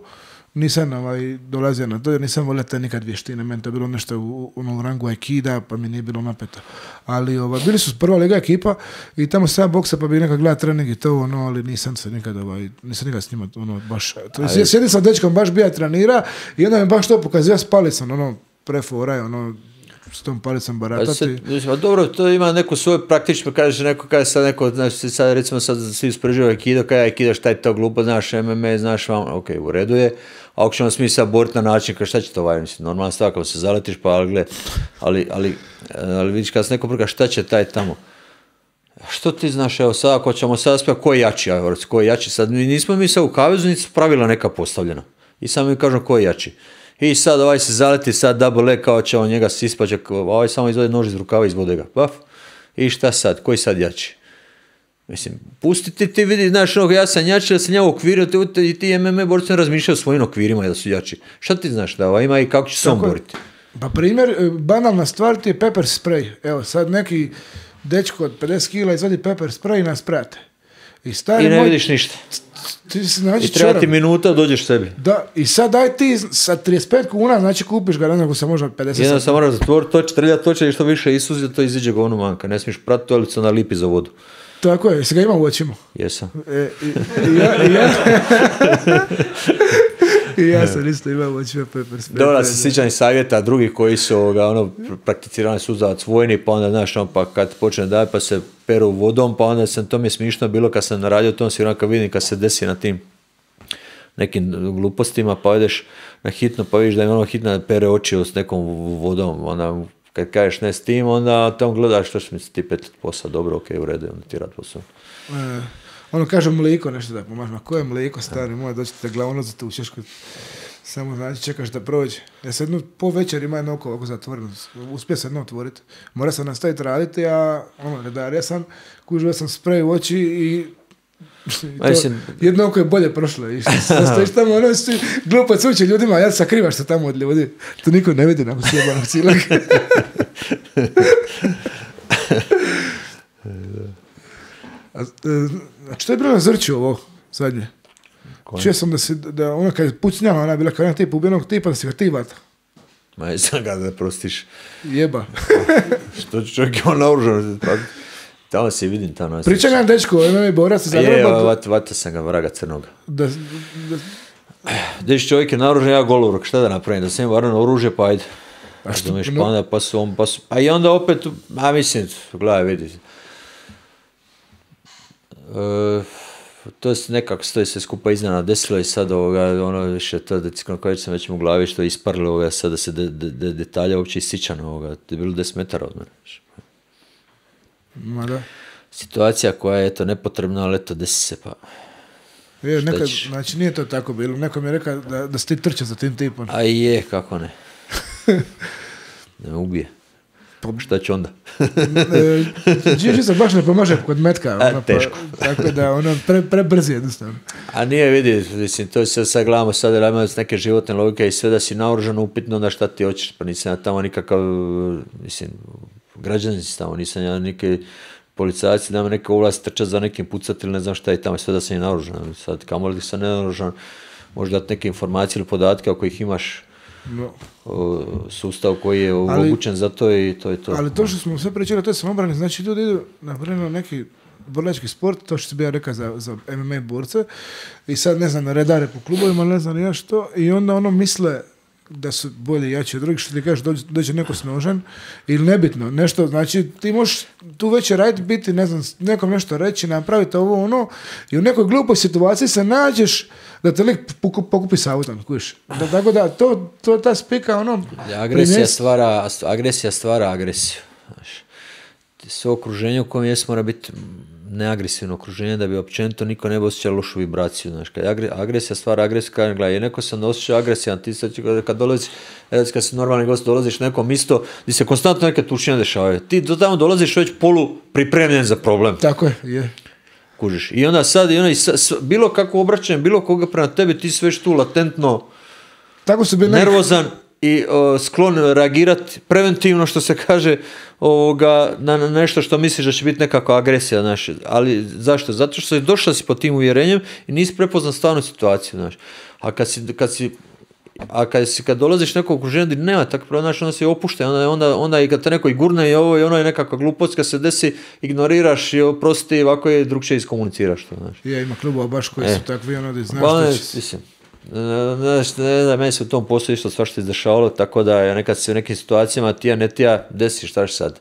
Speaker 1: Nisam dolazio na to jer nisam volio te nikad vještine. Meni to je bilo nešto u rangu aikida, pa mi nije bilo napeto. Ali bili su prva liga ekipa i tamo sam boksa pa bi nekad gledao trening i to, ali nisam se nikad s njima baš... Sjedim sam dečkom, baš bija trenira i onda mi baš to pokazio s palicom, preforaj, s tom palicom baratati.
Speaker 2: Dobro, to ima neku svoju praktično, kažeš neko, znači sad recimo sad svi uspreživaju aikido, kaj aikido, šta je to glupo, znaš MMA, znaš vam, ok, u redu je, a ako ćemo smi sad boriti na način, kao šta će to mislim, normalna stvar, kao se zaletiš, pa ali vidiš kad se neko prika, šta će taj tamo? Što ti znaš, evo sad ako ćemo sad spjeti, ko je jači, sad nismo mi sad u kavezu, niti su pravila neka postavljena. I sad mi kažem ko je jači. I sad se zaleti, sad double leg, kao će on njega sispaće, samo izvodi nož iz rukava, izvode ga, paf. I šta sad, koji sad jači? Mislim, pusti ti vidi, znaš, ja sam jači, da sam ja u okviru, i ti MMA borci razmišljaju o svojim okvirima da su jači. Šta ti znaš da ima i kako će se on boriti?
Speaker 1: Pa primjer, banalna stvar ti je pepper spray. Evo, sad neki dečko od 50 kila izvadi pepper spray i nas prate.
Speaker 2: I ne vidiš ništa. I treba ti minuta dođeš sebi.
Speaker 1: Da, i sad daj ti sa 35 kuna, znači kupiš ga, neko se može 50.
Speaker 2: Jedno sam mora zatvoriti toče, trljati toče i što više isuzi, da to iziđe govno manka. Ne smiješ pratiti, ali se nalipi za vodu.
Speaker 1: Tako je, jesi ga ima u očima?
Speaker 2: Jesam.
Speaker 1: I ja sam isto imao očima pepper spray.
Speaker 2: Dobro, se sjećam i savjeta drugih koji su prakticirani suzavac vojni, pa onda, znaš, pa kad počne daj, pa se peru vodom, pa onda to mi je smišno bilo kad sam radio tom sigurno kad vidim kad se desi na tim nekim glupostima, pa ideš na hitno, pa vidiš da ima hitno pere oči s nekom vodom, onda kad kažeš ne s tim, onda tamo gledaš što će mi se ti petiti posao, dobro, ok, u redu, onda ti rad posao.
Speaker 1: Kaže mliko nešto da pomaže, ma koje mliko stari moj, doćete glavno za tu češku, samo znači čekaš da prođe. Ja se jednu po večer ima jedno oko ovako zatvoreno, uspio sam jedno otvoriti. Mora sam nastaviti raditi, a redar, ja sam kužio sam sprej u oči i jedno oko je bolje prošlo. I stojiš tamo, glupo cuće ljudima, ja sakrivaš se tamo od ljudi. To niko ne vidi nakon sjebanog cijelog. A što je bilo na Zrću ovo zadnje? Čuo sam da ona kad je pucnjala, ona je bila kao jedan tip ubijenog tipa, da si ga ti vata.
Speaker 2: Ma jesam ga da prostiš.
Speaker 1: Jeba.
Speaker 2: Što čovjek je on naoružan. Tamo se vidim tamo nas.
Speaker 1: Pričam jedan dečko, MMA borac za Zagreba.
Speaker 2: Vata sam ga, vraga crnoga. Deš čovjek je naoružan, ja golurok, šta da napravim? Da sam im varno oružje, pa ajde. A što? Pa su, a i onda opet, mislim, gledaj, vidi. To je nekako stoji se skupa iznena desilo i sad više to da sam već mu u glavi što je isparilo sad da se detalja uopće isičano to je bilo 10 metara od mene.
Speaker 1: Ma da.
Speaker 2: Situacija koja je eto nepotrebna, ali eto desi se pa.
Speaker 1: Znači nije to tako bilo, neko mi je rekao da si ti trčao za tim tipom.
Speaker 2: A je, kako ne. Da me ubije. Šta će onda?
Speaker 1: Žiži se baš ne pomaže kod metka.
Speaker 2: Teško.
Speaker 1: Tako da prebrzi jednostavno.
Speaker 2: A nije vidi, mislim, to se sad gledamo sad, da imamo neke životne logike i sve da si naoružan upitno, onda šta ti hoćeš, pa nisam ja tamo nikakav, mislim, građanin si tamo, nisam ja neki policajci, da ima neka ulaz trčat za nekim pucat ili ne znam šta i tamo, sve da sam i naoružan. Sad, kamo li sam nenaoružan, možda dati neke informacije ili podatke ako ih imaš, sustav koji je omogućen za to i to je to.
Speaker 1: Ali to što smo sve pričali, to je samobrani, znači ljudi idu na neki borilački sport, to što si bio rekao za MMA borce, i sad ne znam, redare po klubovima, ne znam ja što, i onda misle da su bolji i jači od drugih, što ti kažeš, dođe neko s nožem, ili nebitno, nešto, znači ti možeš tu već raditi, biti, ne znam, nekom nešto reći, napraviti ovo, i u nekoj glupoj situaciji se nađeš da te lik pokupi s autom, kuš. Tako da, to ta spika,
Speaker 2: Agresija stvara agresiju. Sve okruženje u kojem jesmo mora biti neagresivno okruženje da bi općenito niko ne bi osjećao lošu vibraciju. Znaš, kad agresija stvara agresiju, kad gledaj, neko se ne osjeća agresivan, ti sad kad dolaziš, kad si normalni gost, dolaziš na neko mjesto gdje se konstantno neke tučine dešavaju. Ti do tamo dolaziš već polu pripremljen za problem.
Speaker 1: Tako je.
Speaker 2: Kužiš. I onda sad, bilo kako obraćanje, bilo koga prema tebi, ti si već tu latentno
Speaker 1: tako su bili
Speaker 2: nervozan i sklon reagirati preventivno, što se kaže, na nešto što misliš da će biti nekakva agresija, znaš. Ali zašto? Zato što si došla si pod tim uvjerenjem i nisi prepoznat stvarnu situaciju, znaš. A kad dolaziš nekog okruženja gdje nema tako pravo, znači onda si opušten, onda i kad te neko i gurne i ovo i ono je nekakva glupost, kad se desi, ignoriraš i oprosti, ovako je drugčije iskomuniciraš to, znaš.
Speaker 1: Ima klubova baš koji su takvi, da znaš što će...
Speaker 2: Ne znam, meni se u tom poslu isto svašta izdešavalo, tako da je nekad se u nekim situacijama tija ne tija desi, šta ću sad.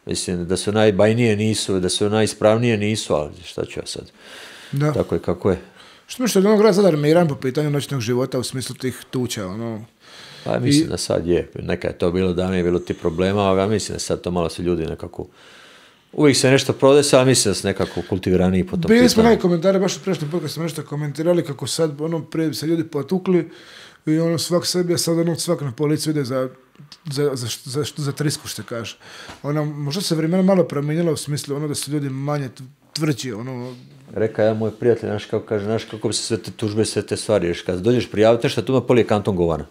Speaker 2: Mislim, da su najbajnije nisu, da su najispravnije nisu, ali šta ću ja sad. Da. Tako je kako je.
Speaker 1: Što misliš da grad sad armiran po pitanju noćnog života u smislu tih tuča,
Speaker 2: Pa mislim da sad je, neka je to bilo davno, je bilo ti problema, a mislim da sad to malo se ljudi nekako... Uvijek se nešto prodesa, ali mislim da su nekako kultiviraniji po tom pitanju.
Speaker 1: Bili smo neki komentare, baš u prešnjem podcastu smo nešto komentirali kako sad prije se ljudi potukli i svak sebi, a sad svak na policiju ide za trisku, što kaže. Možda se vremena malo promijenila u smislu da su ljudi manje tvrđi.
Speaker 2: Reka ja moj prijatelj, znaš kako kaže, znaš kako bi se sve te tužbe, sve te stvari riješiti. Kad dođeš prijaviti nešto, tu me polije kanton govana.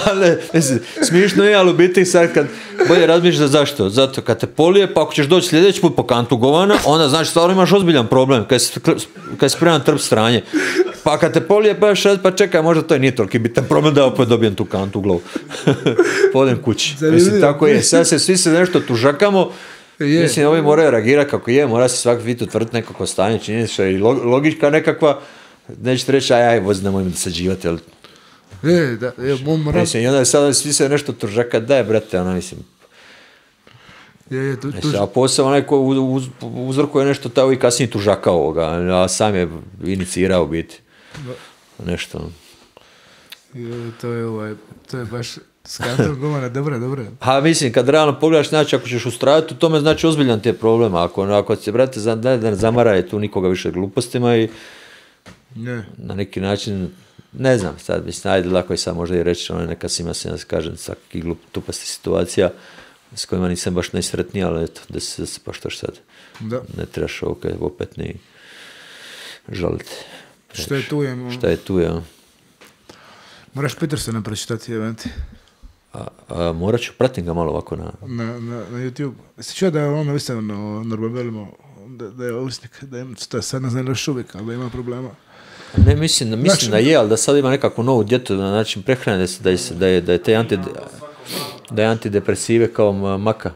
Speaker 2: Ali, mislim, smišno je, ali u biti sad kad bolje razmišljaš zašto. Zato kad te polije, pa ako ćeš doći sljedeći put po kantu govana, onda znači stvarno imaš ozbiljan problem kad si spreman trp stranje. Pa kad te polije, pa čekaj, možda to nije toliki bitan problem da opet dobijem tu kantu u glavu. Podem kući. Mislim, tako je. Sad svi se nešto tužakamo. Mislim, ovi moraju reagirati kako je, mora se svaki vid utvrditi nekako stanje, činjenica i logička nekakva. Nećete reći, aj, vozi, nemoj mi dosađivati, ali... Mislim, i onda sada svi se nešto tužaka, daj, brate, mislim... A posao onaj ko uzrokuje nešto tako i kasnije tužaka ovoga, a sam je inicirao biti. Nešto.
Speaker 1: To je baš skantal govana, dobro.
Speaker 2: A mislim, kad realno pogledaš, znači ako ćeš ustrajati u tome, znači ozbiljan ti je problem. Ako se, brate, ne zamaraje tu nikoga više glupostima i na neki način... Ne znam, sad mislim, ajde, lako je sad možda i reći, neka si ima se, ja kažem, svaki glup tupasti situacija s kojima nisam baš najsretniji, ali eto, da se pa što sad. Da. Ne trebaš opet ni žaliti. Šta je tu je.
Speaker 1: Moraš Petersona pročitati, eventi.
Speaker 2: Morat ću, pratim ga malo ovako
Speaker 1: na YouTube. Se čuo da je ono visano Norbervelimo, da je ovisnik, da je sad ne znam još uvijek, ali da ima problema.
Speaker 2: Ne, mislim da je, ali da sad ima nekakvu novu djetu na način prehrane, da je antidepresive kao maka.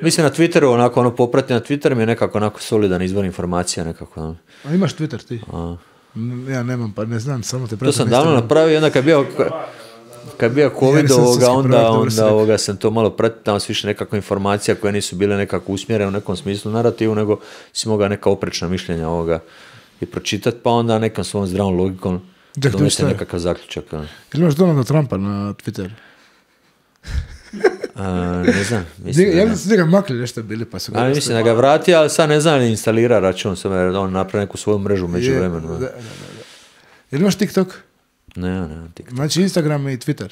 Speaker 2: Mislim na Twitteru, onako poprati na Twitteru mi je nekako onako solidan izvor informacija nekako.
Speaker 1: A imaš Twitter ti? Ja nemam, pa ne znam, samo te pratim.
Speaker 2: To sam davno napravio, onda kad je bio COVID onda sam to malo pratio, tamo su više nekakva informacija koje nisu bile nekako usmjerene u nekom smislu narativu, nego si mogao neka oprečna mišljenja i pročitati, pa onda nekom svom zdravom logikom donese nekakav zaključak.
Speaker 1: Ili imaš Donalda Trumpa na Twitteru?
Speaker 2: Ne znam.
Speaker 1: Ja mislim da ga makli nešto bili, pa su ga...
Speaker 2: Mislim da ga vrati, ali sad ne znam li instalira račun, sam jer on napravi neku svoju mrežu među vremenu.
Speaker 1: Ili imaš TikTok?
Speaker 2: Ne, TikTok.
Speaker 1: Znači Instagram i Twitter?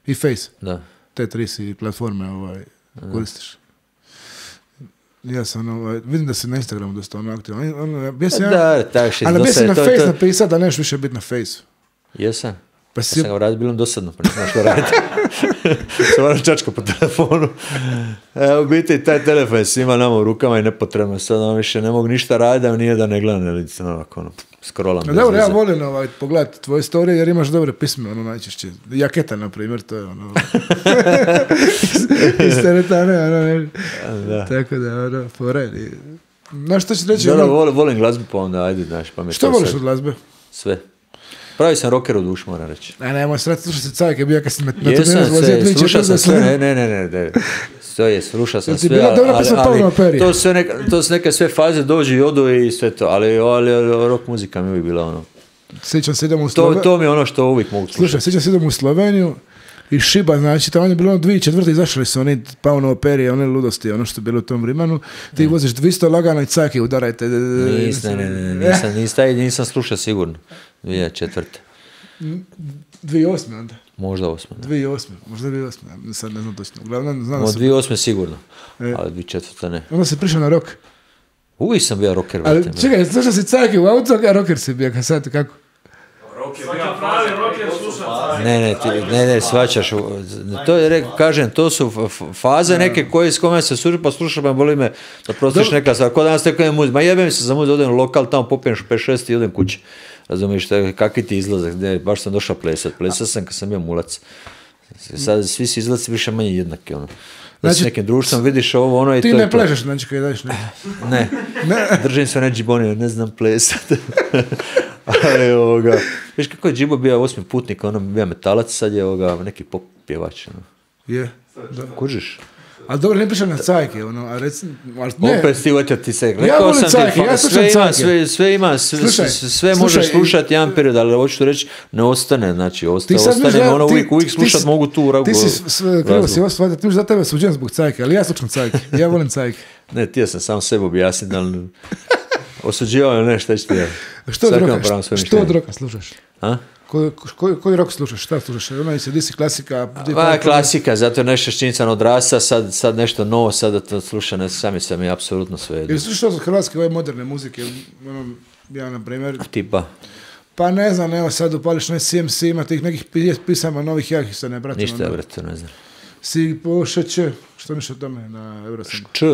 Speaker 1: I Face?
Speaker 2: Da.
Speaker 1: Te tri si platforme koristiš. Ja sam, vidim da si na Instagramu dosta aktivan. Ali bi si na Face napisao da neš više biti na Face.
Speaker 2: Jesam.
Speaker 1: Pa
Speaker 2: sam ga radio, bilo dosadno, pa nisam što raditi. Sam moram čačka po telefonu. U biti, taj telefon je svima nama u rukama i nepotrebno. Sad više ne mogu ništa raditi, a nije da ne gledam, ili scrollam.
Speaker 1: Dobro, ja volim pogledati tvoje storije jer imaš dobre pisme, najčešće. Jaketa, na primjer, to je iz teretane, tako da, poredi. Znaš što ću reći?
Speaker 2: Dobro, volim glazbu, pa onda, ajde, znaš, pa mi
Speaker 1: što voliš od glazbe?
Speaker 2: Sve. Pravi sam rocker u dušu, moram reći.
Speaker 1: Nemoj srati, slušaj se Cajke, bio kad si na
Speaker 2: slušao sam sve, ne. Slušao sam sve, ali to su neke sve faze, dođu i odu i sve to, ali rock muzika mi uvijek bila ono.
Speaker 1: Sjećam se idemo u Sloveniju.
Speaker 2: To mi je ono što uvijek mogu slušati.
Speaker 1: Slušaj, sjećam se idemo u Sloveniju i Šiba, znači, tamo je bilo 2004. izašli su oni Pauno operije, one ludosti, ono što je bilo u tom Rimanu. Ti voziš 200 lagano i Cajke udarajte.
Speaker 2: Nisam slušao sigurno. 2004.
Speaker 1: 2008. onda?
Speaker 2: Možda 8.
Speaker 1: 2008. Možda 2008. Sad ne znam točno. Uglavnom, znam
Speaker 2: od 2008. sigurno, ali 2004. ne.
Speaker 1: Onda si prišao na rock.
Speaker 2: Uvijek sam bio rocker.
Speaker 1: Ali čekaj, slušao si Cajke u auto, a rocker si bio, sad kako? Ne, svačaš. To je, kažem, to su faze neke koje s kome se slušaju, pa slušaš, pa boli me da prostiš neka stvar. Ko danas tekuje muziku, ma jebem se za muziku, odem u lokal, tamo popijem 5-6 i odem kući. Razumiješ, kakvi ti izlazak, baš sam došao plesat sam kad sam bio mulac. Sad svi si izlazi više manje jednaki, ono. Da s nekim društvom vidiš ovo, ono i to. Ti ne plešeš, znači kad daš ne?
Speaker 2: Ne, držim se ne džibonio, ne znam plesat. Ali viš kako je Džibo bio 8. putnik, ono bio metalac, sad je neki pop pjevač. Ono.
Speaker 1: Je.
Speaker 2: Kužiš?
Speaker 1: Ali dobro, ne pričam na Cajke, ono, a recimo...
Speaker 2: Opet ti se rekao.
Speaker 1: Ja volim Cajke, ja slušam Cajke.
Speaker 2: Sve ima, sve možeš slušati jedan period, ali hoću reći, ne ostane, znači, ostane, ono uvijek slušat mogu tu ragu.
Speaker 1: Ti si krivo si osvajati, ti mi za tebe suđen zbog Cajke, ali ja slušam Cajke, ja volim Cajke.
Speaker 2: Ne, ti ja sam sam sebi objasniti, ali osuđivao je nešto, šta ću ti ja.
Speaker 1: Što od roka slušaš?
Speaker 2: A?
Speaker 1: Koji rock slušaš? Šta slušaš? Ono se disi klasika?
Speaker 2: Klasika, zato je nešto šćinicano odrasta, sad nešto novo, sad da to sluša, sami sam je apsolutno sve.
Speaker 1: Ili slušaš od hrvatske ove moderne muzike? Ja, na primjer...
Speaker 2: Tipa?
Speaker 1: Pa ne znam, evo sad upališ CMC, ima tih nekih pisama novih, ja ih se ne bratim.
Speaker 2: Ništa, brate, ne znam.
Speaker 1: Si po Š.Č. Što miš o tome na Eurosongu?
Speaker 2: Č?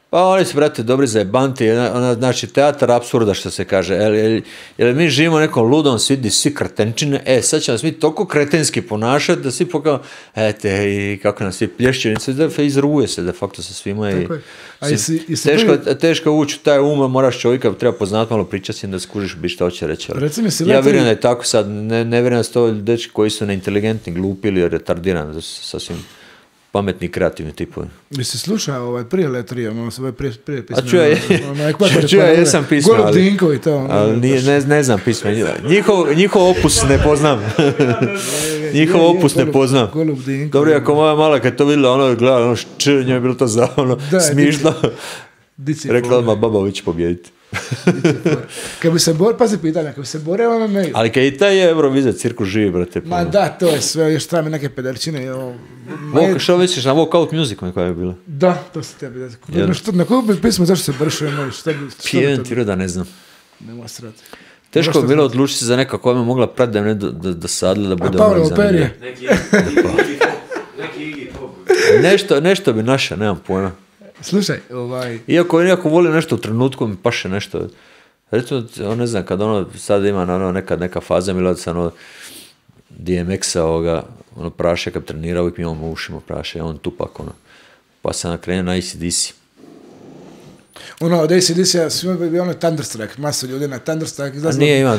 Speaker 2: Pa oni su, brate, dobri za jebanti, znači teatar apsurda, što se kaže, jer mi živimo u nekom ludom svijetu, svi kretenčine, sad će nas mi toliko kretenski ponašati, da svi pokao, i kako nas svi plješću, izruguje se de facto sa svima i teško ući u taj moraš čovjeka, treba poznati malo pričati da skužiš bi što hoće reći. Ja vjerujem da je tako sad, ne vjerujem da su to dečki koji su neinteligentni, glupi ili retardirani, sasvim pametni, kreativni tipovi.
Speaker 1: Bi se slušao prije Letrije, ono se prije pisme.
Speaker 2: A čuja, jesam pisma,
Speaker 1: Golub Dinko i to.
Speaker 2: Ali ne znam pisma. Njihov opus ne poznam. Njihov opus ne poznam.
Speaker 1: Golub Dinko.
Speaker 2: Dobro, ako moja mala kad to vidjela, ono je gledala, ono njoj je bilo to za ono smišno. Rekla odmah, baba će pobjediti.
Speaker 1: Kad bi se pazi pitanja, kad bi se boreo na mail.
Speaker 2: Ali kad i taj Eurovizija cirkus živi, brate.
Speaker 1: Ma da, to je sve, još treba mi neke pederčine.
Speaker 2: Što misliš, na Walkout Music koja je bila?
Speaker 1: Da, to se tebi. Na koju bi pismo, zašto se bršuje mail?
Speaker 2: Pijem ti da ne znam.
Speaker 1: Nema srati.
Speaker 2: Teško je bilo odlučiti za neka koja me mogla pratiti da me dosadila da bude
Speaker 1: ono zanimljivo.
Speaker 2: Nešto bi naša, nemam pojma.
Speaker 1: Slušaj,
Speaker 2: Iako volim nešto u trenutku, mi paše nešto. Recimo, ne znam, kad sad ima neka faza, mi sam DMX-a, praše, kad trenira, uvijek mi imamo u ušima praše, on tupak, pa sam krenuo na AC/DC.
Speaker 1: Od AC/DC-a svima bi bio Thunderstruck, masu ljudi na Thunderstruck.
Speaker 2: Nije ima,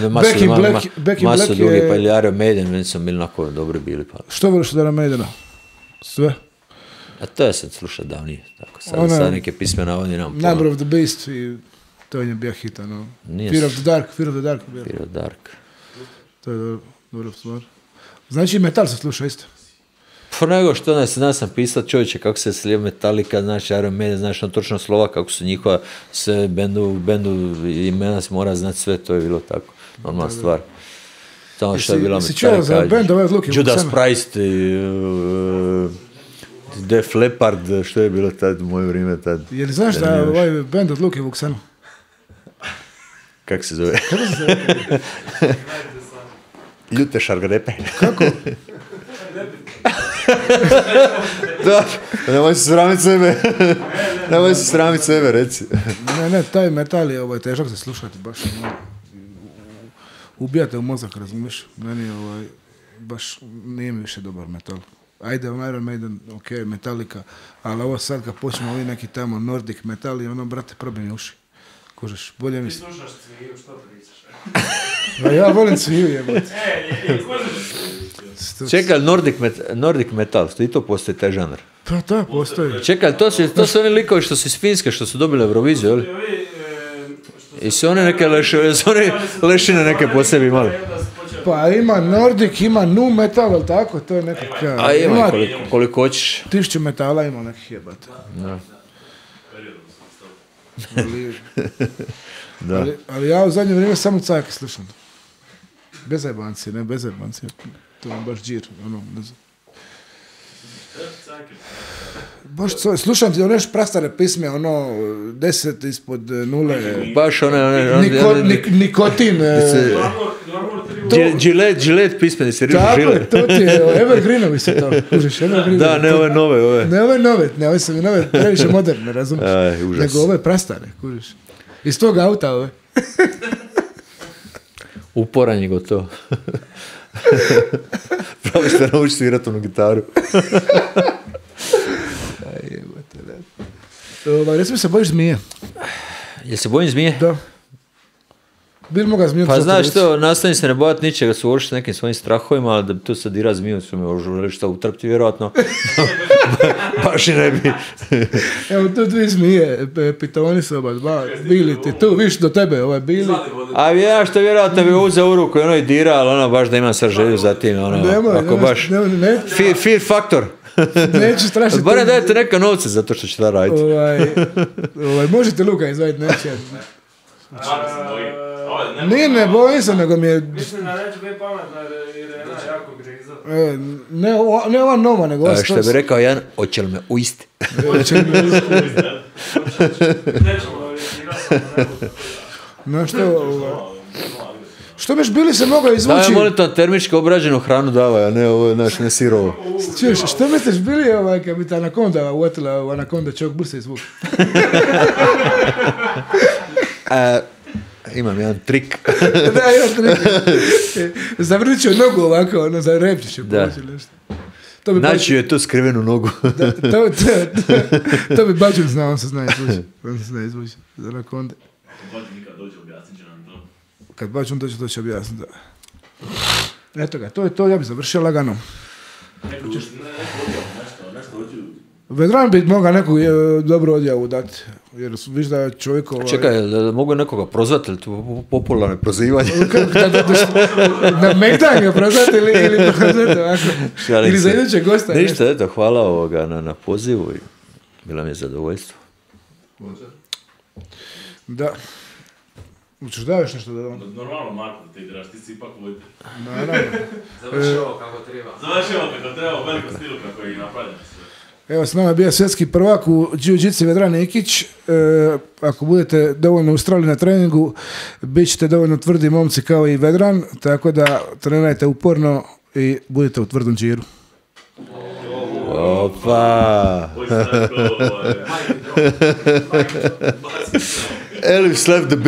Speaker 2: masu ljudi, pa ili Iron Maiden, meni su bili onako dobri bili.
Speaker 1: Što voliš od Iron Maidena? Sve?
Speaker 2: A to je sad slušao davnije, tako sad neke pisme navodnije nam pola.
Speaker 1: Number of the Beast i to je bio hit, Fear of the Dark.
Speaker 2: Fear of the Dark.
Speaker 1: To je dobro stvar. Znači metal se sluša isto?
Speaker 2: Pa nego što danas sam pisao čovječe kako se slije Metallica, znaš Iron Maiden, znaš točno slova kako su njihova sve bendu imena se mora znati sve, to je bilo tako, normalna stvar. Samo što je bila Metallica, Judas Priest, Def Leppard, što je bilo tad u moje vrijeme tad.
Speaker 1: Je li znaš da ovaj band od Luke Vuksana?
Speaker 2: Kako se zove? Ljute šargarepe.
Speaker 1: Kako?
Speaker 2: Da, nemoj se sramiti sebe. Nemoj se sramiti sebe, reci.
Speaker 1: Ne, taj metal je težak za slušati, baš ubijate u mozak, razumiješ? Meni baš nije mi više dobar metal. Ajde, Iron Maiden, ok, Metallica, ali ovo sad kad počnemo ovi neki tamo Nordic metal i ono, brate, probim uši. Kužeš, bolje mi...
Speaker 4: Ti slušaš Cviju, što pričaš?
Speaker 1: A ja volim Cviju, jebate.
Speaker 2: Čekaj, Nordic metal, i to postoji taj žanr.
Speaker 1: Pa da, postoji.
Speaker 2: Čekaj, to su oni likovi što su iz Finske, što su dobili Euroviziju, jel? I su one neke lešine neke po sebi imali.
Speaker 1: Pa ima Nordic, ima nu metal, ali tako, to je nekakav...
Speaker 2: A ima koliko hoćeš.
Speaker 1: 1000 metala ima nekih jebata.
Speaker 2: Da.
Speaker 1: Ali ja u zadnje vrijeme samo cajke slušam. Bez zajebanci, ne bez zajebanci. To je baš džir, ono, ne znam. Baš slušam ti ono još prastare pisme, ono, 10 ispod 0.
Speaker 2: Baš one
Speaker 1: nikotin.
Speaker 2: Gillette pismeni se rižu žile.
Speaker 1: Tako, to ti je, Evergreenovi se to, kužiš, Evergreenovi.
Speaker 2: Da, ne ove nove.
Speaker 1: Ne ove nove, ove su mi nove, previše moderne, razumiješ? Nego ove prastare, kužiš. Iz tog auta ove.
Speaker 2: Uporan je gotovo. Pravo što nauči svirati onu gitaru.
Speaker 1: Recimo se bojiš zmije.
Speaker 2: Jel se bojim zmije?
Speaker 1: Da. Bil moga zmiju.
Speaker 2: Pa znaš što, nastavim se ne bojati ničega, suočiti s nekim svojim strahovima, ali da bi tu sad dira zmiju, su me ožurili što utrpti vjerojatno. Baš i ne bi.
Speaker 1: Evo tu dvije zmije, pitoni su oba dva, bili ti tu, viš do tebe, bili.
Speaker 2: A ja što vjerojatno bi uzeo u ruku i ono i dira, ali ono baš da imam sad želju za tim, ako baš. Fear factor.
Speaker 1: Neću strašiti.
Speaker 2: Barem dajete neka novce za to što će da raditi.
Speaker 1: Možete Luka izvaditi, neće. Ne bojim se, nego mi je...
Speaker 4: Mislim da neće biti pametna jer je jedna jako griza.
Speaker 1: Ne ova nova, nego ova
Speaker 2: što bi rekao Jan, hoće li me uisti?
Speaker 1: Hoće li me uisti?
Speaker 4: Nećemo orijentirati.
Speaker 1: No što biš bili se mogao izvući?
Speaker 2: Da, molim to termički obrađenu hranu davaj, a ne ovo, znaš, ne sirovo.
Speaker 1: Čuješ, što misliš bili kad bi ta anakonda uvatila u anakonda čovjek bursa izvuk?
Speaker 2: Imam jedan trik.
Speaker 1: Da, jedan trik. Zavrnit ću nogu ovako, ono, za repći ću poći nešto.
Speaker 2: Znači je to skrivenu nogu.
Speaker 1: To bi Bađun znao, on se zna izvući. On se zna izvući za anakonde. Kad Bađun dođe, to će objasniti, da. Eto ga, to je to, ja bi završio lagano. Vedran bi mogao neku dobru odjavu dati, jer viš da je čovjek...
Speaker 2: Čekaj, da mogu nekoga prozvati, ili to popularno prozivanje?
Speaker 1: Na Megdan ga prozvati ili prozvati ovako? Ili za idućeg gosta?
Speaker 2: Ništa, eto, hvala na pozivu i bilo mi je zadovoljstvo.
Speaker 1: Da. Učeš da još nešto da dam?
Speaker 3: Normalno, Marko, ti igraš, ti si ipak vojte.
Speaker 1: Naravno.
Speaker 4: Završi ovo kako treba.
Speaker 3: Završi ovo kako treba, u velikom stilu kako je i napravljeno sve.
Speaker 1: Evo, s nama je bio svjetski prvak u jiu-jitsu Vedran Nikić. Ako budete dovoljno ustrali na treningu, bit ćete dovoljno tvrdi momci kao i Vedran, tako da trenirajte uporno i budete u tvrdom džiru.
Speaker 2: Opa! Elif left the